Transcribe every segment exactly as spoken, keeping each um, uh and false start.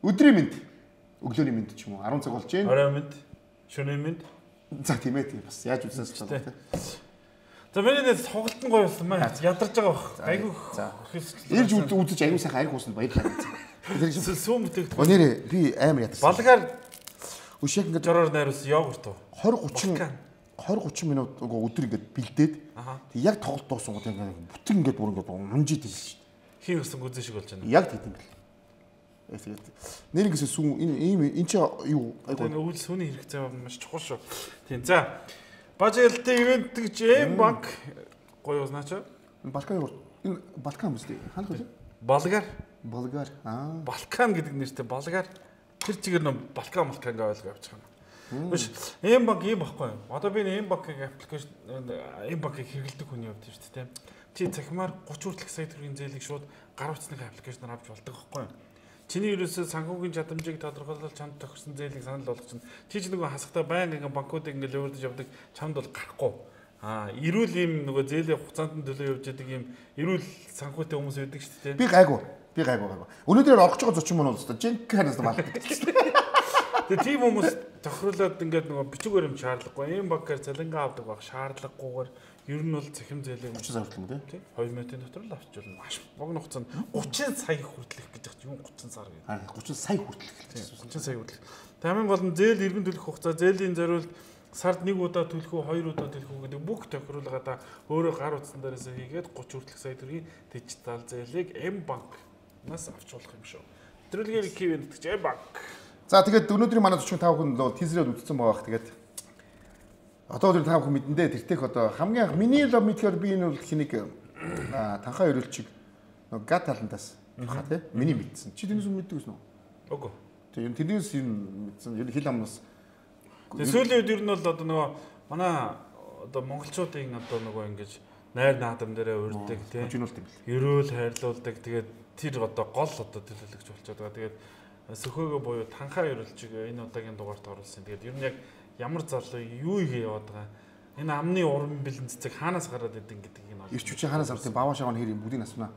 Өдрийн мэд. Өглөөний мэд ч юм уу. арван цаг болж байна. Орой мэд. Шөнийн мэд. За тийм ээ тийм бас яаж үзсэн ч байна. За миний нэг тоглолтын гоё болсон маа. Ядарч байгаа бах. Айгу. За. Ирж үзэж аюу сайхан ариг уусна баярлалаа. Тэр сүүм бүтээгдэхүүн. Өнөөдөр би амар ядарсан. Балгаар өшөөг ингээд жороор найруулсан йогурт уу? twenty thirty twenty thirty минут өдөр ингээд бэлдээд тэг яг тоглолт дууссан гот ингээд бүтэн ингээд бүр ингээд унжид хэлсэн шүү дээ. Хин гэсэн гүзэн шиг болж байна. Яг тийм бэл. Тэгээд нэр ингэсэн сүүн энэ ийм эн чи юу айгу үйл сүүний хэрэгцээ маш чухал шүү. Тийм за. Бажээлтэй ивент гэж эм банк гоё узнаач. Балкан энэ Балкан үстэй. Хаана вэ? Болгар. Болгар. Аа. Балкан гэдэг нэртэй Болгар. Тэр чигээр нөө Балкан Балканг ойлгоо явуучих юм. Биш эм банк ийм баггүй юу? Одоо би эм банкын аппликейшн эм банкыг хэрэглэдэг хүний хувьд шүү дээ. Чи цахимаар thirty хүртэлх сая төгрөгийн зээлийг шууд гар утасны аппликейшнээр авч болдог байхгүй юу? Чиний ерөөсөө санхүүгийн чадамжийг тодорхойлол чамд тохирсон зээлийг санал болгочихно. Чи ч нөгөө хасахтаа байнга ингээ банкуудыг ингээ лөвөрдөж явдаг чамд бол гарахгүй. Аа, эрүүл ийм нөгөө зээлийн хугацаанд нь төлөө явж байгаа ийм эрүүл санхүүтэй хүмүүс байдаг шүү дээ. Би гайгүй. Би гайгүй гайгүй. Өнөөдөр орох ч байгаа thirty минут өстө. Жинк ханаас малдаг. Тэгээ тийм хүмүүс тохируулаад ингээд нөгөө бичиг баримт шаардлагагүй. Ийм банкаар цалингаа авдаг баг шаардлагагүйгээр ер нь бол цахим зээлийг thirty сая хүртэл үү? Тийм. two минутын дотор л авчирна. Маш богино хугацаанд thirty сая хүртэлх гэж байгаа юм thirty сар гэдэг. Аа thirty сая хүртэлх гэж. thirty сая хүртэлх. Тамийн гол нь зээл иргэн төлөх хугацаа, зээлийн зориулт сард нэг удаа төлөх үү, хоёр удаа төлөх үү гэдэг бүх тохируулгаадаа өөрөө гар утсан дээрээс хийгээд thirty хүртэлх сая төгрөгийн дижитал зээлийг эм банкнаас авч болох юм шүү. Нэвтрүүлгийн ивент гэж эм банк. За тэгээд өнөөдрийн манай forty-five хүн бол тизерээд үзсэн байгаа. Тэгээд одоо тэр та бүхэн мэдэндээ тэртех одоо хамгийн анх миний лав мэдхээр би энэ бол хэнийг танхаа өрөөлчиг нөгөө гат талантаас хаа тий миний мэдсэн. Чи тэрнээс мэддэг гэсэн үү? Үгүй. Тийм тэрнээс юм мэдсэн. Ер нь хил амнаас. Тэгээ сүүлийн үед ер нь бол одоо нөгөө манай одоо монголчуудын одоо нөгөө ингэж найр наадам дээрээ урддаг тий. Ерөөл хайрлуулдаг. Тэгээд тэр одоо гол одоо төлөөлөгч болчиход байгаа. Тэгээд сөхөөгөө буюу танхаа өрөөлчиг энэ удаагийн дугаарт оруулсан. Тэгээд ер нь яг ямар залуу юу хийе яваад байгаа. Энэ амны уран бэлэн цэцэг хаанаас гараад идэв гэдгийг нь ирч хүчээ хаанаас авсан баваа шаваа хэрэг бүгдийг асуунаа.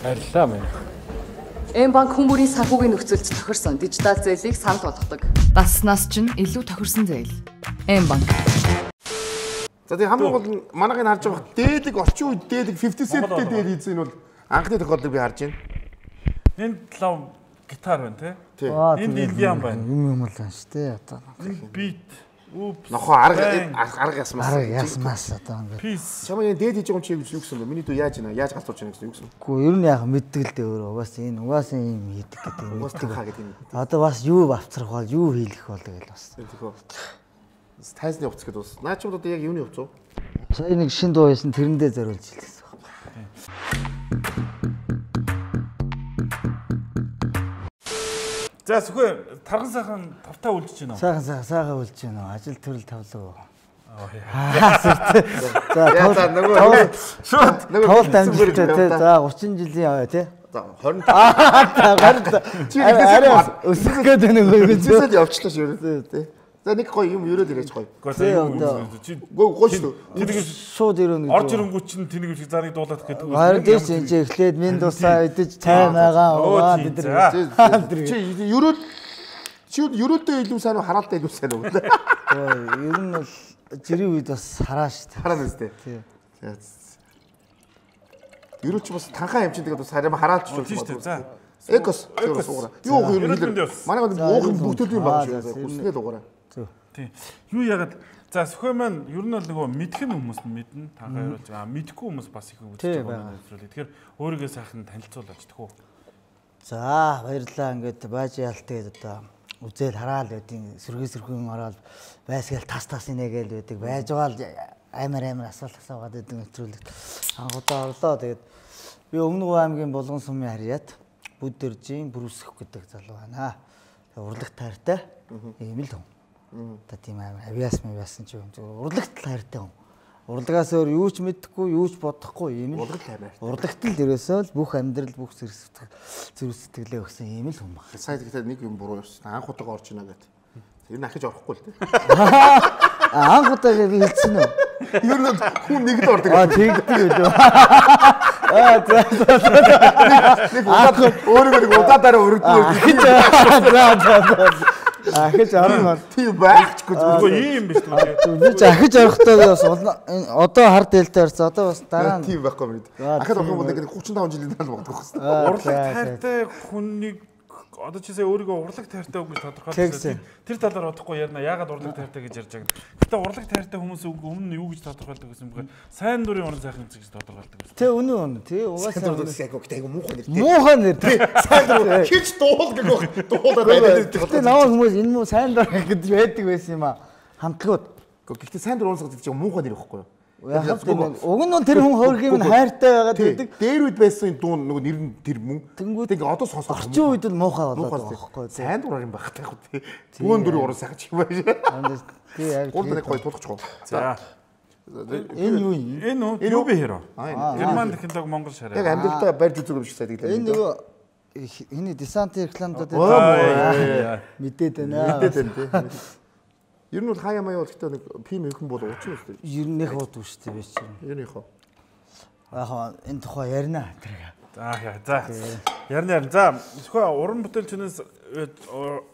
Баярлалаа минь. Эм банк хүмүүрийн санхүүгийн нөхцөлд тохирсон дижитал зээлийг санал болгодог. Дасснаас ч илүү тохирсон зээл. Эм банк. За тэгээ хамгийн гол нь манайхыг харж байгаа дээдэг орчин үед дээдэг fifty cent-тэй дээр хийсэн нь бол анхны тохиолдлыг би харж байна. Энэ лав гитар байна тий. Энэ Индиан байна. Юм юм л байна шүү дээ одоо. Энэ бит. Упс. Нохоо арга арга ясмаас. Арга ясмаас одоо ингээд. Чамаа энэ дээд хийж байгаа юм чи юу гэсэн бэ? Миний дүү яаж ийна? Яаж галзууж байна гэсэн юу гэсэн? Үгүй ер нь яг мэддэг л дээ өөрөө. Угаас энэ угаас юм хийдэг гэдэг. Угаас тахаа гэдэг юм. Одоо бас юу авцрах бол юу хийлэх бол гэж бас. Тэхөө. Тайзны хувцас гэдэг бас. Наа ч одоо яг юуны хувцас уу? Сая нэг шин дуу байсан тэрэндээ зориулж хэлсэн байна. За сүхэ тархан сайхан тавтаа үлдэж байна уу? Сайхан сайхан сайхан үлдэж байна уу? Ажил төрөл тавлаа. За нөгөө шууд нөгөө тавлт амжилттай тий. За thirty жилийн аваа тий. За twenty. Чи арай өсөх гэдэг нэг үзээд явчлаа шүү дээ тий. За нэг гоё юм өрөөд ирээч гоё. Чи гоо шүү. Тэнийг шууд ирүүн. Орж ирэнгүүт чинь тэнийг их зарыг дуулаад гэдэг үү? Харин тийш энэ чи эхлээд минь тусаа идэж цай магаа уугаа бид нар. Чи өрөөд чи өрөөдөө илүү сайн уу хараалтай илүү сайн уу? Ер нь бол жирийн үед бас хараа шүү дээ. Хараа нэстэй. Тий. Өрөөд чи бас танхаа юм чинь тэгээд бас хараа хараалч шүү дээ. За. Экос суугаа. Юу юу манай уух бүгдэл юм баг шүү. Хүснээ л угаараа. Тий. Юу ягаад за сөхөө маань ер нь бол нөгөө мэдхэн хүмүүс нь мэднэ. Танхаа явуулж байгаа. Мэдхгүй хүмүүс бас их үзэж байгаа юм байна. Тэгэхээр өөрийгөө сайхан танилцуулаач тэхүү. За баярлалаа. Ингээд бааж яалт тэгээд одоо үзэл хараал байдیں۔ Сэргээ сэрхэн ороод байсгээл тас тас инегээл байдаг. Байж байгаа л амар амар асуулт асуугаад байдаг нэвтрүүлэгт. Анхудаа орлоо. Тэгээд би Өмнөг аймгийн Булган сумын харьяат Бүдэржийн Бүрүсэх гэдэг залуу байна. Урлагт тайртай. Ийм л хүн. Та тийм амар авиас мавиасан ч юм. Урлагт тайртай хүн. Урлагаас өөр юу ч мэдэхгүй, юу ч бодохгүй ийм л. Урлагт тайртай. Урлагт л ерөөсөө л бүх амьдрал бүх зэрэг зэрэг сэтгэлээ өгсөн ийм л хүн баг. Сая тэгэхээр нэг юм буруу явсан. Анх удаага орж ийна гэдэг. Тэр нь ахиж орохгүй л дээ. Анх удаагаа би хэлсэн үү? Ер нь хүн нэгд ордог. Аа тэгдэг үү? Аа за за за. Нэг удаад өөрөөр нэг удаадаараа өргөдөг. За за за. Ахиж орно. Тийм байхчгүй Үгүй ийм биш үү? Би ч ахиж орохдоо бас одоо хар дээлтэй орсон. Одоо бас дараа нь тийм байхгүй юм. Ахад орох юм бол нэг гурван таван жилийн дараа л бодох гэсэн. Урлаг тайртай хүнийг одоо чи сая өөрийгөө урлаг тайртай үг гэж тодорхойлсон. Тэр талаар бодохгүй ярина. Яагаад урлаг тайртай гэж ярьж байгаа юм. Гэтэ урлаг тайртай хүмүүс өмнө нь юу гэж тодорхойлдог гэсэн юм бэ? Сайн дурын уран сайхан гэж тодорхойлдог гэсэн. Тэ үнэн үнэн. Тэ угаасаа айгу муухай нэр. муухай нэр. Сайн дур хич дуул гэх байх. Дуулаад байдаг. Гэтэ намайг хүмүүс энэ муу сайн дур гэж байдаг байсан юм аа. Хамтлагууд. Гэхдээ сайн дур уусгах гэж муухай нэр ихгүй юу? Яг тийм уг нь тэр хүн хөргөм нь хайртай байгаад байдаг. Дээр үед байсан дуун нөгөө нэр нь тэр мөн. Тэнгүүд ингээ одоо сонсох. Орчин үед л муухай болоод байгаа байхгүй. Сайн дураар юм байх таахгүй тий. Бүүн дөрөв уран сайхан ч юм байна. Тий яг гурван нэг гоё тулахчихгүй. За. Энэ юу юм? Энэ үү? Юу бэ хэро? Герман технологи Монгол шараа. Яг амьдралдаа барьж үзэг юм шиг сайдаг. Энэ нөгөө энэ десант рекламдууд мэдээд байна. Мэдээд байна тий. Ер нь бол хаяа маяа бол гэхдээ нэг пим ихэнх бол уучин шүү дээ. Ер нь их уудгүй шүү дээ биш чинь. Ер нь их. Аа энэ тухай ярина тэр. За яа за. Ярина ярина. За зөвхөн уран бүтээлчнээс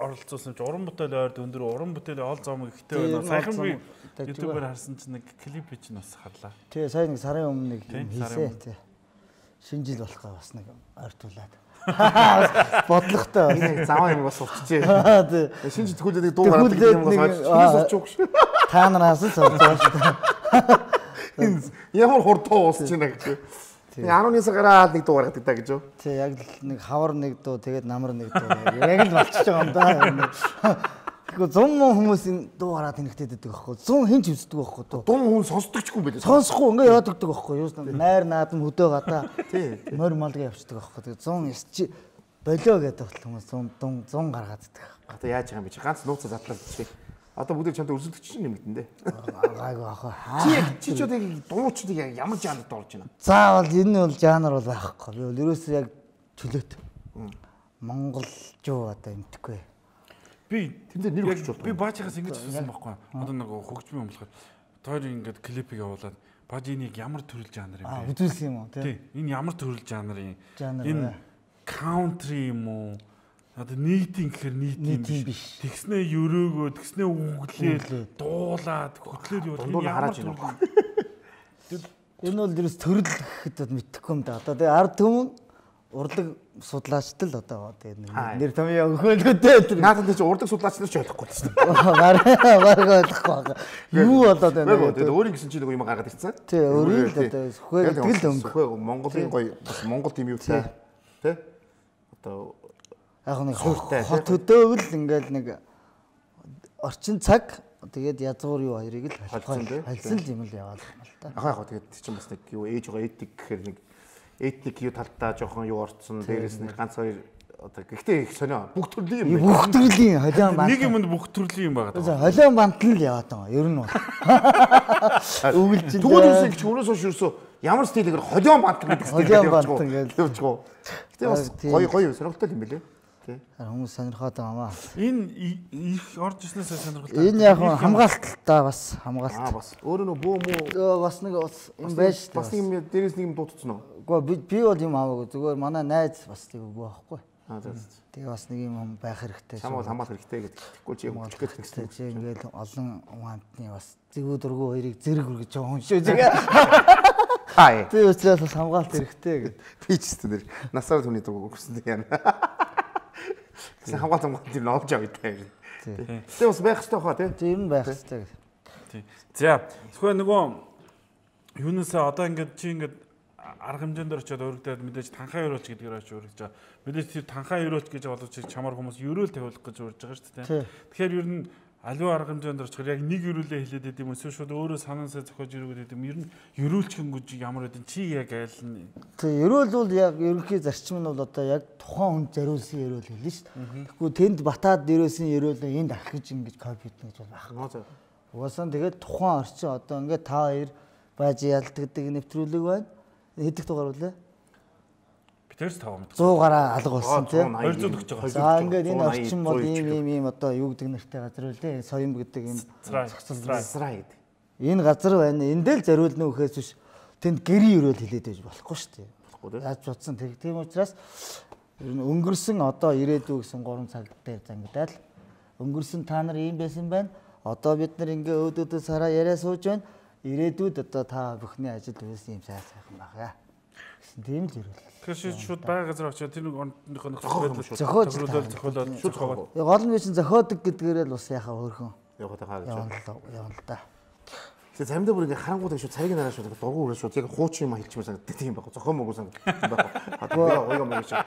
оролцуулсан чи уран бүтээл ойрд өндөр уран бүтээлийн ол зомог ихтэй байна. Саяхан би YouTube-аар харсан чинь нэг клип чинь бас харлаа. Тий сая нэг сарын өмнө нэг хийсэн тий. Шинэ жил болох га бас нэг ойртуулаад. Бодлоготой. Энэ заваа юм бас урчжээ. Тий. Шинж төгөлөд дуу гараад ирэх юм бас сурч шүү. Та нараас л сурч байгаа шүү дээ. Энэ ямар хурдтай уусч байна гэж. Тэгээ арван сар гараад нэг дуу гаргадаг та гэж юу? Тий яг л нэг хавар нэг дуу тэгээд намар нэг дуу. Яг л болчихж байгаа юм да. Тэгэхгүй зун хүмүүс энэ дуу гараад тэнэгтэй дэдэг байхгүй. Зун хинч үздэг байхгүй дуу. Дун хүн сонсдог ч юм байлээ. Сонсохгүй ингээ яваад өгдөг байхгүй юу? Найр наадам хөдөө гадаа. Тий. Морь малгай явчихдаг байхгүй. Тэгээ зун чи болоо гэдэг хүмүүс зун дун зун гаргаад дэдэг. Одоо яаж байгаа юм бэ чи? Ганц нууцаа задлаад чи. Одоо бүгд чамтай өрсөлдөгч чинь юм дээ. Гайгүй ах. Чи чи ч одоо дуучдыг ямар жанрд орж байна? Заавал энэ бол жанр бол байхгүй. Би бол ерөөсөө яг чөлөөт. Монголжуу одоо юмтгүй. Би тэндээ нэр өгч болов. Би баажихаас ингэж хэлсэн байхгүй. Одоо нэг хөгжмийн өмлөхөд тоор ингээд клипийг явуулаад бааж энийг ямар төрөл жанр юм бэ? Аа үзүүлсэн юм уу тий? Энэ ямар төрөл жанр юм? Жанр энэ country юм уу? Одоо нийтийн гэхэр нийтийн биш. Тэгснээ өрөөгөө, тэгснээ үглээд, дуулаад, хөтлөөд яваад энэ ямар төрөл? Энэ бол ерөөс төрөл гэхэд мэдэхгүй юм да. Одоо тэгээ ард түмэн урлаг судлаачд л одоо тэгээ нэр томьёо өгөөлгөдөө. Наадад чи урдаг судлаач нар ч ойлгохгүй шүү дээ. Бараг бараг ойлгохгүй байгаа. Юу болоод байна вэ? Тэгээд өөрийн гэсэн чи нэг юм гаргаад ирсэн. Тий, өөрийн л одоо сүхээ гэдэг л юм. Сүхээ Монголын гоё бас Монгол тийм юу тий. Тэ? Одоо яг нэг хот хөдөөгөл ингээл нэг орчин цаг тэгээд язгуур юу хоёрыг л хальсан юм л яваад байна л та. Ахаа яг тэгээд чинь бас нэг юу ээж байгаа этик гэхээр нэг этник юу талтаа жоохон юу орцсон дээрээс нэг ганц хоёр одоо гэхдээ их сонио бүх төрлийн юм. Бүх төрлийн холион бант. Нэг юмд бүх төрлийн юм байгаа даа. Холион бант л яваад байгаа. Ер нь бол. Үгэлжил. Тэгвэл юусэн гэж өнөөс хойш юусэн ямар стилээр холион бант гэдэг стилээр явчихгүй. Явчихгүй. Гэтэ бас гоё гоё сонирхолтой юм билээ. Хүмүүс сонирхоод байгаа маа. Энэ их орж ирснээс сонирхолтой. Энэ яг хамгаалттай бас хамгаалт. Аа бас өөрөө нөө бөө мөө бас нэг бас юм байж та. Бас юм дээрээс нэг юм дуудсан уу? Үгүй би бол юм аваагүй. Зүгээр манай найз бас тийм үгүй байхгүй. Аа тийм. Тэгээ бас нэг юм байх хэрэгтэй. Чамд хамгаалах хэрэгтэй гэдэг. Тэгэхгүй чи юм өчгөх хэрэгтэй. Чи ингээл олон хамтны бас зэгүү дургу хоёрыг зэрэг үргэж байгаа хүн шүү зэгээ. Хай. Би өчигдөө бас хамгаалт хэрэгтэй гэдэг. Би ч гэсэн нэр насаар түүний дургу өгсөн юм. Гэсэн хамгаалт хамгаалт юм олж авъя та юм. Тэгээ бас байх хэрэгтэй хаа тий. Тийм байх хэрэгтэй. Тий. За зөвхөн нөгөө юунасаа одоо ингээд чи ингээд арга хэмжээнд очиод өргөдөд мэдээж танхаа өрөөлч гэдгээр очиж өргөж байгаа. Мэдээж тэр танхаа өрөөлч гэж бодож чамаар хүмүүс өрөөл тавиулах гэж урьж байгаа шүү дээ. Тэгэхээр ер нь аливаа арга хэмжээнд очихоор яг нэг өрөөлөө хэлээд байд юм эсвэл шууд өөрөө санаасаа зохиож өргөд байд юм. Ер нь өрөөлчгэн гэж ямар байдэн чи яг айл нь. Тэг өрөөл бол яг ерөнхий зарчим нь бол одоо яг тухайн хүнд зориулсан өрөөл хэлнэ шүү дээ. Тэгэхгүй тэнд батаад дээрөөсөн өрөөлөө энд архиж ингэж копи хийх гэж бол байх. Угаасаа тэгээд тухайн орчин одоо ингээд та хоёр бааж ялдагдаг нэвтрүүлэг байна. Хэдих дугаар үлээ? Тэрс таваа мэд. сто гараа алга болсон тийм. хоёр зуун өгч байгаа. За ингээд энэ орчин бол ийм ийм ийм одоо юу гэдэг нэртэй газар үлээ. Соём гэдэг энэ Цацраа гэдэг. Энэ газар байна. Энд дээр зориулна үхээс биш тэнд гэрийн өрөөл хилээд байж болохгүй шүү дээ. Болохгүй дээ. Яаж бодсон тийм учраас ер нь өнгөрсөн одоо ирээдүй гэсэн гурван цаг дээр зангидаад өнгөрсөн та нар ийм байсан байна. Одоо бид нар ингээ өөдөөдөө сараа яриа сууж байна. Ирээдүйд одоо та бүхний ажил үйлс юм сайн сайхан байгаа. Гэсэн тийм л ирэл. Тэгэхээр шууд байга газар очиод тэр нэг орныхоо нөхцөл байдал зохиолж зохиолоод шууд зохиолоод. Гол нь биш зохиодог гэдгээрээ л бас яхаа өөрхөн. Яваад байгаа гэж байна. Явна л да. Тэгээ замдаа бүр ингээ харангууд шүү цариг нараа шүү дургу үрээ шүү яг хуучин юм хэлчихмээр санагддаг тийм байхгүй зохион могоо санагддаг байхгүй. Хатгаа ойго могоо шүү.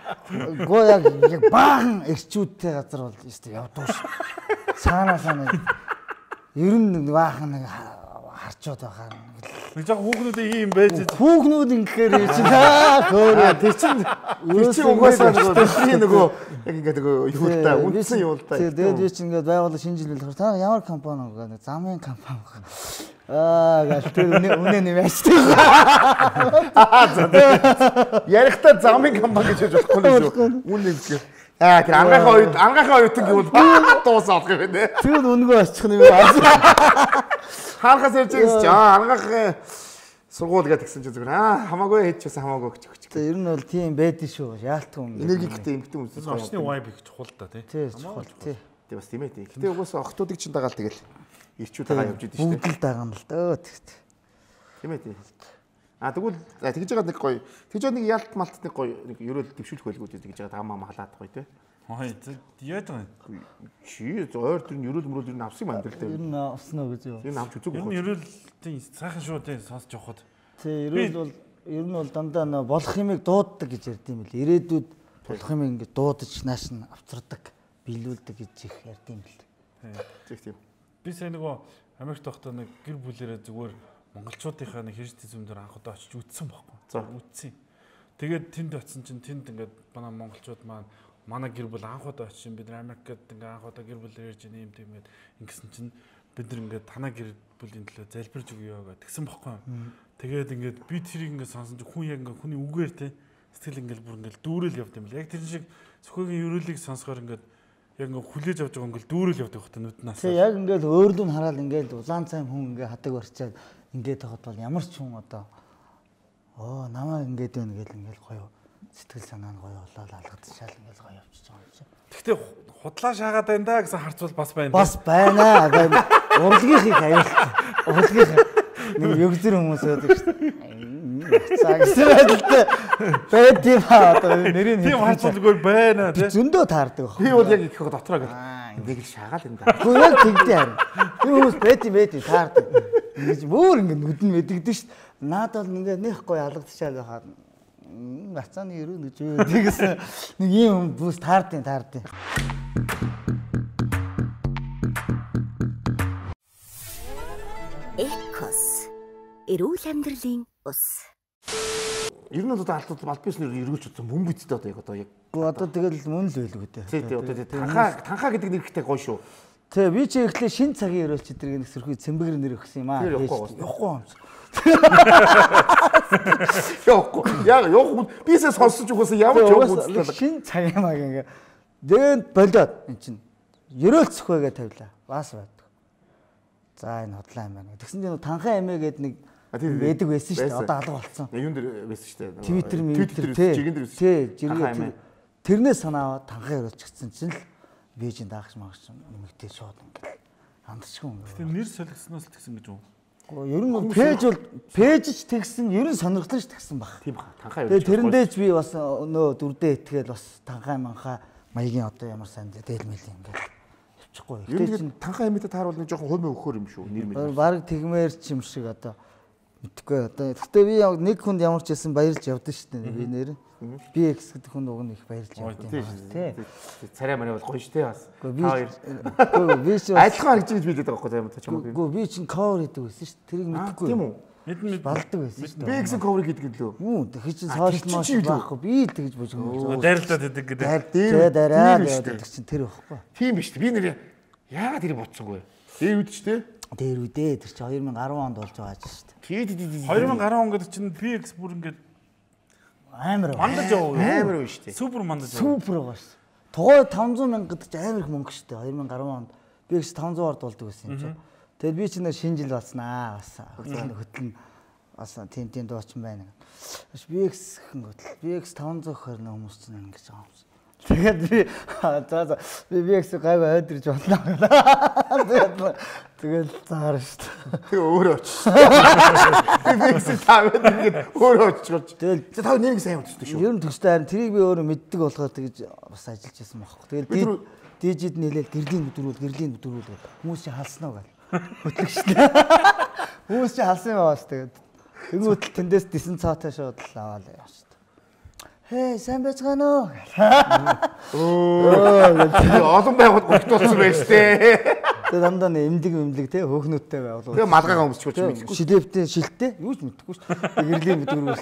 Гоо яг яг баахан эрчүүдтэй газар бол ёстой явдуу ш. Цаанаа санаа. Ер нь баахан нэг харчууд байгаа. Нэг жоо хүүхнүүдээ ийм байж хүүхнүүд ингэхээр юу чи таа хөөрөө тий чин тий чин угаасаа нөгөө нөгөө яг ингээ нөгөө юултаа үндсэн юултаа. Тэгээд юу чи ингээ байгууллага шинжилэл болохоор та ямар компани вэ? Замын компани. Аа гал тэр үнэ нэмээстэй. Ярихтаа замын компани гэж хэлж болохгүй л шүү. Үнэ нэмэх. Аа тэр ангахаа үед ангахаа оюутан гэвэл дуусаад гэх юм нэ. Тэр үнэгүй очих юм аа. Хаалгаас ирж байгаа ч аа ангах сургууль гэдэг гисэн чинь зүгээр аа хамаагүй хийчихсэн хамаагүй гэж өгч. Тэг ер нь бол тийм байдэн шүү. Яалтгүй юм. Энергиктэй эмгтэн үнсэн. Орчны vibe их чухал та тий. Тий чухал тий. Тэг бас тийм ээ тий. Гэтэ угаасаа охтуудыг чинь дагаал тэгэл ирчүүд байгаа явж идэв шүү дээ. Бүгд л дагана л дөө тэгт. Тийм ээ тий. А тэгвэл тэгж байгаа нэг гоё. Тэгж байгаа нэг ялт малт нэг гоё нэг ерөөл дэвшүүлэх байлгүй тэгж байгаа тамаа халаад гоё тий. Хой яаж байгаа юм? Чи зөөр тэр ерөөл мөрөөл ер нь авсан юм байна л дээ. Ер нь авсан уу гэж юу? Ер нь авч үзег байх. Ер нь ерөөл тийм сайхан шүү дээ сонсож явахад. Тий ерөөл бол ер нь бол дандаа нөө болох юмыг дууддаг гэж ярьдсан юм бэл. Ирээдүйд болох юм ингэ дуудаж нааш нь авцардаг, биелүүлдэг гэж их ярьдсан юм бэл. Тэг тийм. Би сая нөгөө Америкт байхдаа нэг гэр бүлэрээ зүгээр монголчуудынхаа нэг хэрэг зэзэм дээр анх удаа очиж үзсэн байхгүй. За үзсэн. Тэгээд тэнд очисон чинь тэнд ингээд манай монголчууд маань манай гэр бүл анх удаа очиж бид нар Америкт ингээд анх удаа гэр бүлээр ирж ийм тийм ингээд ингэсэн чинь бид нар ингээд танаа гэр бүлийн төлөө залбирж өгье гэдэг тэгсэн байхгүй. Тэгээд ингээд би тэрийг ингээд сонсон чинь хүн яг ингээд хүний үгээр те сэтгэл ингээд бүр ингээд дүүрэл явд юм бэл. Яг тэр шиг зөвхөн ерөөлийг сонсохоор ингээд яг ингээд хүлээж авч байгаа ингээд дүүрэл явдаг хөтэ нүднээс. Тэг яг ингээд өөрлөө нь хараад ингээд улаан цайм хүн ингээд хадаг барьчаад ингээд тахад бол ямар ч хүн одоо оо намаа ингээд байна гэл ингээд гоё сэтгэл санаа нь гоё болоод алгадчихаал ингээд гоё явчихж байгаа юм чи. Гэхдээ худлаа шаагаад байна да гэсэн харцвал бас байна. Бас байна. Урлагийнхыг аюултай. Урлагийнх нэг өгзөр хүмүүс байдаг шүү дээ. Цагсралтай байд юм аа одоо нэрийн тийм харцвалгүй байна тий. Зөндөө таардаг баг. Би бол яг их дотроо гэл. Энийг л шаагаал энэ да. Гэхдээ яг тэгдэ харин. Би хүмүүс байд юм байд таардаг. Ингэж бүр ингэ нүдэн мэдэгдэн шүү дээ. Наад бол ингэ нэх гоё алгадчихаал байхад гацааны ерөө гэж юу тэгсэн нэг юм хүн бүс таардیں таардیں. Экос эрүүл амьдралын ус. Ер нь одоо алдууд аль биеснэр эргүүлж утсан мөн бидтэй одоо яг одоо яг. Одоо тэгэл мөн л байлгүй дээ. Тий, тий одоо танхаа танхаа гэдэг нэрхтэй гоё шүү. Тэг би чи ихлэ шин цагийн өрөөлч эдгээр нөхсөрхий цэмбэгэр нэр өгсөн юм аа. Явахгүй юм. Явахгүй. Яг явахгүй. Бисээ сонсож өгөөс ямар ч явахгүй. Шин цаг юм аа ингээ. Дээд болоод эн чин өрөөлч зөхвэгээ тавилаа. Бас байдаг. За энэ хотлоо юм байна. Тэгсэн чинь танхаа эмээ гээд нэг байдаг байсан шүү дээ. Одоо алга болсон. Юун дээр байсан шүү дээ. Твиттер, Твиттер тий. Тий, жиргээ. Тэрнээс санаа танхаа өрөөлч гэсэн чинь л бижин даагч маагч нэмэгтэй шууд ингээл хандчихгүй юм. Тэгээ нэр солигдсноос л тэгсэн гэж үү? Гэхдээ ер нь пэйж бол пэйж ч тэгсэн ер нь сонирхолтой ч тэгсэн баг. Тийм ба. Танхаа өрөөлч. Тэгээ тэрэндээч би бас нөө дүрдээ итгээл бас танхаа манхаа маягийн одоо ямар сайн дээлмэл ингээл явчихгүй. Тэгээд танхаа эмээтэй тааруул нэг жоохон хумь өгөхөр юм шүү. Нэр мэл. Бараг тэгмээр ч юм шиг одоо мэдгүй одоо. Гэхдээ би нэг хүнд ямар ч байсан баярлж явдсан шүү дээ. Би нэр би экс гэдэг хүн уг нь их баярлж явдсан тий. Царай мараа бол гоё шүү дээ бас. Гэхдээ би чи адилхан харагдаж гэж билээд байгаа байхгүй юм та чамаг. Гэхдээ би чинь cover хийдэг байсан шүү дээ. Тэрийг мэдгүй. Тийм үү? Мэдэн балдаг байсан шүү дээ. Би экс cover хийдэг гэлөө. Юу тэг чи сошиал маш байхгүй. Би тэгж божгоо. Дайрлаад идэг гэдэг. Тий дараа гэдэг чинь тэр байхгүй. Тийм биш үү? Би нэр яагаад тэрийг бодсонгүй. Дээр үд ч тий. Дээр үдээ тэр чи две тысячи десять онд болж байгаа ч шүү дээ. Тий тий тий. две тысячи десять он гэдэг чинь пи экс бүр ингээд Амар. Мандаж яваа. Амар үү штэ. Супер мандаж яваа. Супер байгаа ш. Тугай таван зуун мянга гэдэг чинь амар их мөнгө штэ. две тысячи десять онд би их таван зуун орд болдог байсан юм чинь. Тэгээд би чинь шинэ жил болснаа бас хөтлөн бас тийм тийм дуучин байна. Би X гэх хөтөл. Би X таван зуун хөр нэг хүмүүс чинь ингэж байгаа юм. Тэгээд би за за би би X гайг ойдэрж болно. Тэгээд тэгэл заар шүү дээ. Тэгээ өөрөө очиж. Би X таваад ингэж өөрөө очиж. Тэгэл тав нэг сайн удахгүй шүү. Ер нь төстэй харин тэрийг би өөрөө мэддэг болохоор тэгж бас ажиллаж байсан байхгүй. Тэгэл дижид нэлээд гэрлийн өдрүүл гэрлийн өдрүүл хүмүүс чи халснаа гал. Хөтлөг шүү дээ. Хүмүүс чи халсан юм баас тэгээд. Тэнгүүтэл тэндээс дисэн цаатай шууд л аваад яваа шүү. Хей, сайн байцгаана уу? Оо, олон байгууд өгтүүлсэн байж тээ. Тэгээ дандаа эмдэг эмдэг те хөөхнөттэй байвал. Тэгээ малгайгаа өмсчих ч мэдгүй. Шилэвтэй шилтэй юу ч мэдгүй шүү. Гэрлийн өдрүүл.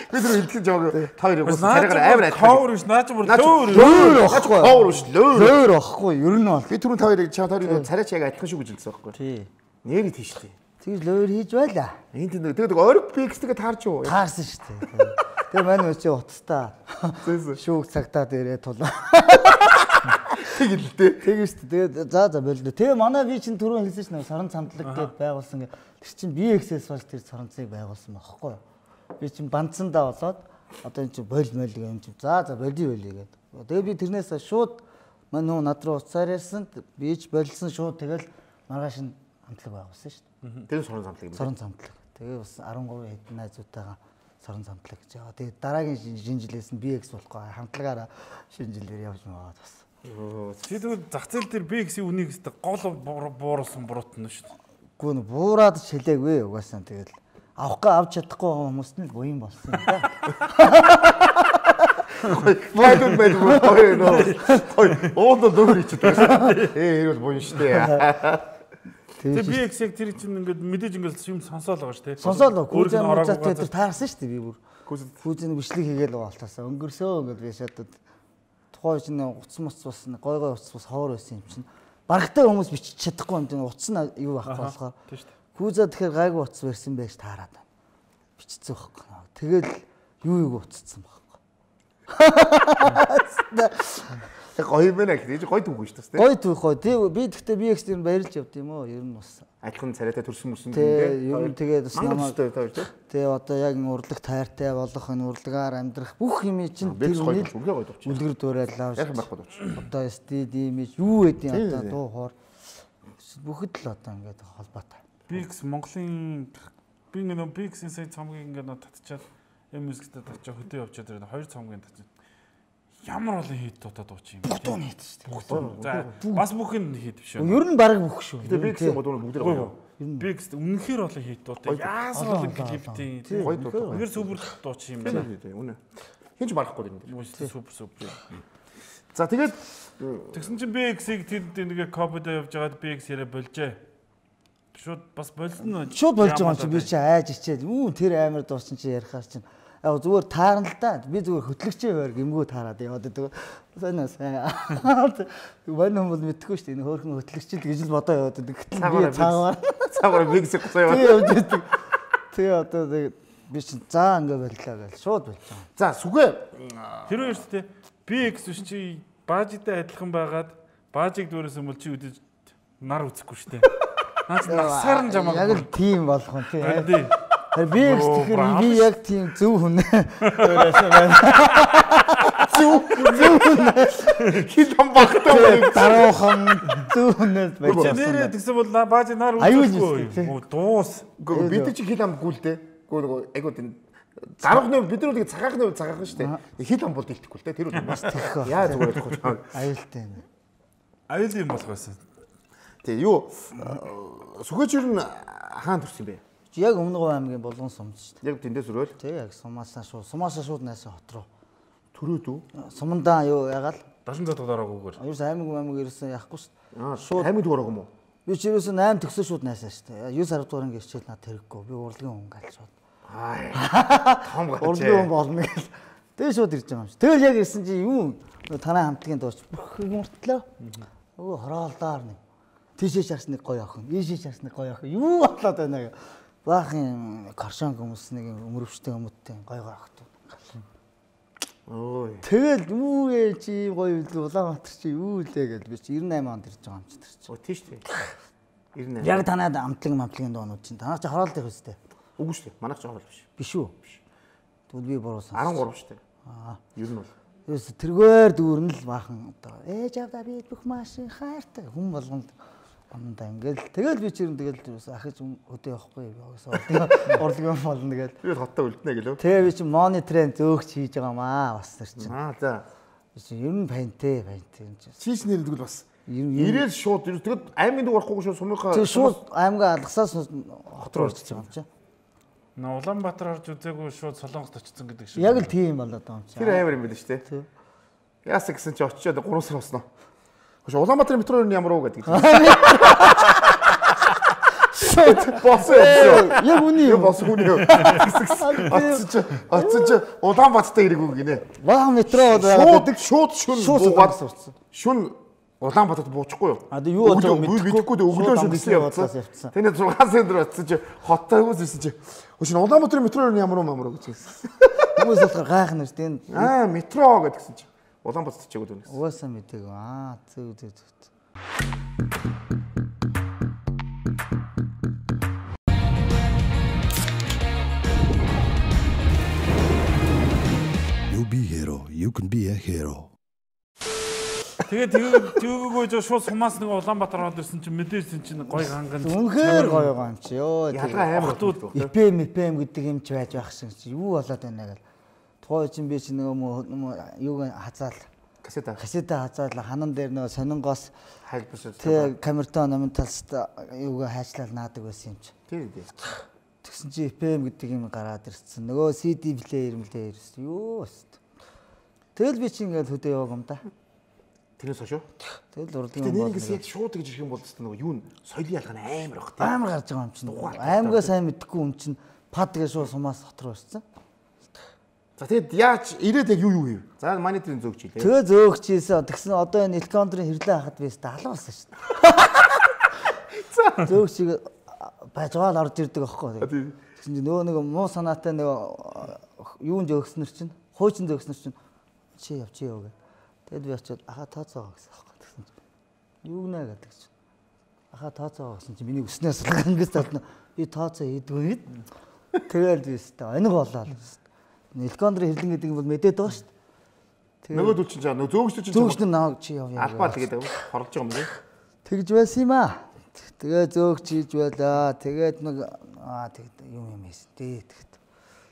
Бид нар хэлтгэн жоо та хоёрыг ус царайгаар амар айдаг. Cover биш наач бүр лөөр. Лөөр ахгүй. Cover биш лөөр. Лөөр ахгүй. Ер нь бол. Би түрүүн та хоёрыг чаа та хоёрыг царайч яг адилхан шүү гэж хэлсэн байхгүй. Тий. Нэрийг тийштэй. Тэгж лөөр хийж байлаа. Энд тэгээд ориг пикстэйгээ таарч юу? Таарсан шүү дээ. Тэгээ манай өчөө утастаа. Шүүг цагтаад ирээ тулаа. Тэгэл дээ. Тэгээ шүү дээ. Тэгээд за за боллоо. Тэгээ манай би чинь түрүүн хэлсэн шүү дээ. Саран цамтлаг гэдээ байгуулсан. Тэр чинь би X-ээс болж тэр саранцыг байгуулсан байхгүй юу? Би чинь бандсандаа болоод одоо энэ чинь боль мөл юм чинь. За за болий болий гэдэг. Тэгээ би тэрнээс шууд манай нүү над руу уцаар ярьсан. Би ч болсон шууд тэгэл маргааш нь хамтлаг байгуулсан шүү дээ. Тэр сорон замтлаг юм. Сорон замтлаг. Тэгээ бас арван гурван хэдэн найзуудтайгаа сорон замтлаг гэж яваа. Тэгээ дараагийн шинэ жилээс нь би X болохгүй хамтлагаараа шинэ жилээр явж байгаа бас. Чи тэгвэл зах зээл дээр би X-ийн үнийг өстө гол бууруулсан буруутна шүү дээ. Гүн буураад шилээгүй угаасаа тэгэл авахгүй авч чадахгүй хүмүүст нь буян болсон юм да. Майдун майдун гоё нөө. Гоё. Оондоо дөөр ичдэг. Ээ хэрвэл буян штэ. Тэгээ би X яг тэр чинь ингээд мэдээж ингээд юм сонсоол байгаа шүү дээ. Сонсоол гүзэн мужаад тэр таарсан шүү дээ би бүр. Гүзэн бичлэг хийгээл байгаа болтоосаа өнгөрсөө ингээд би шатад тухайн чинь уц муц бас гой гой уц бас ховор байсан юм чинь. Барагтай хүмүүс бичиж чадахгүй юм чинь уц нь юу байхгүй болохоор. Тийм шүү дээ. Гүзээ тэгэхээр гайгүй уц барьсан байж таарад байна. Бичсэн байхгүй. Тэгэл юу юу уцсан байхгүй. Гоё мэнэ гэж гоё түүх шүү дээ. Гоё түүх гоё. Тэг би гэхдээ би X дээр баярлж явд юм уу? Ер нь бас адилхан царайтай төрсөн мөрсөн тийм. Ер нь тэгээд бас намайг тэг одоо яг урлаг тайртай болох энэ урлагаар амьдрах бүх юм чинь тэр үнийг үлгэр дуурайл авч. Яг байхгүй дууч. Одоо эс ди ди имиж юу гэдэг юм одоо дуу хоор бүхэд л одоо ингээд холбоотой. би X Монголын би нэг би X-ийн сая цамгийн ингээд татчихад эм мьюзиктэй татчих хөдөө явчихад тэр хоёр цамгийн татчих. Ямар олон хит дуудаад дууч юм бэ? Бүгд нь хит шүү дээ. За бас бүх нь хит биш үү? Ер нь баг бүх шүү. Тэгээ би гэсэн бодвол бүгд гоё. Би X үнэхээр олон хит дуудаа. Яасан олон клиптэй. Гоё дуу. Үнэхээр супер дууч юм байна. Үнэ. Хинч барахгүй юм дээр. Супер супер. За тэгээд тэгсэн чинь би X-ийг тэнд нэгэ копидо явж байгаад би X яриа болжээ. Шууд бас болсон. Шууд болж байгаа юм чи би чи айж ичээд үү тэр амар дуучин чи ярихаар чинь яг зүгээр таарна л да. Би зүгээр хөтлөгчөө байр гимгүү таарад яваад байдаг. Сайн сайн. Вань хүмүүс мэдхгүй шүү дээ. Энэ хөөрхөн хөтлөгчд гэж л бодоо яваад байдаг. Гэтэл би цаагаар цаагаар микс гоцоо яваад. Тэгээ одоо би чинь заа ингээ барьлаа гэл шууд болж байгаа. За сүгэ тэр хоёр шүү дээ. Би X биш чи баажтай адилхан байгаад баажиг дүүрээс өмөл чи үдэж нар үзэхгүй шүү дээ. Наач насаар нь жамаа. Яг л тийм болох юм тий. Тэр би X тэгэхээр би яг тийм зөв хүн. Зөв зөв хүн. хит ам багтаа даруухан зөв хүнээс байж байгаа. Нэрээ тэгсэн бол баажиг нар үзэхгүй. Дуус. Бид чи хит ам гүйлтэй. Гүү айгуу тийм дарахны бид нар нэг цагаахны цагаах шүү дээ. Хит ам бол дэлтэхгүй л дээ. Тэр үл бас тэгэх. Яа зүгээр болохгүй. Аюултай юм. Аюул юм болох байсан. Тэг юу сүгэч юу н хаан төрсөн бэ? Яг Өмнөгов аймгийн Булган сумд шүү дээ. Яг тэндээс өрөөл. Тэг яг сумаасаа шууд сумаасаа шууд найсан хот руу. Төрөөд үү? Сумандаа юу ягаал? Дашин цадгад ороогүйгээр. Ерөөс аймаг аймаг ерөөсөө яахгүй шүү дээ. Шууд аймаг дөрөг юм уу? Би ч ерөөсөө восемь төгсөө шууд найсан шүү дээ. девять сар дугаар ингэ хичээл над хэрэггүй. Би урлагийн хүн гал шууд. Аа. Том гацээ. Урлагийн хүн болно гэл. Тэгээ шууд ирж байгаа юм шиг. Тэгэл яг ирсэн чи юу танай хамтлагийн дууч бүх мөртлөө. Өө хороолдоор нэг. Тийшээ шарсныг гоё охин. Ийшээ шарсныг гоё охин. Юу болоод байна гэ. баахан коршон хүмүүс нэг өмөрөвчтэй өмөттэй гой гой ахт. Ой. Тэгэл юу ээ чи гоё Улаанбаатар чи юу лээ гэж би чи девяносто восемь онд ирж байгаа юм чи тэр чи. Оо тийш тий. девяносто восемь. Яг танаад амтлаг мамтлагын доонууд чинь танаа чи хороолт их үстэй. Үгүй шүү дээ. Манайх ч хороол биш. Биш үү? Тэгвэл би буруу сонсон. арван гурав шүү дээ. Аа. Ер нь бол. Юус тэргээр дүүрэн л баахан одоо ээж авда би бүх машин хайртай хүн болгонд амнда ингээл тэгэл би чирэн тэгэл юус ахиж өдөө явахгүй яасан орлогын болно тэгэл тэгэл хоттой үлднэ гэлөө. Тэгээ би чи мониторын зөөгч хийж байгаа маа бас тэр чинь. Аа за. Би чи ер нь пантэй пантэй юм чи. Чийс нэрдгэл бас. Ирээл шууд тэгэд аймын дүү орохгүй шууд сумынхаа тэг шууд аймгаа алгасаас хот руу орчих юм чи. Наа Улаанбаатар орж үзээгүй шууд Солонгост очсон гэдэг шиг. Яг л тийм болоод байгаа юм чи. Тэр амар юм байл шүү дээ. Яасан гэсэн чи очиод гурван сар босноо. Хөөе Улаанбаатарын метро юу ямар уу гэдэг. Шот босон. Яг үний юм босон үний. Атсан чи атсан чи Улаанбаатартай ирээгүй гинэ. Ваа метро шууд шууд шүн буугаад сурцсан. Шүн Улаанбаатарт буучихгүй юу? А юу болоо мэдхгүй өглөө шүн дэсэн явцсан. Тэний зургаан сэндөр атсан чи хоттой хүмүүс ирсэн чи. Хөөе Улаанбаатарын метро юу ямар уу ямар уу гэж хэлсэн. Хүмүүс болохоор гайхна шүү дээ. Аа метро гэдгсэн чи. Улаанбаатарт чигээр дүнээс. Угаасаа мэдээг. Аа зөв зөв зөв. You be hero, you can be a hero. Тэгээд тэгээгөө шууд сумаас нэг Улаанбаатар ороод ирсэн чинь мэдээсэн чинь гоё ганган. Үнэхээр гоё байгаа юм чи ёо. Ялгаа амар хотууд ай пи эм пи эм гэдэг юм ч байж байх шиг чи юу болоод байна гэл. Тухай чинь би чи нөгөө юуг хазаал касета касета хазаал ханан дээр нөгөө сонингоос хайлбаршил. тэг камертон номинталст юуг хайчлал наадаг байсан юм чи. Тийм тийм. Тэгсэн чи ай пи эм гэдэг юм гараад ирсэн. Нөгөө си ди плеер мэлээ ирсэн. Юу өст. Тэгэл би чи ингээл хөдөө яваг юм да. Тэрнээс хойш. Тэгэл урлагийн юм бол яг шууд гэж ирэх юм бол тест нөгөө юу н соёлын ялгаа амар баг тийм. Амар гарч байгаа юм чинь. Аймгаа сайн мэдхгүй юм чинь пад гэж шууд сумаас дотор ирсэн. За тэгэд яаж ирээд яг юу юу хийв? За манай тэрийн зөөгч хийлээ. Тэгээ зөөгч хийсэн. Тэгсэн одоо энэ электрондрын хэрлээ хахад бис алуу болсон шүү дээ. За зөөгчийг бажгаал орж ирдэг аахгүй. Тэгсэн чинь нөгөө нэг муу санаатай нөгөө юунд зөөгснөр чинь хуучин зөөгснөр чинь чи яв чи яв гэ. Тэгэд би очиод аха тооцоо гэсэн аахгүй. Тэгсэн чинь юу гэнэ гэдэг чинь. Аха тооцоо гэсэн чинь миний өснөөс ангис татна. Би тооцоо хийдгүй. Тэгэл би өстэй оних болоо. Электрондрын хэрлэн гэдэг юм бол мэдээд байгаа шүү дээ. Нөгөө дүүл чинь нөгөө зөөгч чинь зөөгч нь наваг чи яв яа. Албаа тэгээд хорлож байгаа юм лээ. Тэгж байсан юм аа. Тэгээ зөөгч хийж байлаа. Тэгээд нэг аа тэгээд юм юм хийсэн. Дээ тэгэд.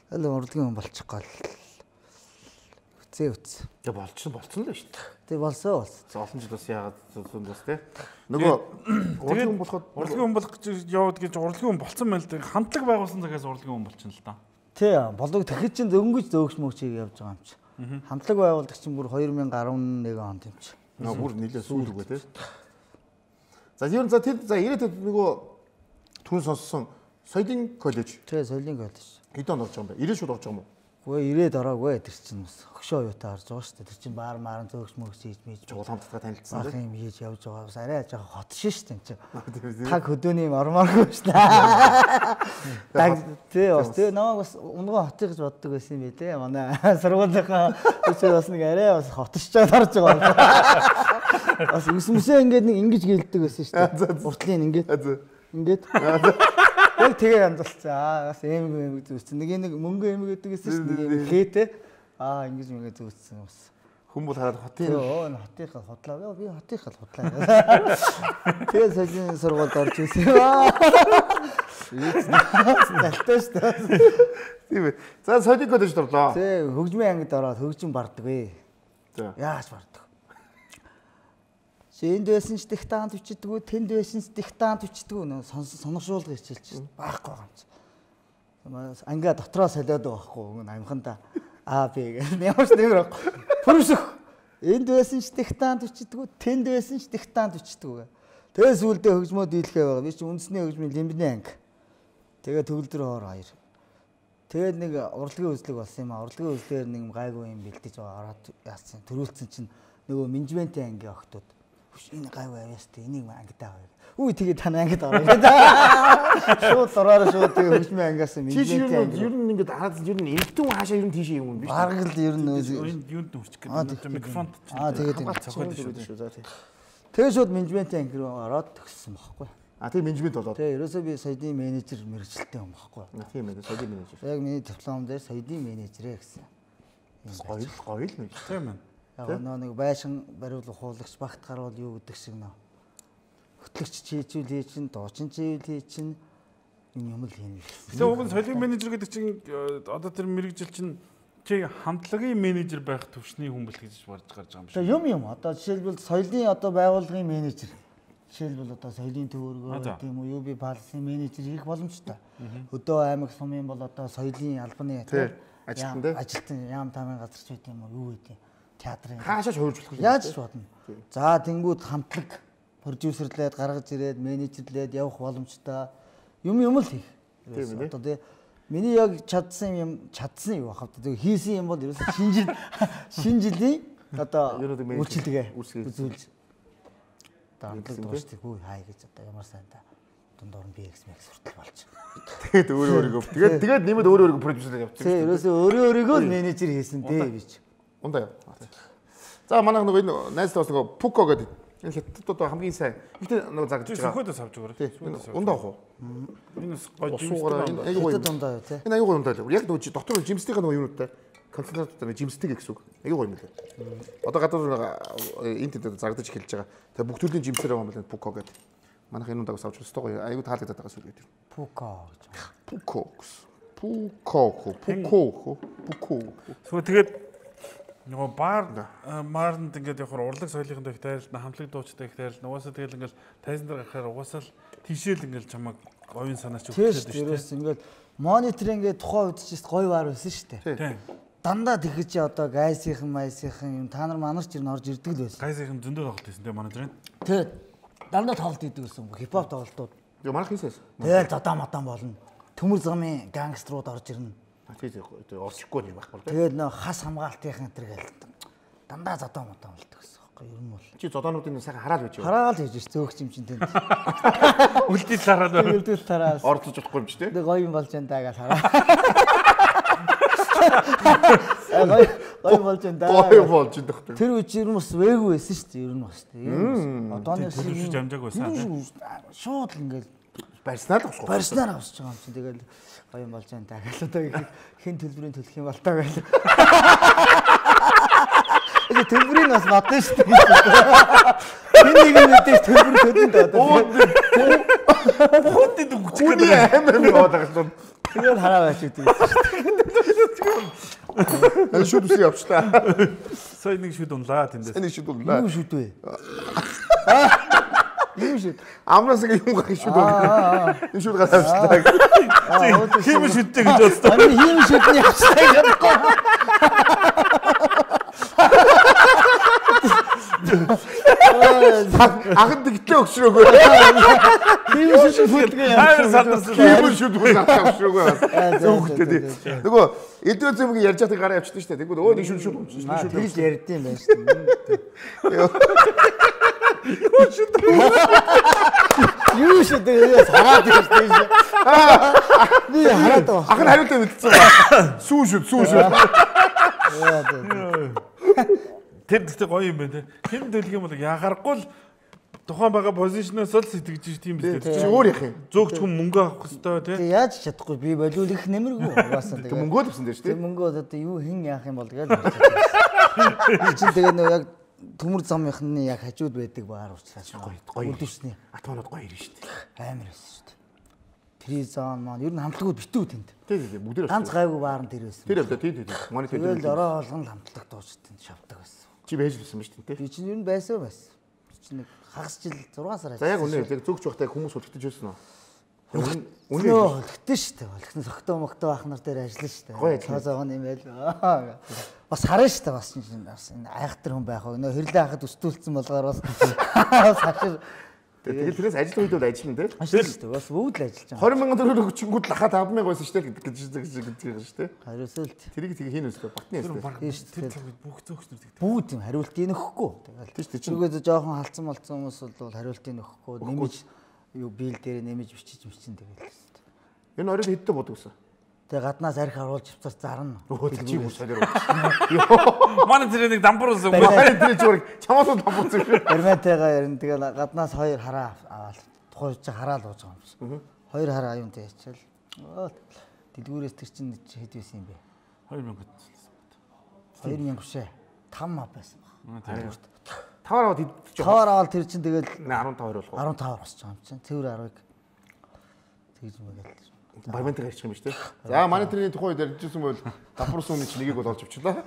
Тэгэл урлагийн хүн болчих гол. Үцээ үц. Тэг болчихсон болцсон л шүү дээ. Тэг болсон болсон. Олон жил бас яагаад зүн бас те. Нөгөө урлагийн хүн болоход урлагийн хүн болох гэж яваад гэж урлагийн хүн болцсон байл дээ. Хамтлаг байгуулсан цагаас урлагийн хүн болчихно л да. Тий, болог тэгэхэд чинь дөнгөж зөөгч мөгчийг явж байгаа юм чи. Хамтлаг байгуулдаг чинь бүр две тысячи десять онд юм чи. Нөгөө бүр нэлээд сүүл үгүй те. За ер нь за тэр за ирээд нөгөө түн сонссон соёлын коллеж. Тий, соёлын коллеж. Хэдэн онд орж байгаа юм бэ? ирээд шууд орж байгаа юм уу? Үгүй ирээд ороогүй тэр чинь бас хөшөө юутаа орж байгаа шүү дээ. Тэр чинь баар мааран зөөгч мөгч хийж мэж чуулгамттай танилцсан. Бах юм хийж явж байгаа. Бас арай жоохон хот шин шүү дээ энэ чинь. Таг хөдөөний юм ормооргүй шүү дээ. Таг тий бас тий намайг бас унгоо хотыг гэж боддог байсан юм билээ. Манай сургуулийнхаа өчөө бас нэг арай бас хотшч байгаа харж байгаа. Бас үсмэсээ ингээд нэг ингэж гэлдэг байсан шүү дээ. Уртлын ингээд. Ингээд. Яг тэгээ янзалцсан. Аа бас эмэг эмэг зүссэн. Нэг нэг мөнгө эмэг гэдэг гэсэн шүү дээ. Нэг хээтэй. Аа ингэж мөнгө зүссэн бас. Хүн бол хараад хотын оо хотынхаа хотлаа. Би хотынхаа хотлаа. Тэгээ соёлын сургуульд орж ирсэн. Тэлтэй шүү дээ. Тийм ээ. За соёлын коллежид орлоо. Тий, хөгжмийн ангид ороод хөгжим барддаг вэ. За. Яаж барддаг? Энд байсан ч диктант бичдэггүй, тэнд байсан ч диктант бичдэггүй нөө сониршуулга хичээлж байхгүй байгаа юм чи. Ангиа дотроо солиод байгаа байхгүй амханда аа би гэх ямар ч нэмэр байхгүй. Пүрсөх. Энд байсан ч диктант бичдэггүй, тэнд байсан ч диктант бичдэггүй. Тэгээ сүулдэ хөгжмөө дийлхээ байгаа. Би чи үндэсний хөгжмийн лимбний анги. Тэгээ төгөлдөр хоор хоёр. Тэгээд нэг урлагийн үзлэг болсон юм аа. Урлагийн үзлэгээр нэг гайгүй юм бэлдэж байгаа ороод яасан. Төрүүлсэн чинь нөгөө менежментийн ангийн охтууд энэ гай байвас тэ энийг ангидаа авъя. Үгүй тэгээ тань ангид ороо гэдэг. Шууд дураараа шууд тэгээ хөгжмийн ангиас менежмент ер нь ингээд хараад ер нь эмтэн хаашаа ер нь тийшээ юм биш. Бараг л ер нь юунд нүрчих гэдэг микрофонд аа тэгээд цохол шүү. За тийм. Тэгээ шууд менежментийн анги руу ороод төгссөн байхгүй. А тийм менежмент болоод. Тэгээ ерөөсөө би соёлын менежер мэрэгчлээ юм байхгүй. Тийм ээ соёлын менежер. Яг миний диплом дээр соёлын менежерээ гэсэн. Гоёл гоёл менежер. Тийм ээ. Яг нэг байшин бариулах хуулагч багтахаар бол юу гэдэг шиг нөө. Хөтлөгч чийжүүл хий чин, дуучин чийвэл хий чин юм юм л хийнэ. Тэгээ уг нь соёлын менежер гэдэг чинь одоо тэр мэрэгжил чинь чи хамтлагийн менежер байх төвшний хүн бэл гэж барж гарч байгаа юм шиг. Тэгээ юм юм одоо жишээлбэл соёлын одоо байгууллагын менежер. Жишээлбэл одоо соёлын төвөргөө гэдэг юм уу, ю би балсын менежер хийх боломжтой. Өдөө аймаг сумын бол одоо соёлын албаны ажилтан дээ. Ажилтан яам тамийн газар ч үт юм уу, юу гэдэг театрын. Хаашаач хууржуулах юм. Яаж ч бодно. За тэнгууд хамтлаг продюсерлээд гаргаж ирээд менежерлээд явах боломжтой юм юм л хийх. Одоо тэгээ миний яг чадсан юм чадсан юу бахав. Тэгээ хийсэн юм бол ерөөсөө шинэ жил шинэ жилийн одоо үйлчлэгээ үзүүлж хамтлаг дуусчих хүү хай гэж одоо ямар сайн та дундуур нь би экс мэкс хүртэл болж. Тэгээд өөрөө өөрийгөө тэгээд тэгээд нэмээд өөрөө өөрийгөө продюсер явуулчих. Тэгээ ерөөсөө өөрөө өөрийгөө менежер хийсэн дээ би ч. Ундаа яа. За манайх нөгөө энэ найзлаа бас нөгөө Пуко гэдэг энэ хятадууд хамгийн сайн. Ихтэй нөгөө загж байгаа. Сөхөөдөөс авч өгөөрэй. Ундаа авах уу? Энэ гоё жимстэй аюу гоё ундаа юу те. Энэ аюу гоё ундаа л. Яг нөгөө дотор жимстейгээ нөгөө юунуудтай концентраттай жимстэй гэсэн үг. Аюу гоё юм лээ. Одоо гадуур энэ тэнд загдаж эхэлж байгаа. Тэгээ бүх төрлийн жимсээр байгаа юм байна Пуко гэдэг. Манайх энэ ундаагаас авч өстой гоё. Аюу таалагдаад байгаа сүлгээд. Пуко гэж. Пуко. Пуко. Пуко. Пуко. Сүү тэгээд нөгөө баар маарнд ингээд явахаар урлаг соёлынхын дэх тайлд хамтлаг дуучтай их тайлд угаасаа тэгэл ингээд тайзан дээр гарахаар угаасаа л тийшээл ингээд чамаг говийн санаач өгчээд шүү дээ. Ингээд монитор ингээд тухайн үед ч гоё баар байсан шүү дээ. Тийм. Дандаа тэгэж чи одоо гайсийнхан майсийнхан юм та нар манарч ир орж ирдэг л байсан. Гайсийнхан зөндөө тоглолт хийсэн тийм монитор. Тэгээд дандаа тоглолт хийдэг байсан. Хипхоп тоглолтууд. Тэгээ манайх хийсээс. Тэгээд задаа матан болно. Төмөр замын гангструуд орж ирнэ. Тэгээд орчихгүй юм байхгүй. Тэгээд нөө хас хамгаалтынхан энэ гээл дандаа задаа матан болдог гэсэн байхгүй ер нь бол. Чи зодоонуудын сайхан хараал байж юу? Хараал хийж ш зөөгч юм чин тэнд. Үлдэл хараад байна. Үлдэл тараас. Орцож удахгүй юм ч тийм. Тэгээд гоё юм болж энэ даа гэж хараа. Гоё гоё болж энэ даа. Гоё болж энэ дах. Тэр үе чи ер нь бас вээгүү байсан шүү дээ ер нь бас тийм. Одооны шиг амжааг байсан. Шууд л ингээл барьснаар л авах. Барьснаар авсч байгаа юм чинь тэгэл гоё юм болж байна даа гэж одоо хэн төлбөрийн төлөх юм бол таа гэж. Тэгээ төлбөрийг бас бодно шүү дээ. Хэн нэг нь мэдээж төлбөр төлнө даа. Хөөд өгч гэдэг амар юм яваад байгаа юм. Тэгээд хараа байж үгүй. Энэ шүд үсээ явчлаа. Сая нэг шүд унлаа тэндээс. Нэг шүд унлаа. Юу шүд вэ? Юу шүд? Амнаас нэг юм гарах шүд унлаа. Энэ шүд гараа авчлаа. Хим шүдтэй гэж бодсон. Ами хим шүдний авчлаа гэдэггүй. Ахан дэгтлээ өгшрөөгөө. Хим шүд хүлгээ яа. Хайр сандарсан. Хим шүд хүлгээ өгшрөөгөө. Зөвхөн нөгөө эдгээр зэмгийн ярьж байгааг гараа явчихсан шүү дээ. Тэгвэл өө нэг шүд шүд өгсөн. Нэг шүд тэгж ярьдсан байх шүү дээ. Юу шүд. Юу шүд яа хараад ирсэн шүү. Би хараад байгаа. Ахан хариултаа мэдсэн ба. Сүү шүд, сүү шүд. Тэр гэхдээ гоё юм байна те. Хэн төлөх юм бол яхахгүй л тухайн байгаа позишноос л сэтгэж тийм биз дээ. Чи өөр яах юм? Зөөгч хүн мөнгө авах хэрэгтэй те. Тэг яаж чадахгүй би болиул их нэмэргүй угаасаа тэгээ. Мөнгөө л авсан дээ шүү дээ. Тэг мөнгөө одоо юу хэн яах юм бол тэгэл. Чи тэгээ нөө яг төмөр замынхны яг хажууд байдаг баар уучлаач гоё гоё үлдвэрсний атманууд гоё ирнэ шүү дээ. Амар байсан шүү дээ. Тризон маань ер нь хамтлагууд битүү тэнд. Тий, тий, бүгдээр ганц гайгүй баар нь тэр байсан. Тэр явда тий, тий. Монитор дээр. Тэгэл ороо олгон хамтлаг дуучтанд шавдаг байсан. Чи байж лсэн ба шүү дээ. Би чинь ер нь байсан байсан. Би чинь нэг хагас жил зургаан сар ажилласан. За яг үнэ яг зөөгч байхдаа хүмүүс үлдчихэж байсан уу? Үнэ үлдсэн шүү дээ. Үлдсэн согтоо мөгтөө ах нар дээр ажиллана шүү дээ. Цаазаагаа юм байл. Бас харна шүү дээ бас чинь бас энэ айхтар хүн байх уу. Нөө хэрлээ хахад өстүүлсэн болгоор бас хашир Тэгээд тэрээс ажил үед бол ажиллана те. Ажиллаж шүү дээ. Бас өвд л ажиллаж байгаа. двадцать мянган төгрөг өгчингүүд лахаа five thousand байсан шүү дээ гэж гэж гэж шүү дээ. Хариусэл л Тэрийг тийг хийн өстэй батны өстэй. Тэр цагт бүх зөөгчнөр тэгдэг. бүгд юм хариултыг нөхгүй. Тийш тий. Тэргээд жоохон халдсан болцсон хүмүүс бол хариултыг нөхгүй нэмж юу бийл дээр нэмж бичиж мчин тэгэл. Энэ оройд хэдтэй бод өгсөн. Тэгээ гаднаас арх харуулж авцар зарна. Өө чи юу солиор. Манай тэр нэг дампур уусан. Манай тэр зүгээр чамаас дампур зүйл. Баримтайгаа ярина. Тэгээ гаднаас хоёр хараа аваад тухайж хараал ууж байгаа юм шиг. Хоёр хараа аюунтай ячаал. Дэлгүүрээс тэр чинь хэд байсан юм бэ? two thousand. two thousand бишээ. five мав байсан баг. Тавар аваад идчих. Тавар аваад тэр чинь тэгэл fifteen болох. fifteen босч байгаа юм чинь. Цэвэр ten-ыг тэгж мэгэл. Баримтаа гарчих юм биш үү? За манай тэрний тухайд ярьжсэн бол давхарсан үний чинь нэгийг бол олж авчлаа.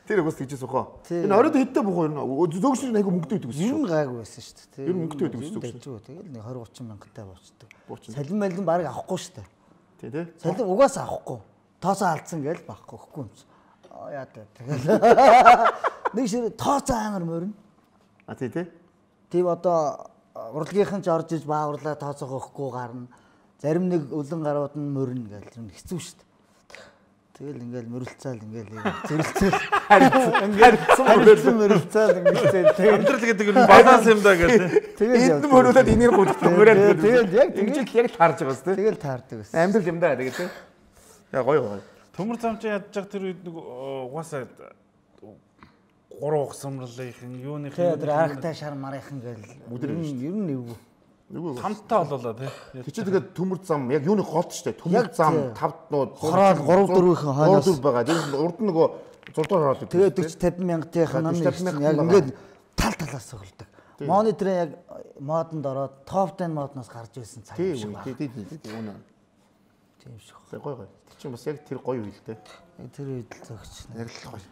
Тэр угс тэгжсэн ухаа. Энэ оройд хэдтэй бухуу ер нь зөөгчний айгу мөнгөтэй байдаг юм гайгүй байсан шүү дээ. Ер нь мөнгөтэй байдаг шүү дээ. Тэгэл нэг twenty thirty мянгатай болчдөг. Буучна. Салин малин баг авахгүй шүү дээ. Тий, тий. Салин угаасаа авахгүй. Тоосоо алдсан гээл багхгүй өгөхгүй юм чи. Аа яа та тэгэл. Нэг шир тооцоо амар морин. А тий, тий. Тийм одоо урлагийнхан ч орж иж бааруулаа тооцоогоо өгөхгүй гарна. Зарим нэг өлөн гарууд нь морин гээл тэр хэцүү шүү дээ. Тэгэл ингээл мөрөлцөөл ингээл зэрэлцээл харилцсан мөрөлцөөл ингээл Амьдрал гэдэг нь баланс юм да гэдэг. тэгэл Энд мөрүүлээд энийг гуддаг мөрөөд. тэгэл яг ингэж яг таарж байгаа зү. тэгэл таардаг байсан. Амьдрал юм да тэгээд тий. Яа гоё гоё. Төмөр замч ядж байгаа тэр үед нэг угаасаа гурав ухсамрлынхын юуных Тэгээ тэр аргатай шар марынхан гээл ер нь ер нь эвгүй. Нөгөө хамтаа болоолаа тий. Тэг чи тэгээд төмөр зам яг юуны гол ч тий. Төмөр зам тавд нууд Хороол three four-ийн хойноос гурав байгаа. Тэгээд урд нь нөгөө зурдаар ороод идэв. тэгээ forty fifty мянгатынхан нь яг ингээд тал талаас цогцолдог. Мониторын яг модонд ороод топ ten модноос гарч ирсэн цаг юм шиг байна. Тий, тий, тий. Үнэ. Тийм шиг. Тэг гоё гоё. Тэг чи бас яг тэр гоё үйл дээ. Тэр үед л зөгч. Яг л гоё.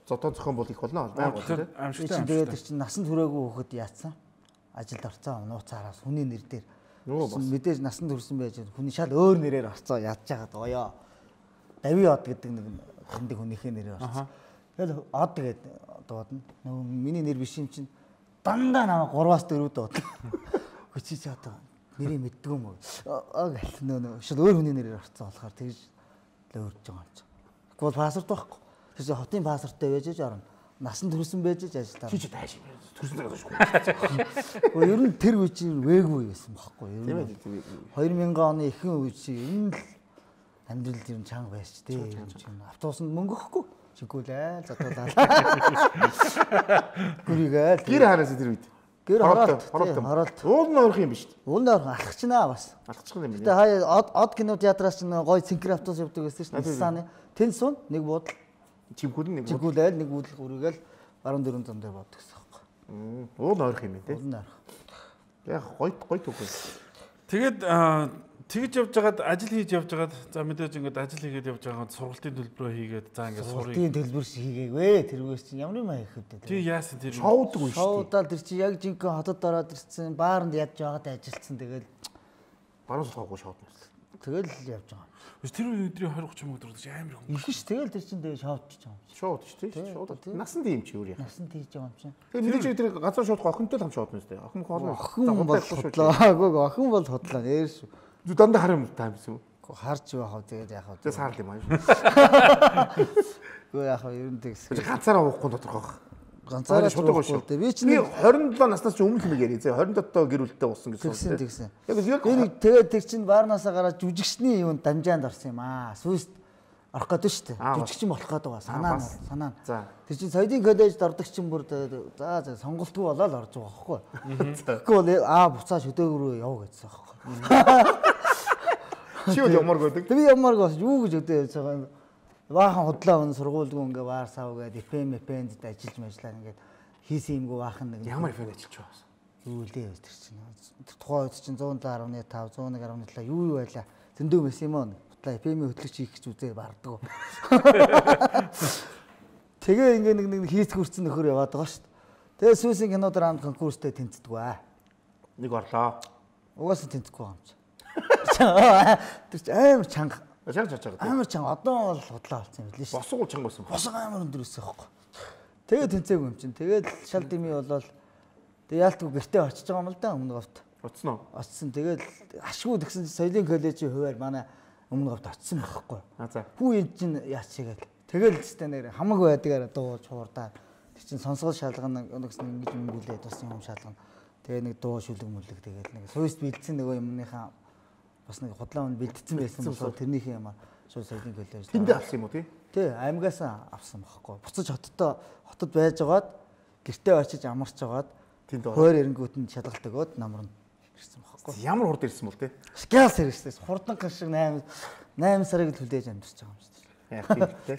Зодоо зохион бол их болно. Байгаад тий. Амшигтай. Тэгээд тэр чинь насанд хүрээгүй хөхөд яатсан. Ажилд орцсон нууцаараас хүний нэр дээр мэдээж насанд хүрсэн байж хүний шал өөр нэрээр орцоо ядж байгаад гоёо. Дави од гэдэг нэг хэндэг хүнийхээ нэрээр орцсон. Тэгэл од гэдэг дуудана. Нөгөө миний нэр биш юм чинь дандаа намайг three-аас four дууд. Хүчи чи одоо нэрийг мэддэг юм уу? Аа гэл нөө шал өөр хүний нэрээр орцсон болохоор тэгж л өөрж байгаа юм чинь. Тэгвэл пассворд байхгүй. Тэр хотын пассворттой байж аж орно. Насанд хүрсэн байж аж ажилтаа. Чи чи тааш юм. Төрсөн цагаас шүү. Гэхдээ ер нь тэр үе чинь вээггүй байсан байхгүй юу? Тийм ээ. two thousand оны ихэнх үе чинь ер нь л амьдрал ер нь чанга байсч тий. Автобусанд мөнгө өгөхгүй. Чигүүлээ задуулаад. Гүрийгээл. Гэр хараас тэр үед. Гэр хороолт. Хороолт. Уул нь орох юм биш. Уул нь орох алхачнаа бас. Алхачих юм байна. Тэгээ хаяа од од кино театраас чинь гоё синхро автобус явдаг байсан шүү дээ. Сааны. Тэн сун нэг буудал. Чимгүүл нэг чигүүлээл нэг үүдэл гүрийгээл four four зам дээр боддог гэсэн юм байна. Уул орох юм тий. Уул орох. Яг гоё гоё түүх. Тэгээд тэгж явж байгаад ажил хийж явж байгаад за мэдээж ингээд ажил хийгээд явж байгаа сургалтын төлбөрөө хийгээд за ингээд сурыг. Сургалтын төлбөр хийгээгүй. Тэргээс чинь ямар юм хийх вэ? Тий яасан тэр шоудаг үү шүү дээ. Шоудаал тэр чинь яг жинхэнэ хотод ороод ирсэн баарнд ядж байгаад ажилтсан тэгэл баруун сууггүй шоудна. Тэгэл явж байгаа. Тэр өдрийн twenty thirty мөнгө дөрөж амар хүн. Их ш тэгэл тэр чинь тэгээ шоудчих байгаа юм. Шоуд ч тий. Шоуд. Насан тийм чи юу яа. Насан тийж байгаа юм чинь. Тэгээ мэдээж тэр газар шоудах охинтой л хам шоудна үстэй. Охин хоолно. Охин бол хотлоо. Охин бол хотлоо. Нэр шүү. Зү дандаа харам таам юм. Харж байхав тэгээд яхав. Тэгээ саарл юм аа. Гөө яхав ер нь тэгс. Ганцаараа уухгүй тодорхойх. Ганцаараа шуудах шүү. Би ч нэг twenty seven наснаас ч өмнөх юм яриа. twenty seven доо гэр бүлтэй уусан гэсэн. Тэгсэн тэгсэн. Яг яг энэ тэгээд тэр чин баарнаасаа гараад жүжигчний юунд дамжаанд орсон юм аа. Сүйст орох гэдэг шүү дээ. Жүжигчин болох гэдэг байгаа. Санаа нь санаа. За. Тэр чин соёлын коллежид ордог чин бүр за за сонголтгүй болоод орж байгаа байхгүй. Тэгэхгүй бол аа буцаа шөдөөгөрөө яв гэсэн байхгүй. Чи юу ямар гэдэг? Би ямар гоо юу гэж өдөө ярьж байгаа юм. Баахан худлаа өн сургуульгүй ингээ ваар сав гээд эф эм эф энд ажиллаж мэжлаа ингээд хийсэн юмгүй баахан нэг ямар эф эм ажиллаж байгаа. Юу лээ тэр чинь. Тухайн үед чинь one oh seven point five, one oh one point seven юу юу байла. Зөндөө мэс юм уу? Худлаа эф эм хөтлөгч хийх гэж үзээ барддаг. Тэгээ ингээ нэг нэг хийц хүрцэн нөхөр яваад байгаа шүү дээ. Тэгээ сүүсийн кинодор анд конкурстэй тэнцдэг аа. Нэг орлоо. Угаасаа тэнцэхгүй юм чи. Тэр чинь амар чанга. Чанга чанга. Амар чанга. Одоо бол худлаа болсон юм билээ шүү. Босгол чанга болсон. Босго амар өндөр өссөн байхгүй. Тэгээд тэнцээгүй юм чинь. Тэгээд шал дими болол Тэгээ яалтгүй гэртээ очиж байгаа юм л да өмнө говьт. Оцсон уу? Очсон. Тэгээд ашгүй тэгсэн чинь соёлын коллежийн хуваар манай өмнө говьт очсон байхгүй. А за. Хүү энэ чинь яач чигээл. Тэгэл ч нэр хамаг байдгаар дуу чуурдаа. Тэг чин сонсгол шалгана нэгс ингэж мөнгөлээд бас юм шалгана. Тэгээ нэг дуу шүлэг мүлэг тэгээд нэг суйст бэлдсэн нөгөө юмныхаа бас нэг худлаа өмнө бэлдсэн байсан болохоор тэрнийхээ юм шууд соёлын коллеж. Тэндээ авсан юм уу тий? Тий, аймгаас авсан байхгүй. Буцаж хотод хотод байж байгаад гэртээ очиж амарч байгаад тэнд хойр эрэнгүүтэнд шалгалт өгөөд намрын ирсэн байхгүй. Ямар хурд ирсэн бол тий? Скалс ирсэн. Хурдан шиг восемь восемь сарыг төлөөж амьдэрч байгаа юм шүү дээ. Яг тийм тий.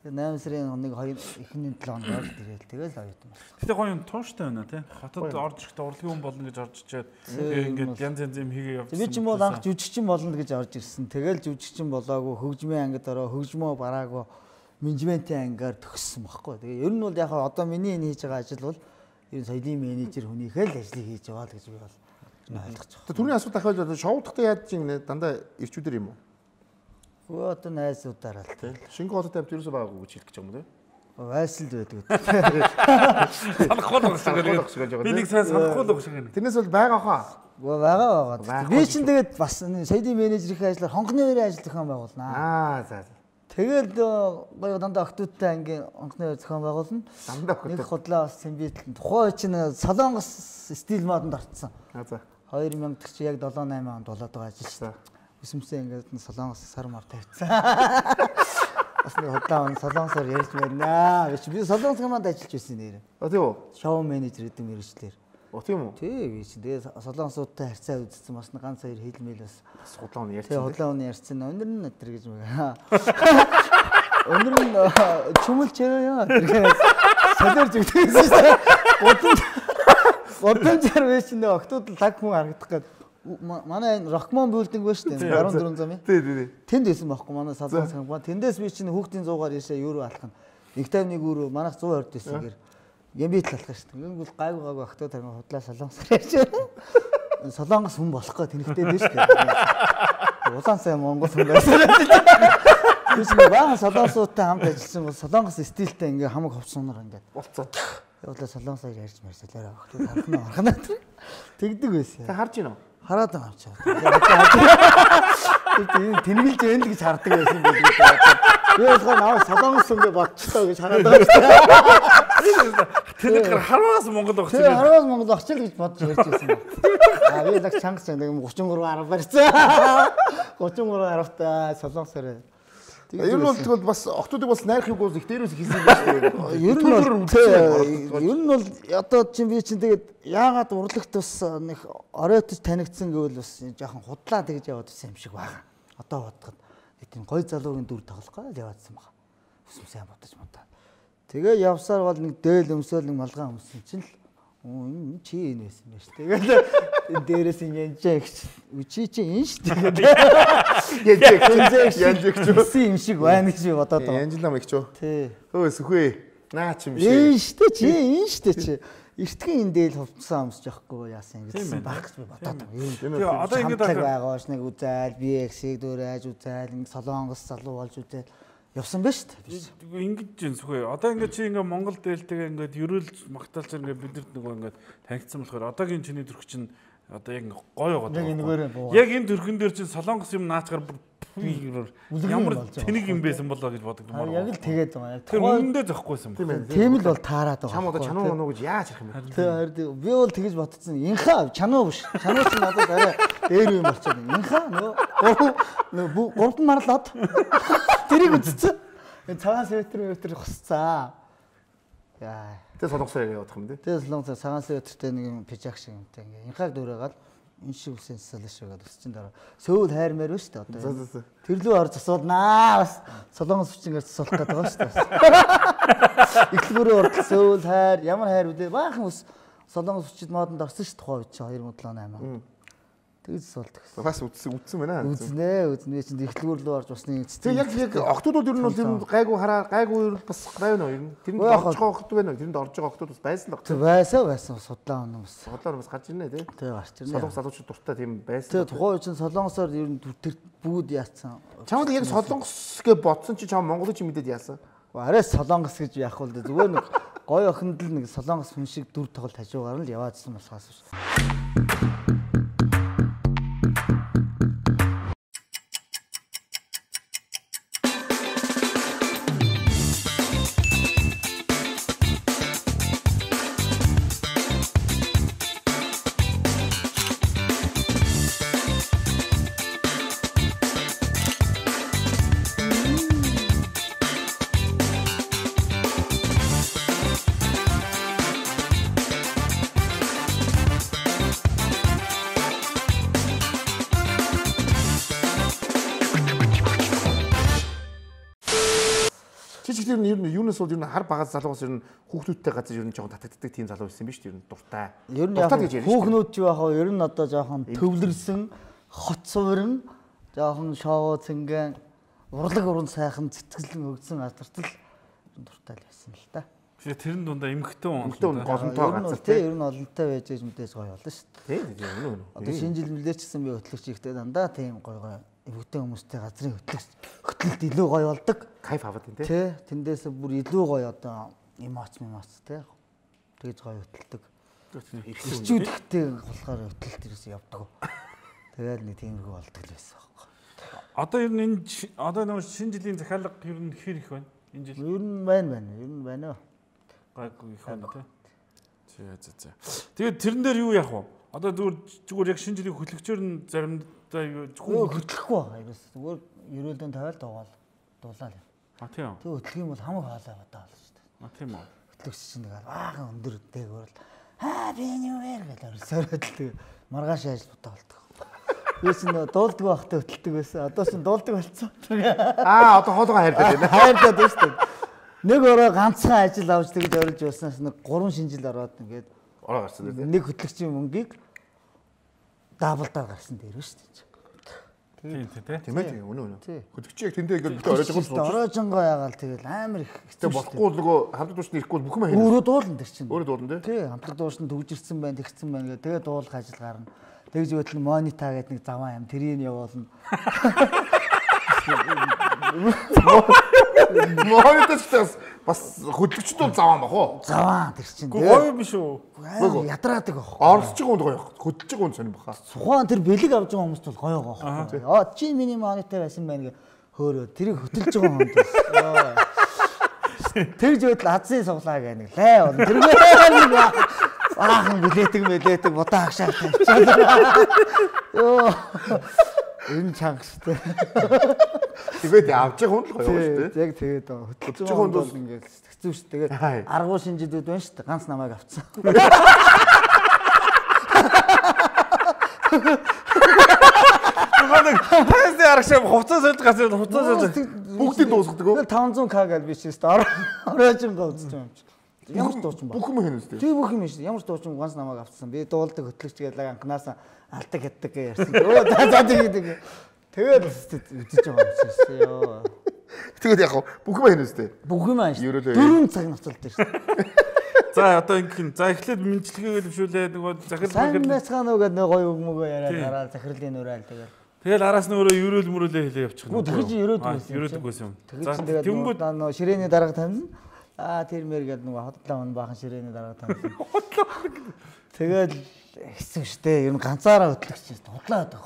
Тэгээ восемь сарын хоног хоёр эхний седем хоног ирэл тэгэл оюутан болсон. Гэтэ гоё юм тууштай байна тий. Хотод орж ирэхдээ урлагийн хүн болно гэж орж ичээд тэгээ ингээд янз янз юм хийгээ явуулсан. Би ч юм бол анх жүжигчин болно гэж орж ирсэн. Тэгэл жүжигчин болоогүй хөгжмийн ангид ороо хөгжмөө бараагүй менежментийн ангаар төгссөн байхгүй. Тэгээ ер нь бол яг одоо миний энэ хийж байгаа ажил бол ер нь соёлын менежер хүнийхээ л ажлыг хийж байгаа л гэж би бол ойлгож байгаа. Түрүүний асуулт ахвал шоудахтаа яаж чинь дандаа ирчүүдэр юм уу? Хөө одоо найзуудаараа л тий. Шингэн хотод тавьж ерөөсөө байгаагүй гэж хэлэх гэж юм уу тий? Вайсалд байдаг. Санахгүй л гэж байгаа. Би нэг сайн санахгүй л гэж байна. Тэрнээс бол байгаа хаа. Гоо байгаа байгаа. Би чинь тэгээд бас соёлын менежерийн ажлаар хонгоны өрөө ажил зохион байгуулнаа. Аа за. Тэгэл гоё дандаа октодтой ангийн хонгоны өрөө зохион байгуулна. Дандаа октод. Нэг худлаа бас Цэмбитэл тухай чинь Солонгос стил модонд орцсон. Аа за. две тысячи чи яг семь восемь онд болоод байгаа ажил шүү дээ. Өсөмсөн ингээд Солонгос сар мар тавьчихсан. Бас нэг худлаа он Солонгосоор ярьж байна. Би Солонгос команд ажиллаж байсан нэр. А тийм үү? Шоу менежер гэдэг мэргэжлэр. О тийм үү? Тий, би чинь тэгээ Солонгосуудтай харьцаа үзсэн бас ганц хоёр хэлмэл бас худлаа он ярьсан. Тэгээ худлаа он ярьсан. Өнөр нь өтер гэж мага. Өнөр нь чүмэлч яа тэгээ солиор зүгтсэн шүү дээ. Бодон бодон зар биш нэ октод лаг хүн харагдах гээд манай энэ Rockmon building байна шүү дээ. баруун дөрвөн замын. Тий, тий. Тэнд байсан байхгүй манай Солонгос компани. Тэндээс би чинь хүүхдийн зуугаар яшаа евро алах нь. нэг тавь нэг евро манайх сто хорд байсан гэр. Гэмбит алах шүү дээ. Ингэнгүүл гайгүй гайгүй октод тарин худлаа Солонгосоор ярьж байна. Солонгос хүн болохгүй тэнхтэй дээ шүү дээ. Улаан сайн Монгол хүн байсан. Биш нэг баа Солонгосуудтай хамт ажилласан бол Солонгос стилтэй ингээ хамаг ховцсоноор ингээ болцоо. Явуулаа Солонгосоор ярьж марсалаараа октод харахна харахна. Тэгдэг байсан. Та харж гинөө? Хараад байгаа юм чаа. Тэнэгэлж байна л гэж хардаг байсан байх. Би болохоор наваа Солонгос юм бэ бодчихлоо гэж хараад байгаа шүү дээ. Тэгэхээр хараас Монгол огч. Тэгээ хараас Монгол огч л гэж бодож ярьж байсан байна. Аа би л чанга чанга тридцать три арга барьсан. тридцать три аргатай Солонгосоор. Ер нь бол тэгвэл бас октодыг бас найрах юм бол их дээрээс хийсэн юм байна шүү дээ. Ер нь бол ер нь бол одоо чинь би чинь тэгээд яагаад урлагт бас нэг оройтож танигдсан гэвэл бас жоохон худлаа тэгж яваад байсан юм шиг байгаа. Одоо бодоход тийм гой залуугийн дүр тоглохгүй л яваадсан байгаа. Өсөм сайн бодож модаа. Тэгээ явсаар бол нэг дээл өмсөөл нэг малгай өмсөн чинь л энэ чи энэ байсан байж. Тэгээд дээрээс нь янжаа гэж үчи чи энэ шүү дээ. Янжаа гэж юм шиг байна гэж бодоод байгаа. Янжлам их ч үү. Тий. Хөөе сүхвээ. Наа чи юм шиг. Энэ шүү дээ чи энэ шүү дээ чи. Эртхэн энэ дээл хувцсан өмсөж явахгүй яасан гэсэн баг гэж би бодоод байгаа. Тэгээ одоо ингэж байгаа ш нэг үзайл би эксийг дөрөөж үзайл ингэ Солонгос залуу болж үзайл явсан ба шүү дээ. Ингэж юм сүхээ. Одоо ингээд чи ингээд Монгол дээлтэйгээ ингээд ерөөлж магтаалж ингээд бидэрт нөгөө ингээд танигдсан болохоор одоогийн чиний төрх чинь одоо яг гоё байгаа. Яг энэгээр буу. Яг энэ төрхөн дээр чинь Солонгос юм наачгаар ямар тэнэг юм байсан болоо гэж боддог юм аа. Яг л тэгээд байгаа. Тэр үнэндээ зөөхгүйсэн байна. Тийм л бол таарад байгаа. Чам одоо чануу оноо гэж яаж харах юм бэ? Тийм би бол тэгэж бодсон. Инхаа чануу биш. Чануу ч надад арай дээр юм болчиход. Инхаа нөө гурван марлаад тэрийг үзсэн. Энэ цагаан светр светр хусцаа. Яа. Тэгээ Солонгосоор явах юм дээ. Тэгээ Солонгосоор цагаан светртэй нэг юм пижак шиг юмтай ингээ инхааг дөрөөгаад энэ шиг үсэн солош шигээд өсчин дараа. Сөүл хайрмаар байна шүү дээ одоо. Тэр лүү орж асуулнаа бас Солонгос хүчингээр засуулах гэдэг байгаа шүү дээ. Ихлгүүрээ орж сөүл хайр ямар хайр үлээ баахан ус Солонгос хүчит модонд орсон шүү тухай үед чинь two thousand seven. Тэгж засуулдаг. Бас үтсэн үтсэн байна. Үзнэ үзнэ чинь ихлгүүр лүү орж усны тэгээ яг яг октодууд ер нь бол тэр гайгүй хараа гайгүй бас гай байна уу ер нь. Тэрэнд орж байгаа октод байна уу? Тэрэнд орж байгаа октод бас байсан л баг. Байсан байсан судлаа оноо бас. Судлаар бас гарч ирнэ тий. Тий гарч ирнэ. Солонгос залуучууд дуртай тийм байсан. Тэгээ тухайн үед чинь Солонгосоор ер нь тэр бүгд яатсан. Чамд яг Солонгос гэж бодсон чи чам Монголыг чи мэдээд яасан? Арай Солонгос гэж яах вэ? Зүгээр нэг гоё охинд л нэг солонгос хүн шиг дүр тоглолт хажуугаар нь л яваадсан болохоос биш. Ер нь ер нь юунаас бол ер нь хар багаас залуугаас ер нь хүүхдүүдтэй газар ер нь жоохон татагддаг тийм залуу байсан биз дээ ер нь дуртай. Ер нь яг хүүхнүүд юу яхаа ер нь одоо жоохон төвлөрсөн, хот суурин, жоохон шоу цэнгэн, урлаг уран сайхан цэцгэлэн өгсөн газартал дуртай л байсан л та. Тэгээ тэрэн дундаа эмхтэн эмхтэн голонтой газар тий ер нь олонтой байж ээж мэдээж гоё болно шүү дээ. Тий үнэ үнэ. Одоо шинэ жил мөлөөч гэсэн би хөтлөгч ихтэй дандаа тийм гоё гоё эвгтэй хүмүүстэй газрын хөтлөгч хөтлөлт илүү гоё болдог. Кайф аваад тийм тий. Тий тэндээс бүр илүү гоё одоо эмоц эмоц тий. Тэгж гоё хөтлөдөг. Ирчүүдтэй болохоор хөтлөлт ерөөсөө явдаг. Тэгээд нэг тиймэрхүү болдог л байсан байхгүй. Одоо ер нь энэ одоо нэг шинэ жилийн захиалга ер нь хэр их байна? Энэ жил ер нь байна байна. Ер нь байна уу? Гайгүй их байна тий. За за за. Тэгээд тэрэн дээр юу яах вэ? Одоо зүгээр зүгээр яг шинэ жилийн хөтлөгчөөр нь заримдаа юу хөтлөхгүй байна. Зүгээр ерөөлдөн тавиал дуугаал дуулаа л. А тийм. Тэг хөтлөх юм бол хамаг хаалаа бодоо болно шүү дээ. А тийм үү. Хөтлөгч чинь нэг аахан өндөр дээгүүр л аа би юу вэ гэж орсороод л маргааш ажил бодоо болдог. Би чинь дуулдаг байхдаа хөтэлдэг байсан. Одоо чинь дуулдаг болцсон. Аа одоо хоолойгоо хайрлаад байна. Хайрлаад байна шүү дээ. Нэг ороо ганцхан ажил авч тэгж орилж явснаас нэг гурван шинжил ороод ингээд ороо гарсан тийм. Нэг хөтлөгчийн мөнгийг даблдаар гарсан дээр шүү дээ. Тийм тийм тийм ээ үнэ үнэ. Хөтлөгч яг тэндээ ингээд битээ оройж байгаа бол ороожонгоо ягаал тэгэл амар их хэцүү болохгүй нөгөө хамтлаг дуушны ирэхгүй бүх юм хийх. Өөрөө дуулан тэр чинь. Өөрөө дуулан тий. Тий хамтлаг дуушны төгжирсэн байна, тэгсэн байна гэх тэгээ дуулах ажил гарна. Тэгж өтөл монита гэдэг нэг заваа юм тэрийг явуулна. Мониторс бас хөтлөгчд бол заваа баг уу? Заваа тэр чинь. Гоё биш үү? Ядраадаг баг. Оролцож байгаа хүнд гоё. Хөтлөж байгаа хүнд сонирм баха. Сухаан тэр бэлэг авч байгаа хүмүүст бол гоё байгаа. Аа чи миний монитор байсан байна гэ хөөрөө тэрийг хөтлөж байгаа хүнд. Тэгж өтөл азын суглаа гэх нэг лай бол тэргүй нэг аахан билетэг мэлетэг будаа агшаа тавьчихсан. Йоо. Энэ чангастай. Тэгээд авч байгаа хүн л гоё шүү дээ. Яг тэгээд хөтлөж байгаа хүн бол ингээд хэцүү шүү. Тэгээд аргуу шинжилүүд байна шүү дээ. Ганц намайг авцсан. Нэг тайзны аргашаа хувцас сольж гацаад хувцас сольж бүгдийг дуусгадаг уу? таван зуун к гэж биш шүү дээ. Ороожингаа үзэж байгаа юм чи. Ямар ч дуучин ба. Бүх юм хийнэ үстэй. Тий бүх юм шүү дээ. Ямар ч дуучин ганц намайг авцсан. Би дуулдаг хөтлөгч гэдэг анханаас алдаг хятдаг ярьсан. Өө за за тэгээд тэгээд үзэж байгаа юм шиг ёо. Тэгээд яг бүх юм хийнэ үстэй. Бүх юм ааш. Дөрвөн цаг нуцалд дээр шүү. За одоо ингэх за эхлээд мэдлэгээ гэлвшүүлээ нөгөө захирал захирал байцгаана уу гэдэг нэг гоё үг мөгөө яриад гараад захирлын нүрэл тэгээд тэгэл араас нь өөрөө ерөөл мөрөөлөө хэлээ явчих. Гү тэгж ерөөдөг байсан. Ерөөдөг байсан юм. За тэнгууд нөө ширээний дарга тавина. Аа тэр мэр гэдэг нөгөө хотлоо мөн баахан ширээний дарга тавина. Тэгээд хэцүү шттэ. Ер нь ганцаараа хөтлөгч шүү дээ. Худлаа байдаг.